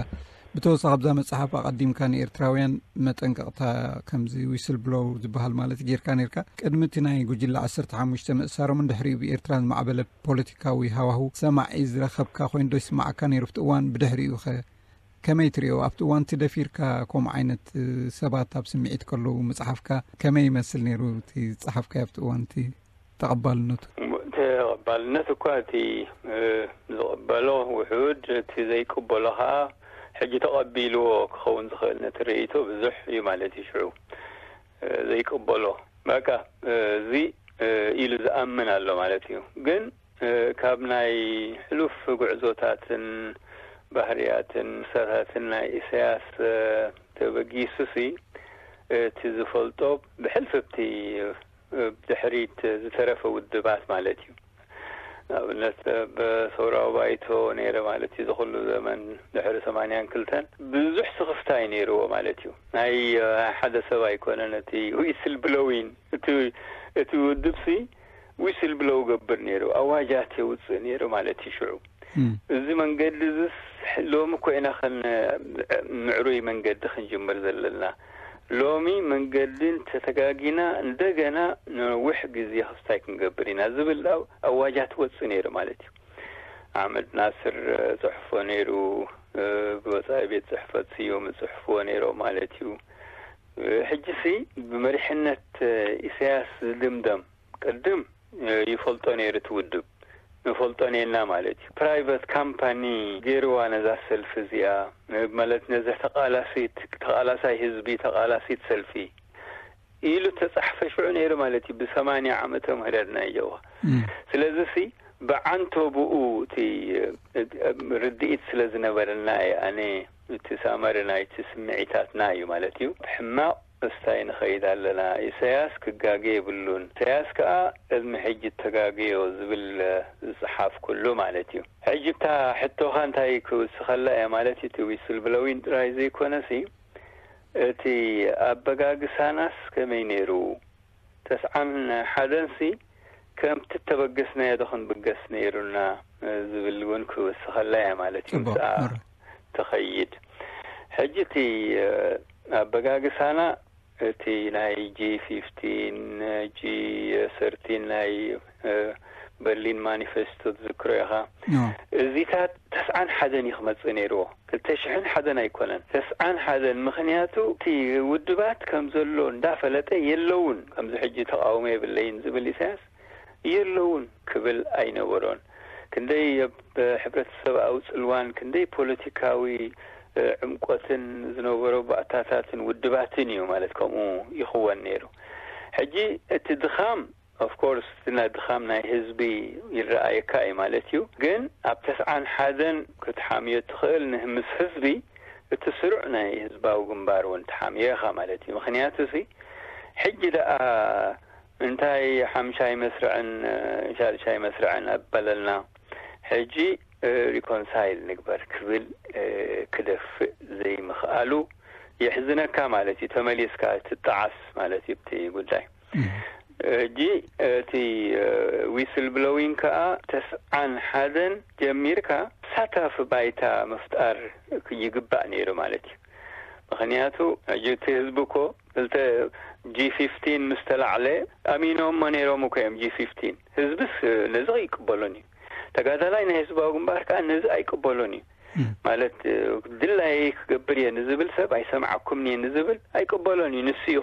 ብተወሳኺ ኣብዛ መጽሓፍ ኣቐዲምካ ንኤርትራውያን መጠንቀቕታ ከምዚ ዊስል ብሎው ዝበሃል ማለት ጌርካ ኔርካ። ቅድሚ እቲ ናይ ጉጅለ ዓሰርተ ሓሙሽተ ምእሳሮምን ድሕሪኡ ብኤርትራ ዝማዕበለ ፖለቲካዊ ሃዋሁ ሰማዒ ዝረኸብካ ኮይኑ ዶ ይስማዓካ ነይሩ ኣብቲ እዋን? ብድሕሪኡ ኸ ከመይ ትሪኦ? ኣብቲ እዋን እቲ ደፊርካ ከምኡ ዓይነት ሰባት ኣብ ስምዒት ከለዉ ምጽሓፍካ ከመይ ይመስል ነይሩ? እቲ ዝጸሓፍካዮ ኣብቲ እዋን እቲ ተቐባልነቱ? ተቐባልነት እኳ እቲ ዝቕበሎ ውሑድ፣ እቲ ዘይቅበሎ ኸኣ ሕጂ ተቐቢልዎ ክኸውን ዝኽእል ነቲ ርእይቶ ብዙሕ እዩ ማለት እዩ። ሽዑ ዘይቅበሎ በቃ እዚ ኢሉ ዝኣምን ኣሎ ማለት እዩ። ግን ካብ ናይ ሕሉፍ ጉዕዞታትን ባህርያትን ምሳታትን ናይ ኢሳያስ ተበጊሱሲ እቲ ዝፈልጦ ብሕልፍቲ ብድሕሪት ዝተረፈ ውድባት ማለት እዩ። ንኣብነት ብሰውራዊ ባይቶ ነይረ ማለት እዩ። ዝኹሉ ዘመን ድሕሪ ሰማንያን ክልተን ብዙሕ ስኽፍታ እዩ ነይርዎ ማለት እዩ። ናይ ሓደ ሰብ ኣይኮነን እቲ ዊስል ብሎዊን። እቲ ውድብሲ ዊስል ብሎው ገብር ነይሩ፣ ኣዋጃት የውፅእ ነይሩ ማለት እዩ። ሽዑ እዚ መንገዲ እዚስ ሎሚ እኮ ኢና ከን ምዕሩይ መንገዲ ክንጅምር ዘለና። ሎሚ መንገዲ እንተተጋጊና እንደገና ነዊሕ ግዜ ክስታይ ክንገብር ኢና ዝብል ኣዋጃት ወፅእ ነይሩ ማለት እዩ። ኣሕመድ ናስር ፅሕፎ ነይሩ፣ ብወፃኢ ቤት ፅሕፈት ስዮም ፅሕፍዎ ነይሮ ማለት እዩ። ሕጂ ሲ ብመሪሕነት ኢሳያስ ዝድምደም ቅድም ይፈልጦ ነይሩ እቲ ውድብ። ንፈልጦ ኔና ማለት እዩ። ፕራይቨት ካምፓኒ ገይርዋ ነዛ ሰልፊ እዚኣ፣ ማለት ነዚ ተቓላሲት፣ ተቓላሳይ ህዝቢ፣ ተቓላሲት ሰልፊ ኢሉ ተጻሕፈ ሽዑ ነይሩ ማለት እዩ። ብሰማንያ ዓመተ ምህረት ናይ ጀዋ። ስለዚ ሲ ብዓንቶ ብኡ እቲ ርድኢት ስለ ዝነበረና እየ ኣነ እቲ ሳመሪ ናይቲ ስምዒታትና እዩ ማለት እዩ። ብሕማቕ እስታይ ንኸይድ ኣለና። ኢሳያስ ክጋገ የብሉን። ኢሳያስ ከኣ ቅድሚ ሕጂ እተጋገዮ ዝብል ዝጸሓፍ ኩሉ ማለት እዩ። ሕጂ እታ ሕቶኻ እንታይ ክውስኸላ እየ ማለት እዩ። እቲ ዊስል ብሎዊን ጥራይ ዘይኮነሲ እቲ ኣበጋግሳናስ ከመይ ነይሩ? ተስዓን ሓደንሲ ከምቲ እተበገስናዮ ዶ ክንብገስ ነይሩና ዝብል እውን ክውስኸላ እያ ማለት እዩ። ጽቡቅ። ምስኣ ትኸይድ። ሕጂ እቲ ኣበጋግሳና እቲ ናይ ጂ ፊፍቲን፣ ጂ ሰርቲን ናይ በርሊን ማኒፌስቶ ትዝክሮ ኢኻ። እዚታት ተስዓን ሓደን እዩ ክመጽእ ነይርዎ። ክልተ ሽሕን ሓደን ኣይኮነን፣ ተስዓን ሓደን። ምኽንያቱ እቲ ውድባት ከም ዘሎ እንዳፈለጠ የለውን፣ ከምዚ ሕጂ ተቃውሞ የብለይን ዝብል ኢሳያስ የለውን ክብል ኣይነበሮን። ክንደይ ኣብ ሕብረተሰባዊ ጽልዋን ክንደይ ፖለቲካዊ ዕምቆትን ዝነበሮ ባእታታትን ውድባትን እዩ ማለት ከምኡ ይኽወን ነይሩ። ሕጂ እቲ ድኻም ኦፍኮርስ እቲ ናይ ድኻም ናይ ህዝቢ ይረኣየካ እዩ ማለት እዩ። ግን ኣብ ተስዓን ሓደን ክትሓምዮ ትኽእል ንህምስ ህዝቢ እቲ ስሩዕ ናይ ህዝባዊ ግንባር እውን ትሓምዮ ኢኻ ማለት እዩ። ምኽንያቱ ሲ ሕጂ ደኣ እንታይ ሓምሻይ መስርዕን ሻድሻይ መስርዕን ኣበለልና፣ ሕጂ ሪኮንሳይል ንግበር ክብል ክደፍእ ዘይምኽኣሉ የሕዝነካ ማለት እዩ። ተመሊስካ ትጠዓስ ማለት እዩ እቲ ጉዳይ። ሕጂ እቲ ዊስል ብሎዊን ከኣ ተስዓን ሓደን ጀሚርካ ሳታፊ ባይታ ምፍጣር ይግባእ ነይሩ ማለት እዩ። ምኽንያቱ ሕጂ እቲ ህዝቢ እኮ ክልተ ጂ ፊፍቲን ምስ ተላዕለ ኣሚኖሞ ነይሮም እኮ እዮም። ጂ ፊፍቲን ህዝብስ ነዚ ኣይቅበሎን እዩ። ተጋዳላይ ናይ ህዝባዊ ግንባር ከኣ ነዚ ኣይቅበሎን እዩ። ማለት ድላየይ ክገብር እየ ንዝብል ሰብ ኣይሰምዓኩምን እየ ንዝብል ኣይቅበሎን እዩ። ንሱ እዩ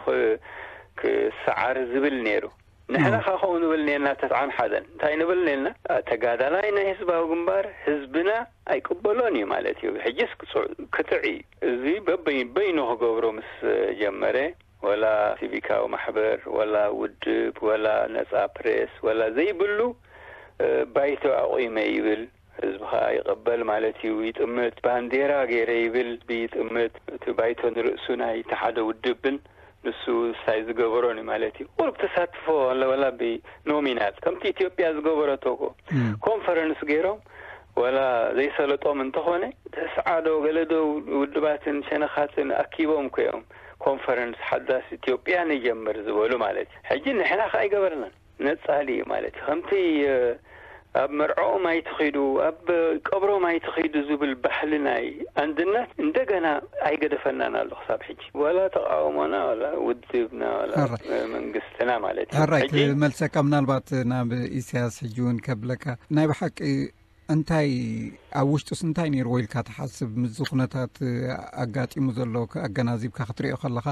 ክሰዓር ዝብል ነይሩ። ንሕና ካ ከምኡ ንብል ነርና ተስዓን ሓደን እንታይ ንብል ነርና? ተጋዳላይ ናይ ህዝባዊ ግንባር ህዝብና ኣይቅበሎን እዩ ማለት እዩ። ሕጂስ ክጥዕ እዩ። እዚ በበይኑ ክገብሮ ምስ ጀመረ ወላ ሲቪካዊ ማሕበር ወላ ውድብ ወላ ነጻ ፕሬስ ወላ ዘይብሉ ባይቶ ኣቑመ ይብል። ህዝቢ ኸኣ ይቕበል ማለት እዩ። ይጥምት። ባንዴራ ገይረ ይብል፣ ይጥምት። እቲ ባይቶ ንርእሱ ናይ እቲ ሓደ ውድብን ንሱ ሳይ ዝገበሮን እዩ ማለት እዩ። ቁሩብ ተሳትፎ ኣለወላ ብኖሚናል ከምቲ ኢትዮጵያ ዝገበረቶ እኮ ኮንፈረንስ ገይሮም ወላ ዘይሰለጦም እንተኾነ ተስዓዶ ገለዶ ውድባትን ሸነኻትን ኣኪቦም እኮ እዮም ኮንፈረንስ ሓዳስ ኢትዮጵያ ንጀምር ዝበሉ ማለት እዩ። ሕጂ ንሕና ከኣ ኣይገበርናን። ነጻሊ እዩ ማለት እዩ። ከምቲ ኣብ መርዕኦም ኣይትኺዱ ኣብ ቀብሮም ኣይትኺዱ ዝብል ባህሊ ናይ ኣንድነት እንደገና ኣይገደፈናን ኣሎ ክሳብ ሕጂ። ዋላ ተቃውሞና ዋላ ውድብና ዋላ መንግስትና ማለት እዩ። ሕራይ ክመልሰካ ምናልባት ናብ ኢሳያስ ሕጂ እውን ከብለካ ናይ ብሓቂ እንታይ ኣብ ውሽጡስ እንታይ ነይርዎ ኢልካ ትሓስብ? ምስዚ ኩነታት ኣጋጢሙ ዘሎ ኣገናዚብካ ክትሪኦ ከለኻ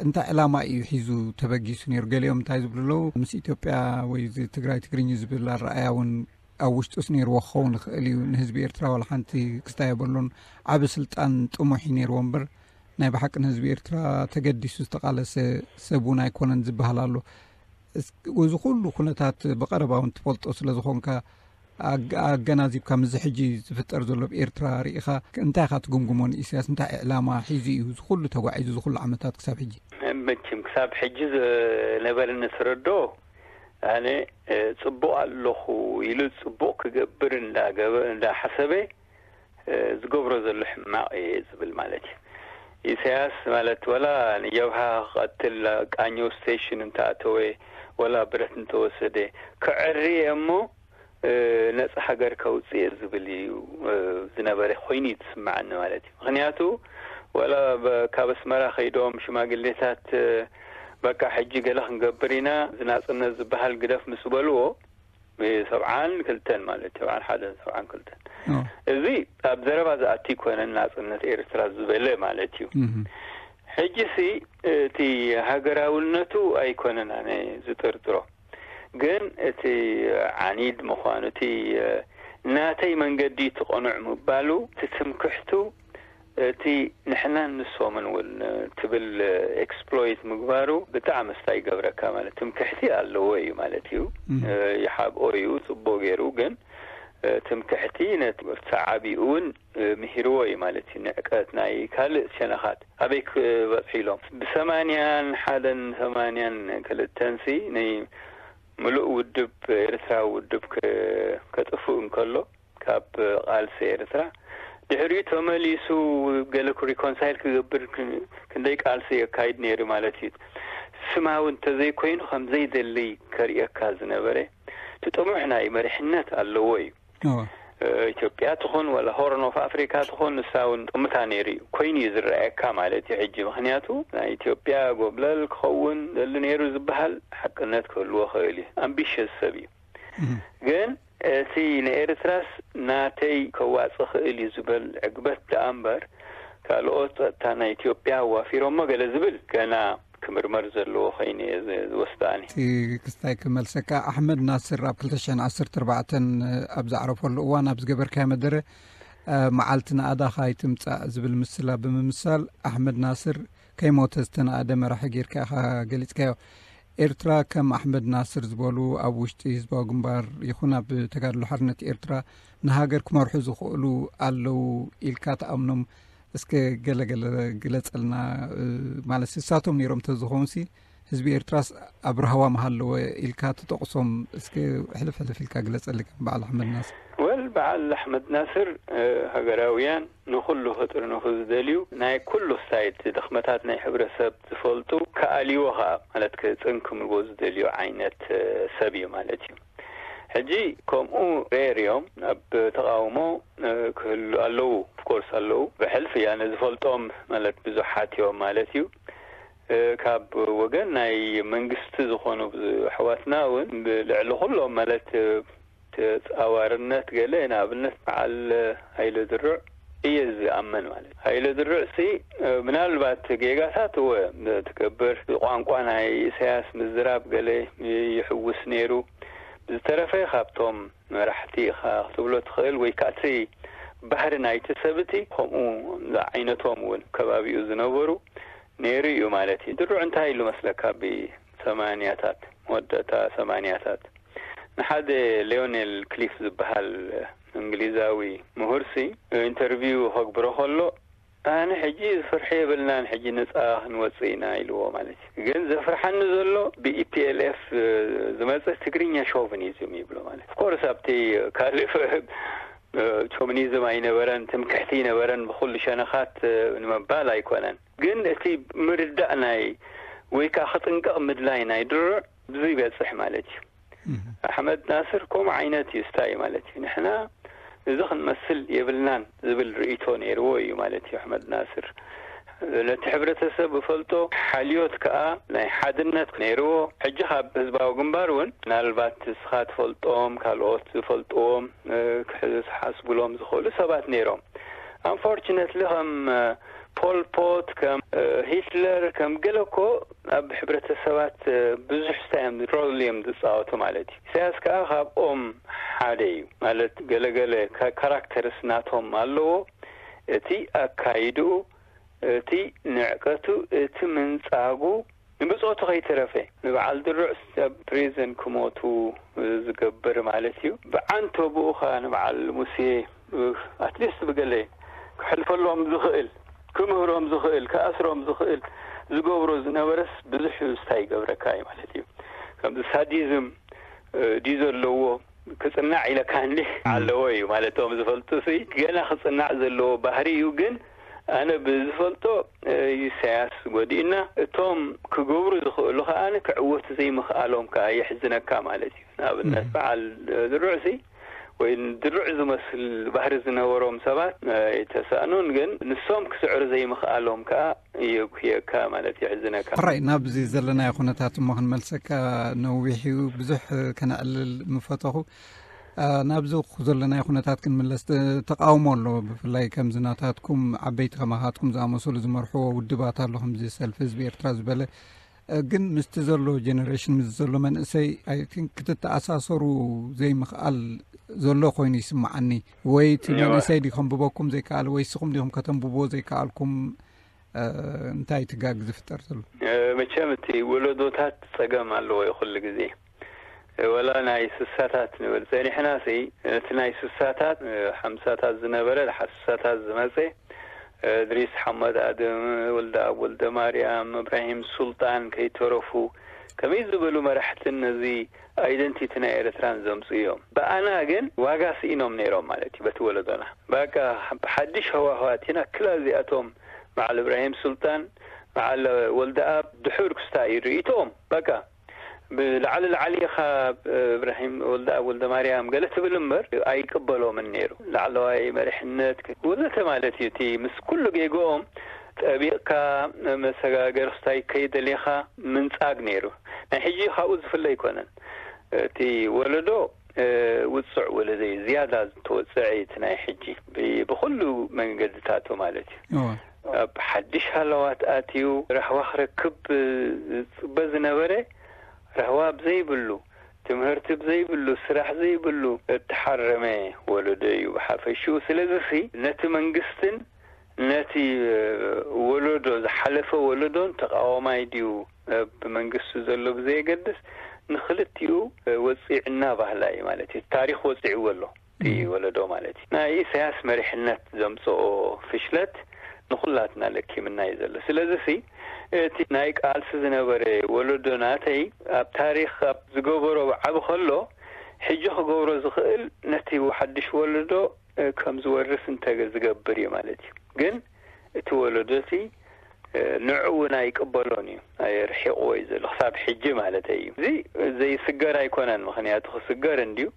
እንታይ ዕላማ እዩ ሒዙ ተበጊሱ ነይሩ? ገሊኦም እንታይ ዝብሉ ኣለዉ፣ ምስ ኢትዮጵያ ወይ እዚ ትግራይ ትግርኝ ዝብል ኣረኣያ እውን ኣብ ውሽጡስ ነይርዎ ክኸውን ይኽእል እዩ። ንህዝቢ ኤርትራ ዋላ ሓንቲ ክስታይ የብሉን። ዓቢ ስልጣን ጥሙሕ እዩ ነይርዎ እምበር ናይ ብሓቂ ንህዝቢ ኤርትራ ተገዲሱ ዝተቓለሰ ሰብ እውን ኣይኮነን ዝበሃል ኣሎ። እዚ ኩሉ ኩነታት ብቐረባ እውን ትፈልጦ ስለ ዝኾንካ ኣገናዚብካ ምስዚ ሕጂ ዝፍጠር ዘሎ ኣብ ኤርትራ ርኢኻ እንታይ ኢኻ ትግምግሞ? ንኢሳያስ እንታይ ዕላማ ሒዙ እዩ እዚ ኩሉ ተጓዒዙ እዚ ኩሉ ዓመታት ክሳብ ሕጂ? መቸም ክሳብ ሕጂ ዝነበረኒ ተረዶ ኣነ ጽቡቕ ኣለኹ ኢሉ ጽቡቕ ክገብር እንዳገበ እንዳሓሰበ ዝገብሮ ዘሎ ሕማቕ እየ ዝብል ማለት እዩ። ኢሳያስ ማለት ወላ ንጀብሃ ክቐትል ቃኘው ስቴሽን እንተኣተወ፣ ወላ ብረት እንተወሰደ፣ ክዕሪ እየ እሞ ነጻ ሃገር ከውጽእ እየ ዝብል እዩ ዝነበረ ኮይኑ እዩ ዝስምዓኒ ማለት እዩ። ምክንያቱ ወላ ካብ ኣስመራ ከይዶም ሽማግሌታት በቃ ሕጂ ገለ ክንገብር ኢና፣ ዝናጽነት ዝበሃል ግደፍ ምስ በልዎ፣ ሰብዓን ክልተን ማለት ሰብዓን ሓደን ሰብዓን ክልተን፣ እዚ ኣብ ዘረባ ዝኣቲ ይኮነን ናጽነት ኤርትራ ዝበለ ማለት እዩ። ሕጂ ሲ እቲ ሃገራውነቱ ኣይኮነን ኣነ ዝጥርጥሮ፣ ግን እቲ ዓኒድ ምዃኑ፣ እቲ ናተይ መንገዲ እቲ ቅኑዕ ምባሉ፣ እቲ ትምክሕቱ፣ እቲ ንሕናን ንሶምን እውን ትብል ኤክስፕሎይት ምግባሩ ብጣዕሚ ስታይ ይገብረካ። ማለት ትምክሕቲ ኣለዎ እዩ ማለት እዩ። ይሓብኦ እዩ ጽቡቅ ገይሩ፣ ግን ትምክሕቲ ነቲ ተዓቢኡ እውን ምሂርዎ እዩ ማለት እዩ። ንዕቀት ናይ ካልእ ሸነኻት ኣበይ ክበጽሑ ኢሎም ብሰማንያን ሓደን ሰማንያን ክልተን ሲ ናይ ምሉእ ውድብ ኤርትራዊ ውድብ ከጥፍእ እንከሎ ካብ ቃልሲ ኤርትራ ድሕሪኡ ተመሊሱ ገለ ሪኮንሳይል ክገብር ክንደይ ቃልሲ የካይድ ነይሩ ማለት እዩ። ስማዊ እንተዘይኮይኑ ከም ዘይደሊ ከርእየካ ዝነበረ እቲ ጥሙሕ ናይ መሪሕነት ኣለዎ እዩ። ኢትዮጵያ ትኹን ወላ ሆርን ኦፍ ኣፍሪካ ትኹን ንሳ እውን ጥምታ ነይሩ እዩ ኮይኑ እዩ ዝረኣየካ ማለት እዩ። ሕጂ ምክንያቱ ናይ ኢትዮጵያ ጎብለል ክኸውን ዘሉ ነይሩ ዝበሃል ሓቅነት ክህልዎ ክእል እዩ። ኣምቢሽስ ሰብ እዩ። ግን እቲ ንኤርትራስ ናተይ ከዋጽእ ክእል እዩ ዝበል ዕግበት ደኣ እምበር ካልኦት ጸጥታ ናይ ኢትዮጵያ ኣዋፊሮሞ ገለ ዝብል ገና ክምርመር ዘለዎ ኮይኑ እየ ዝወስዶ ኣነ። እቲ ክስታይ ክመልሰካ፣ ኣሕመድ ናስር ኣብ ክልተ ሽሕን ዓሰርተ ኣርባዕተን ኣብ ዘዕረፈሉ እዋን ኣብ ዝገበርካዮ መደረ፣ መዓልቲ ናእዳኻ ኣይትምጻእ ዝብል ምስላ ብምምሳል ኣሕመድ ናስር ከይሞተ ዝተናእደ መራሒ ጌርካ ኢኻ ገሊጽካዮ። ኤርትራ ከም ኣሕመድ ናስር ዝበሉ ኣብ ውሽጢ ህዝባዊ ግንባር ይኹን ኣብ ተጋድሎ ሓርነት ኤርትራ ንሃገር ክመርሑ ዝኽእሉ ኣለዉ ኢልካ ትኣምኖም? እስከ ገለ ገለ ግለጸልና። ማለት ንሳቶም ነይሮም ተዝኾንሲ ህዝቢ ኤርትራስ ኣብ ራህዋ ምሃለወ ኢልካ ትጠቕሶም እስከ ሕልፍ ሕልፍ ኢልካ ግለጸሊ ከም በዓል ኣሕመድ ናስር። ወል በዓል ኣሕመድ ናስር ሃገራውያን ንኹሉ ክጥርንፉ ዝደልዩ ናይ ኩሉ ሳይድ ድኽመታት ናይ ሕብረተሰብ ዝፈልጡ ክኣልይዎ ኸኣ ማለት ክጽንክምልዎ ዝደልዩ ዓይነት ሰብ እዩ ማለት እዩ። ሕጂ ከምኡ ሬር እዮም ኣብ ተቃውሞ ክህሉ ኣለዉ። ኦፍኮርስ ኣለዉ። ብሕልፊ ያነ ዝፈልጦም ማለት ብዙሓት እዮም ማለት እዩ። ካብ ወገን ናይ መንግስቲ ዝኾኑ ኣሕዋትና እውን ብልዕሊ ኩሎም ማለት ተጻዋርነት ገለ ንኣብነት በዓል ሃይለ ድሩዕ እየ ዝኣመን ማለት ሃይለ ድሩዕ ሲ ምናልባት ጌጋታት እወ ትገብር ቋንቋ ናይ ኢሳያስ ምዝራብ ገለ ይሕውስ ነይሩ። ብዝተረፈ ካብቶም መራሕቲ ኢኻ ክትብሎ ትኽእል ወይ ከዓ እቲ ባህሪ ናይቲ ሰብ እቲ ከምኡ ዝዓይነቶም እውን ከባቢኡ ዝነበሩ ነይሩ እዩ ማለት እዩ። ድሩዕ እንታይ ኢሉ መስለካ? ብሰማንያታት መወዳእታ ሰማንያታት ንሓደ ሊዮኔል ክሊፍ ዝበሃል እንግሊዛዊ ምሁርሲ ኢንተርቪው ከግብሮ ከሎ ኣነ ሕጂ ዝፍርሒ የብልናን ሕጂ ነፃ ክንወፅእ ኢና ኢልዎ ማለት እዩ። ግን ዘፍርሓኒ ዘሎ ብኢፒኤልኤፍ ዝመፀ ትግርኛ ሾቪኒዝም ይብሎ ማለት ኦፍኮርስ ኣብቲ ካልእ ሾቪኒዝም ኣይነበረን ትምክሕቲ ይነበረን ብኩሉ ሸነኻት ንምባል ኣይኮነን። ግን እቲ ምርዳእ ናይ ወይ ከዓ ክጥንቀቕ ምድላይ ናይ ድሩዕ ብዙ ይበፅሕ ማለት እዩ። ኣሕመድ ናስር ከምኡ ዓይነት እዩ ስታይ ማለት እዩ። ንሕና እዚ ክንመስል የብልናን ዝብል ርእይቶ ነይርዎ እዩ ማለት እዩ ኣሕመድ ናስር። ነቲ ሕብረተሰብ እፈልጦ ሓልዮት ከዓ ናይ ሓድነት ነይርዎ። ሕጂ ካብ ህዝባዊ ግንባር እውን ምናልባት ንስኻ ትፈልጦም ካልኦት ዝፈልጥዎም ክሓስቡሎም ዝኽእሉ ሰባት ነይሮም። ኣንፎርችነትሊ ከም ፖልፖት ከም ሂትለር ከም ገለ እኮ ኣብ ሕብረተሰባት ብዙሕ ስታይ እዮም ሮል እዮም ዝፃወቱ ማለት እዩ። ኢሳያስ ከዓ ካብኦም ሓደ እዩ ማለት ገለገለ ካራክተርስ ናቶም ኣለዎ። እቲ ኣካይድኡ፣ እቲ ንዕቀቱ፣ እቲ ምንጻጉ ንብጾቱ ከይተረፈ ንበዓል ድሩዕ ኣብ ፕሪዝን ክሞቱ ዝገብር ማለት እዩ። ብዓንተብኡ ኸኣ ንበዓል ሙሴ ኣትሊስት ብገለ ክሕልፈሎም ዝኽእል ክምህሮም ዝኽእል ክኣስሮም ዝኽእል ዝገብሮ ዝነበረስ ብዙሕ ስታይ ይገብረካ እዩ ማለት እዩ። ከምዚ ሳዲዝም ድዩ ዘለዎ ክጽናዕ ኢለካ እንዲ ኣለዎ እዩ ማለት፣ ቶም ዝፈልጡ ሲ ገና ክጽናዕ ዘለዎ ባህሪ እዩ። ግን ኣነ ብዝፈልጦ ኢሳያስ ጎዲእና፣ እቶም ክገብሩ ዝኽእሉ ከኣ ክዕወቱ ዘይምኽኣሎም ከኣ የሕዝነካ ማለት እዩ። ንኣብነት በዓል ድሩዕ ሲ ወይ ድሩዕ ዝመስል ባህሪ ዝነበሮም ሰባት ኣይተሳእኑን፣ ግን ንሶም ክስዕሩ ዘይምኽኣሎም ከኣ የጉህየካ ማለት የሕዝነካ። ሕራይ ናብዚ ዘለናዮ ኩነታት እሞ ክንመልሰካ ነዊሕ እዩ፣ ብዙሕ ከነዕልል ምፈተኹ። ናብዚ ዘለናዮ ኩነታት ክንምለስ፣ ተቃውሞ ኣሎ። ብፍላይ ከምዚ ናታትኩም ዓበይቲ ከማኻትኩም ዝኣመሰሉ ዝመርሕዎ ውድባት ኣሎ፣ ከምዚ ሰልፊ ህዝቢ ኤርትራ ዝበለ። ግን ምስቲ ዘሎ ጀነሬሽን፣ ምስ ዘሎ መንእሰይ፣ ክትተኣሳሰሩ ዘይምኽኣል ዘሎ ኮይኑ ይስምዓኒ። ወይ እቲ መንእሰይ ዲ ከንብበኩም ዘይከኣል፣ ወይ ስኹም ዲኹም ከተንብብዎ ዘይከኣልኩም? እንታይ ትጋግ ዝፍጠር ዘሎ? መቸም እቲ ወለዶታት ጸገም ኣለዎ እዩ ኩሉ ግዜ። ወላ ናይ ስሳታት ንብል ጸኒሕና ሲ፣ እቲ ናይ ስሳታት ሓምሳታት ዝነበረ፣ ሓምሳታት ዝመጸ፣ እድሪስ ሓመድ ኣድም፣ ወልደኣብ ወልደማርያም፣ እብራሂም ሱልጣን ከይተረፉ፣ ከመይ ዝበሉ መራሕትን ነዚ ኣይደንቲቲ ናይ ኤርትራን ዘምጽኡ እዮም። ብኣና ግን ዋጋ ስኢኖም ነይሮም ማለት እዩ። በቲ ወለዶና በቃ ብሓድሽ ሃዋህው ኣቲና፣ ክላ እዚኣቶም በዓል እብራሂም ሱልጣን፣ በዓል ወልደኣብ ድሑር ክስታይ ርእይቶኦም በቃ ብላዕሊ ላዕሊ ኢኻ እብራሂም ወልደኣብ ወልደማርያም ገለ ትብል እምበር ኣይቅበሎምን ነይሩ። ላዕለዋይ መሪሕነት ወዘተ ማለት እዩ። እቲ ምስ ኩሉ ጌግኦም ጠቢቕካ መሰጋገሪ ክስታይ ከይደሊኻ ምንጻግ ነይሩ። ናይ ሕጂ ካብኡ ዝፍለ ኣይኮነን። እቲ ወለዶ ውጹዕ ወለዶ እዩ፣ ዝያዳ ዝተወጸዐ እዩ እቲ ናይ ሕጂ ብኩሉ መንገድታቱ ማለት እዩ። ኣብ ሓድሽ ሃለዋት ኣትዩ ራህዋ ክረክብ ዝጽበ ዝነበረ ራህዋ ብዘይብሉ፣ ትምህርቲ ብዘይብሉ፣ ስራሕ ዘይብሉ እተሓረመ ወለዶ እዩ ብሓፈሽኡ። ስለዚሲ ነቲ መንግስትን ነቲ ወለዶ፣ ዝሓለፈ ወለዶን ተቃዋማይ ድዩ ብመንግስቱ ዘሎ ብዘየገድስ፣ ንክልቲኡ ወጺዕና ባህላ እዩ ማለት እዩ። ታሪኽ ወጺዕዎ ኣሎ እቲ ወለዶ ማለት እዩ። ናይ ኢሳያስ መሪሕነት ዘምጽኦ ፍሽለት ንኹላትና ለኪምና እዩ ዘሎ። ስለዚሲ እቲ ናይ ቃልሲ ዝነበረ ወለዶ ናተይ ኣብ ታሪኽ ኣብ ዝገበሮ ዓቢ ከሎ፣ ሕጂ ክገብሮ ዝኽእል ነቲ ሓድሽ ወለዶ ከም ዝወርስ እንተ ዝገብር እዩ ማለት እዩ። ግን እቲ ወለዶ እቲ ንዑ እውን ኣይቅበሎን እዩ፣ ኣየርሒቕዎ እዩ ዘሎ ክሳብ ሕጂ ማለት እዩ። እዚ ዘይስገር ኣይኮነን፣ ምኽንያቱ ክስገር እንድዩ።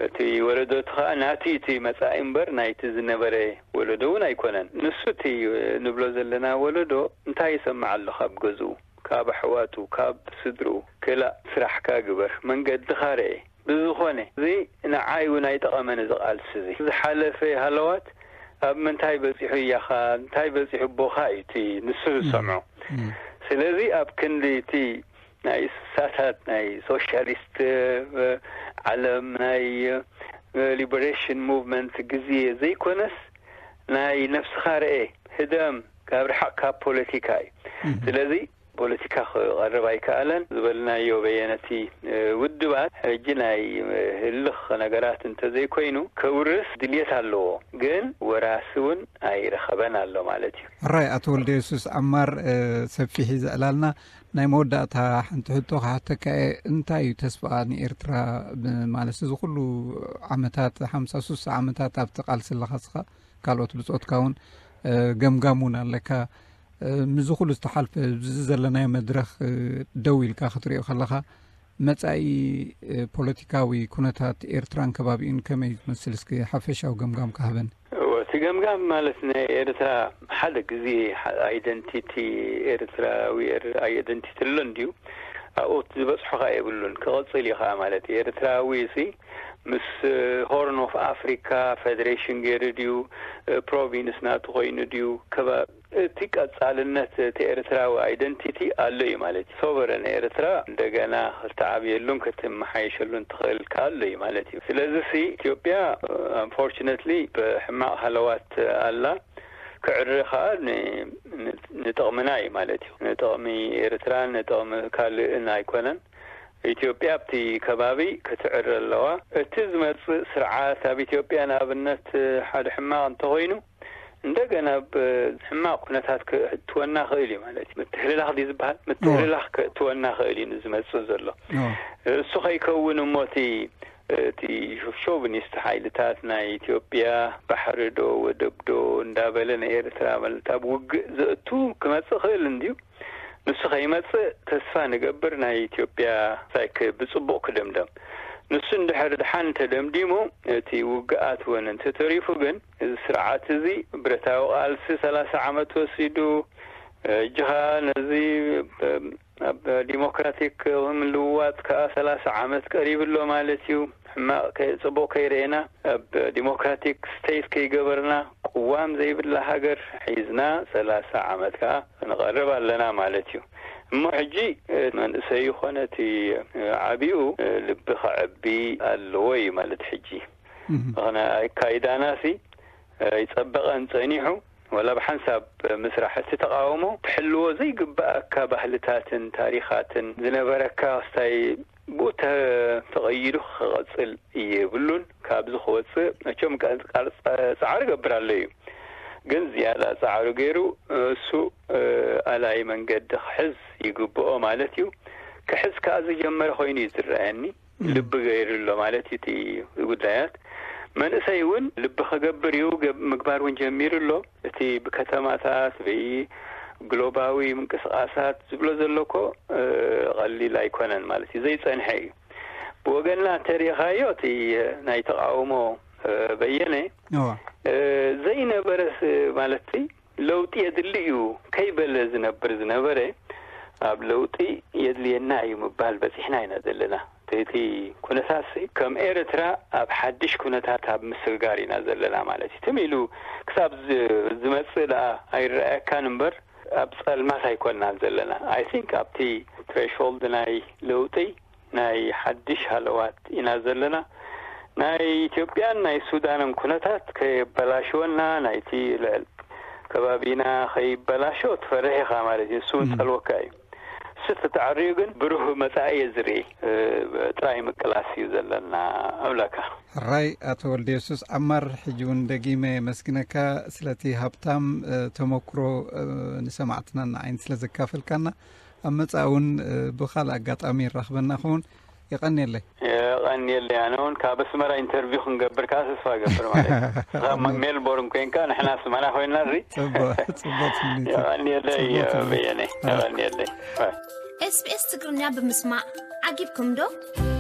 እቲ ወለዶ እቲ ኸኣ ናቱ እቲ መጻኢ እምበር ናይቲ ዝነበረ ወለዶ እውን ኣይኮነን። ንሱ እቲ ንብሎ ዘለና ወለዶ እንታይ ይሰምዕ ኣሎ ካብ ገዝኡ፣ ካብ ኣሕዋቱ፣ ካብ ስድርኡ፣ ክላእ ስራሕካ ግበር፣ መንገድኻ ርኤ። ብዝኾነ እዚ ንዓይ እውን ኣይጠቐመን እዚ ቃልሲ እዚ። ዝሓለፈ ሃለዋት ኣብ ምንታይ በጺሑ እያኻ፣ እንታይ በጺሑ ኣቦኻ እዩ እቲ ንሱ ዝሰምዖ። ስለዚ ኣብ ክንዲ እቲ ናይ ስሳታት ናይ ሶሻሊስት ዓለም ናይ ሊበሬሽን ሙቭመንት ግዜ ዘይኮነስ ናይ ነፍስኻ ርኤ፣ ህደም፣ ካብ ርሓቕ ካብ ፖለቲካ እዩ። ስለዚ ፖለቲካ ክቐርብ ኣይከኣለን ዝበልናዮ በየነቲ ውድባት ሕጂ ናይ ህልኽ ነገራት እንተዘይኮይኑ ከውርስ ድልየት ኣለዎ፣ ግን ወራሲ እውን ኣይረኸበን ኣሎ ማለት እዩ። ሕራይ ኣቶ ወልደ የሱስ ዓማር፣ ሰፊሕ እዩ ዘዕላልና። ናይ መወዳእታ ሓንቲ ሕቶ ክሓተካ እየ። እንታይ እዩ ተስፋ ንኤርትራ? ማለት እዚ ኩሉ ዓመታት፣ ሓምሳ ሱሳ ዓመታት ኣብቲ ቃልሲ ኣለኻ ስኻ፣ ካልኦት ብጾትካ እውን ገምጋም እውን ኣለካ። ምዚ ኩሉ ዝተሓልፈ፣ ብዚ ዘለናዮ መድረኽ ደው ኢልካ ክትሪኦ ከለኻ፣ መጻኢ ፖለቲካዊ ኩነታት ኤርትራን ከባቢኡን ከመይ ዝመስል? እስኪ ሓፈሻዊ ገምጋም ካህበን። እቲ ገምጋም ማለት ናይ ኤርትራ ሓደ ግዜ ኣይደንቲቲ ኤርትራዊ ኣይደንቲቲ ኣሎ እንድዩ። ኣብኡ ዝበጽሖ ከኣ የብሉን፣ ክቕጽል እዩ ከኣ ማለት እዩ። ኤርትራዊ ሲ ምስ ሆርን ኦፍ ኣፍሪካ ፌደሬሽን ገይሩ ድዩ፣ ፕሮቪንስ ናቱ ኮይኑ ድዩ፣ ከባ እቲ ቀጻልነት እቲ ኤርትራዊ ኣይደንቲቲ ኣሎ እዩ ማለት እዩ። ሶቨረን ኤርትራ እንደገና ክትዓብየሉን ክትመሓየሸሉን ትኽእል ኣሎ እዩ ማለት እዩ። ስለዚ ሲ ኢትዮጵያ ኣንፎርችነትሊ ብሕማቕ ሃለዋት ኣላ። ክዕረ ከኣ ንጥቕምና እዩ ማለት እዩ። ንጥቕሚ ኤርትራን ንጥቕሚ ካልእን ኣይኮነን። ኢትዮጵያ ኣብቲ ከባቢ ክትዕረ ኣለዋ። እቲ ዝመጽእ ስርዓት ኣብ ኢትዮጵያ ንኣብነት ሓደ ሕማቕ እንተኾይኑ እንደገና ኣብ ሕማቕ ኩነታት ክእትወና ክእል እዩ ማለት እዩ። ምትህልላኽ ድዩ ዝበሃል? ምትህልላኽ ክእትወና ክእል እዩ ንዝመጽእ ዘሎ። እሱ ከይከውን እሞ እቲ እቲ ሾቪኒስት ሓይልታት ናይ ኢትዮጵያ ባሕሪ ዶ ወደብ ዶ እንዳበለ ንኤርትራ ማለት ኣብ ውግእ ዘእቱ ክመጽእ ክእል እንድዩ። ንሱ ከይመጽእ ተስፋ ንገብር፣ ናይ ኢትዮጵያ ሳይክ ብጽቡቕ ክደምደም። ንሱ እንድሕር ድሓን ተደምዲሙ፣ እቲ ውግኣት እውን እንተተሪፉ ግን፣ እዚ ስርዓት እዚ ብረታዊ ቃልሲ ሰላሳ ዓመት ወሲዱ፣ እጅኻ ነዚ ብ-፣ ኣብ ዲሞክራቲክ ምልውዋጥ ከኣ ሰላሳ ዓመት ቀሪቡ ኣሎ ማለት እዩ። ሕማቕ ከ-፣ ጽቡቕ ከይረኤና፣ ኣብ ዲሞክራቲክ ስቴት ከይገበርና፣ ቅዋም ዘይብላ ሃገር ሒዝና ሰላሳ ዓመት ከኣ ክንቐርብ ኣለና ማለት እዩ። እሞ ሕጂ፣ እ፣ መንእሰይ ይኾነ እቲ፣ እ፣ ዓቢኡ፣ እ፣ ልቢ ከዕቢ ኣለዎ እዩ ማለት ሕጂ። እም። ምኽንያቱ ኣካይዳናሲ፣ እ፣ ይጸበቐን ጸኒሑ፣ ወላ ብሓንሳብ ምስራሕ እቲ ተቓውሞ ትሕልዎ ዘይግብኣካ ባህልታትን ታሪኻትን ዝነበረካ ክስታይ ብኡ ተ-፣ ተቐይዱ ክቐጽል የብሉን። ካብዚ ክወጽእ መቸም ቀ-፣ ቃል ጸ-፣ ጻዕሪ ገብር ኣሎ እዩ። ግን ዝያዳ ጻዕሪ ገይሩ እሱ፣ እ፣ ኣላይ መንገዲ ክሕዝ ይግብኦ ማለት እዩ። ክሕዝ ከኣ ዝጀመረ ኮይኑ እዩ ዝረኣየኒ። እም። ልቢ ገይሩ ኣሎ ማለት እዩ እቲ ጉዳያት። መንእሰይ እውን ልቢ ክገብር እዩ፣ ገብ-፣ ምግባር እውን ጀሚሩ ኣሎ። እቲ ብከተማታት፣ ብግሎባዊ ምንቅስቓሳት ዝብሎ ዘሎ እኮ፣ እ፣ ቀሊል ኣይኮነን ማለት እዩ፣ ዘይጸንሐ እዩ። ብወገንና እንተሪኢኻዮ፣ እቲ ናይ ተቓውሞ፣ እ፣ በየነ፣ እዋ። እ፣ ዘይነበረ ስ-፣ ማለት ለውጢ የድሊ እዩ ከይበለ ዝነብር ዝነበረ፣ ኣብ ለውጢ የድልየና እዩ ምባል በጺሕና ኢና ዘለና። እቲ፣ እቲ ኩነታትሲ ከም ኤርትራ ኣብ ሓድሽ ኩነታት ኣብ ምስግጋር ኢና ዘለና ማለት እዩ። ትም ኢሉ ክሳብ ዝ-፣ ዝመጽእ ደኣ ኣይረኣየካን እምበር፣ ኣብ ጸልማት ኣይኮንናን ዘለና። I think ኣብቲ ትሬሾልድ ናይ ለውጢ፣ ናይ ሓድሽ ሃለዋት ኢና ዘለና። ናይ ኢትዮጵያን ናይ ሱዳንን ኩነታት ከየበላሽወና፣ ናይቲ ልዕል ከባቢና ከይበላሾ ትፈርሕ ኢኻ ማለት እዩ። እሱ እውን እም። ጸልወካ እዩ። እሱ ተተዓርዩ ግን ብሩህ መጻኢ እየ ዝርኢ። እ፣ ጥራይ ምቅላስ እዩ ዘለና። ኣምላካ። ሕራይ ኣቶ ወልደ የሱስ ዓማር፣ ሕጂ እውን ደጊመ የመስግነካ ስለቲ ሃብታም፣ እ፣ ተመክሮ፣ እ፣ ንሰማዕትና ንዓይን ስለ ዘካፈልካና። ኣብ መጻኢ እውን፣ እ፣ ብኻልእ ኣጋጣሚ ይራኽበና ኸውን። የቐንየለይ። የቐንየለይ። ኣነ እውን ካብ ኣስመራ ኢንተርቪው ክንገብር ከኣ ተስፋ እገብር ማለት እዩ። ንስኻ ማ-፣ ሜልቦርን ኮይንካ፣ ንሕና ኣስመራ ኮይንና እዚ። ጽቡቕ፣ ጽቡቕ ትምኒት እዩ። የቐንየለይ፣ ጽቡቕ ትምኒት። በየነ። ኣረ። የቐንየለይ። ባይ። ኤስ ቢ ኤስ ትግርኛ ብምስማዕ ዓጊብኩም ዶ?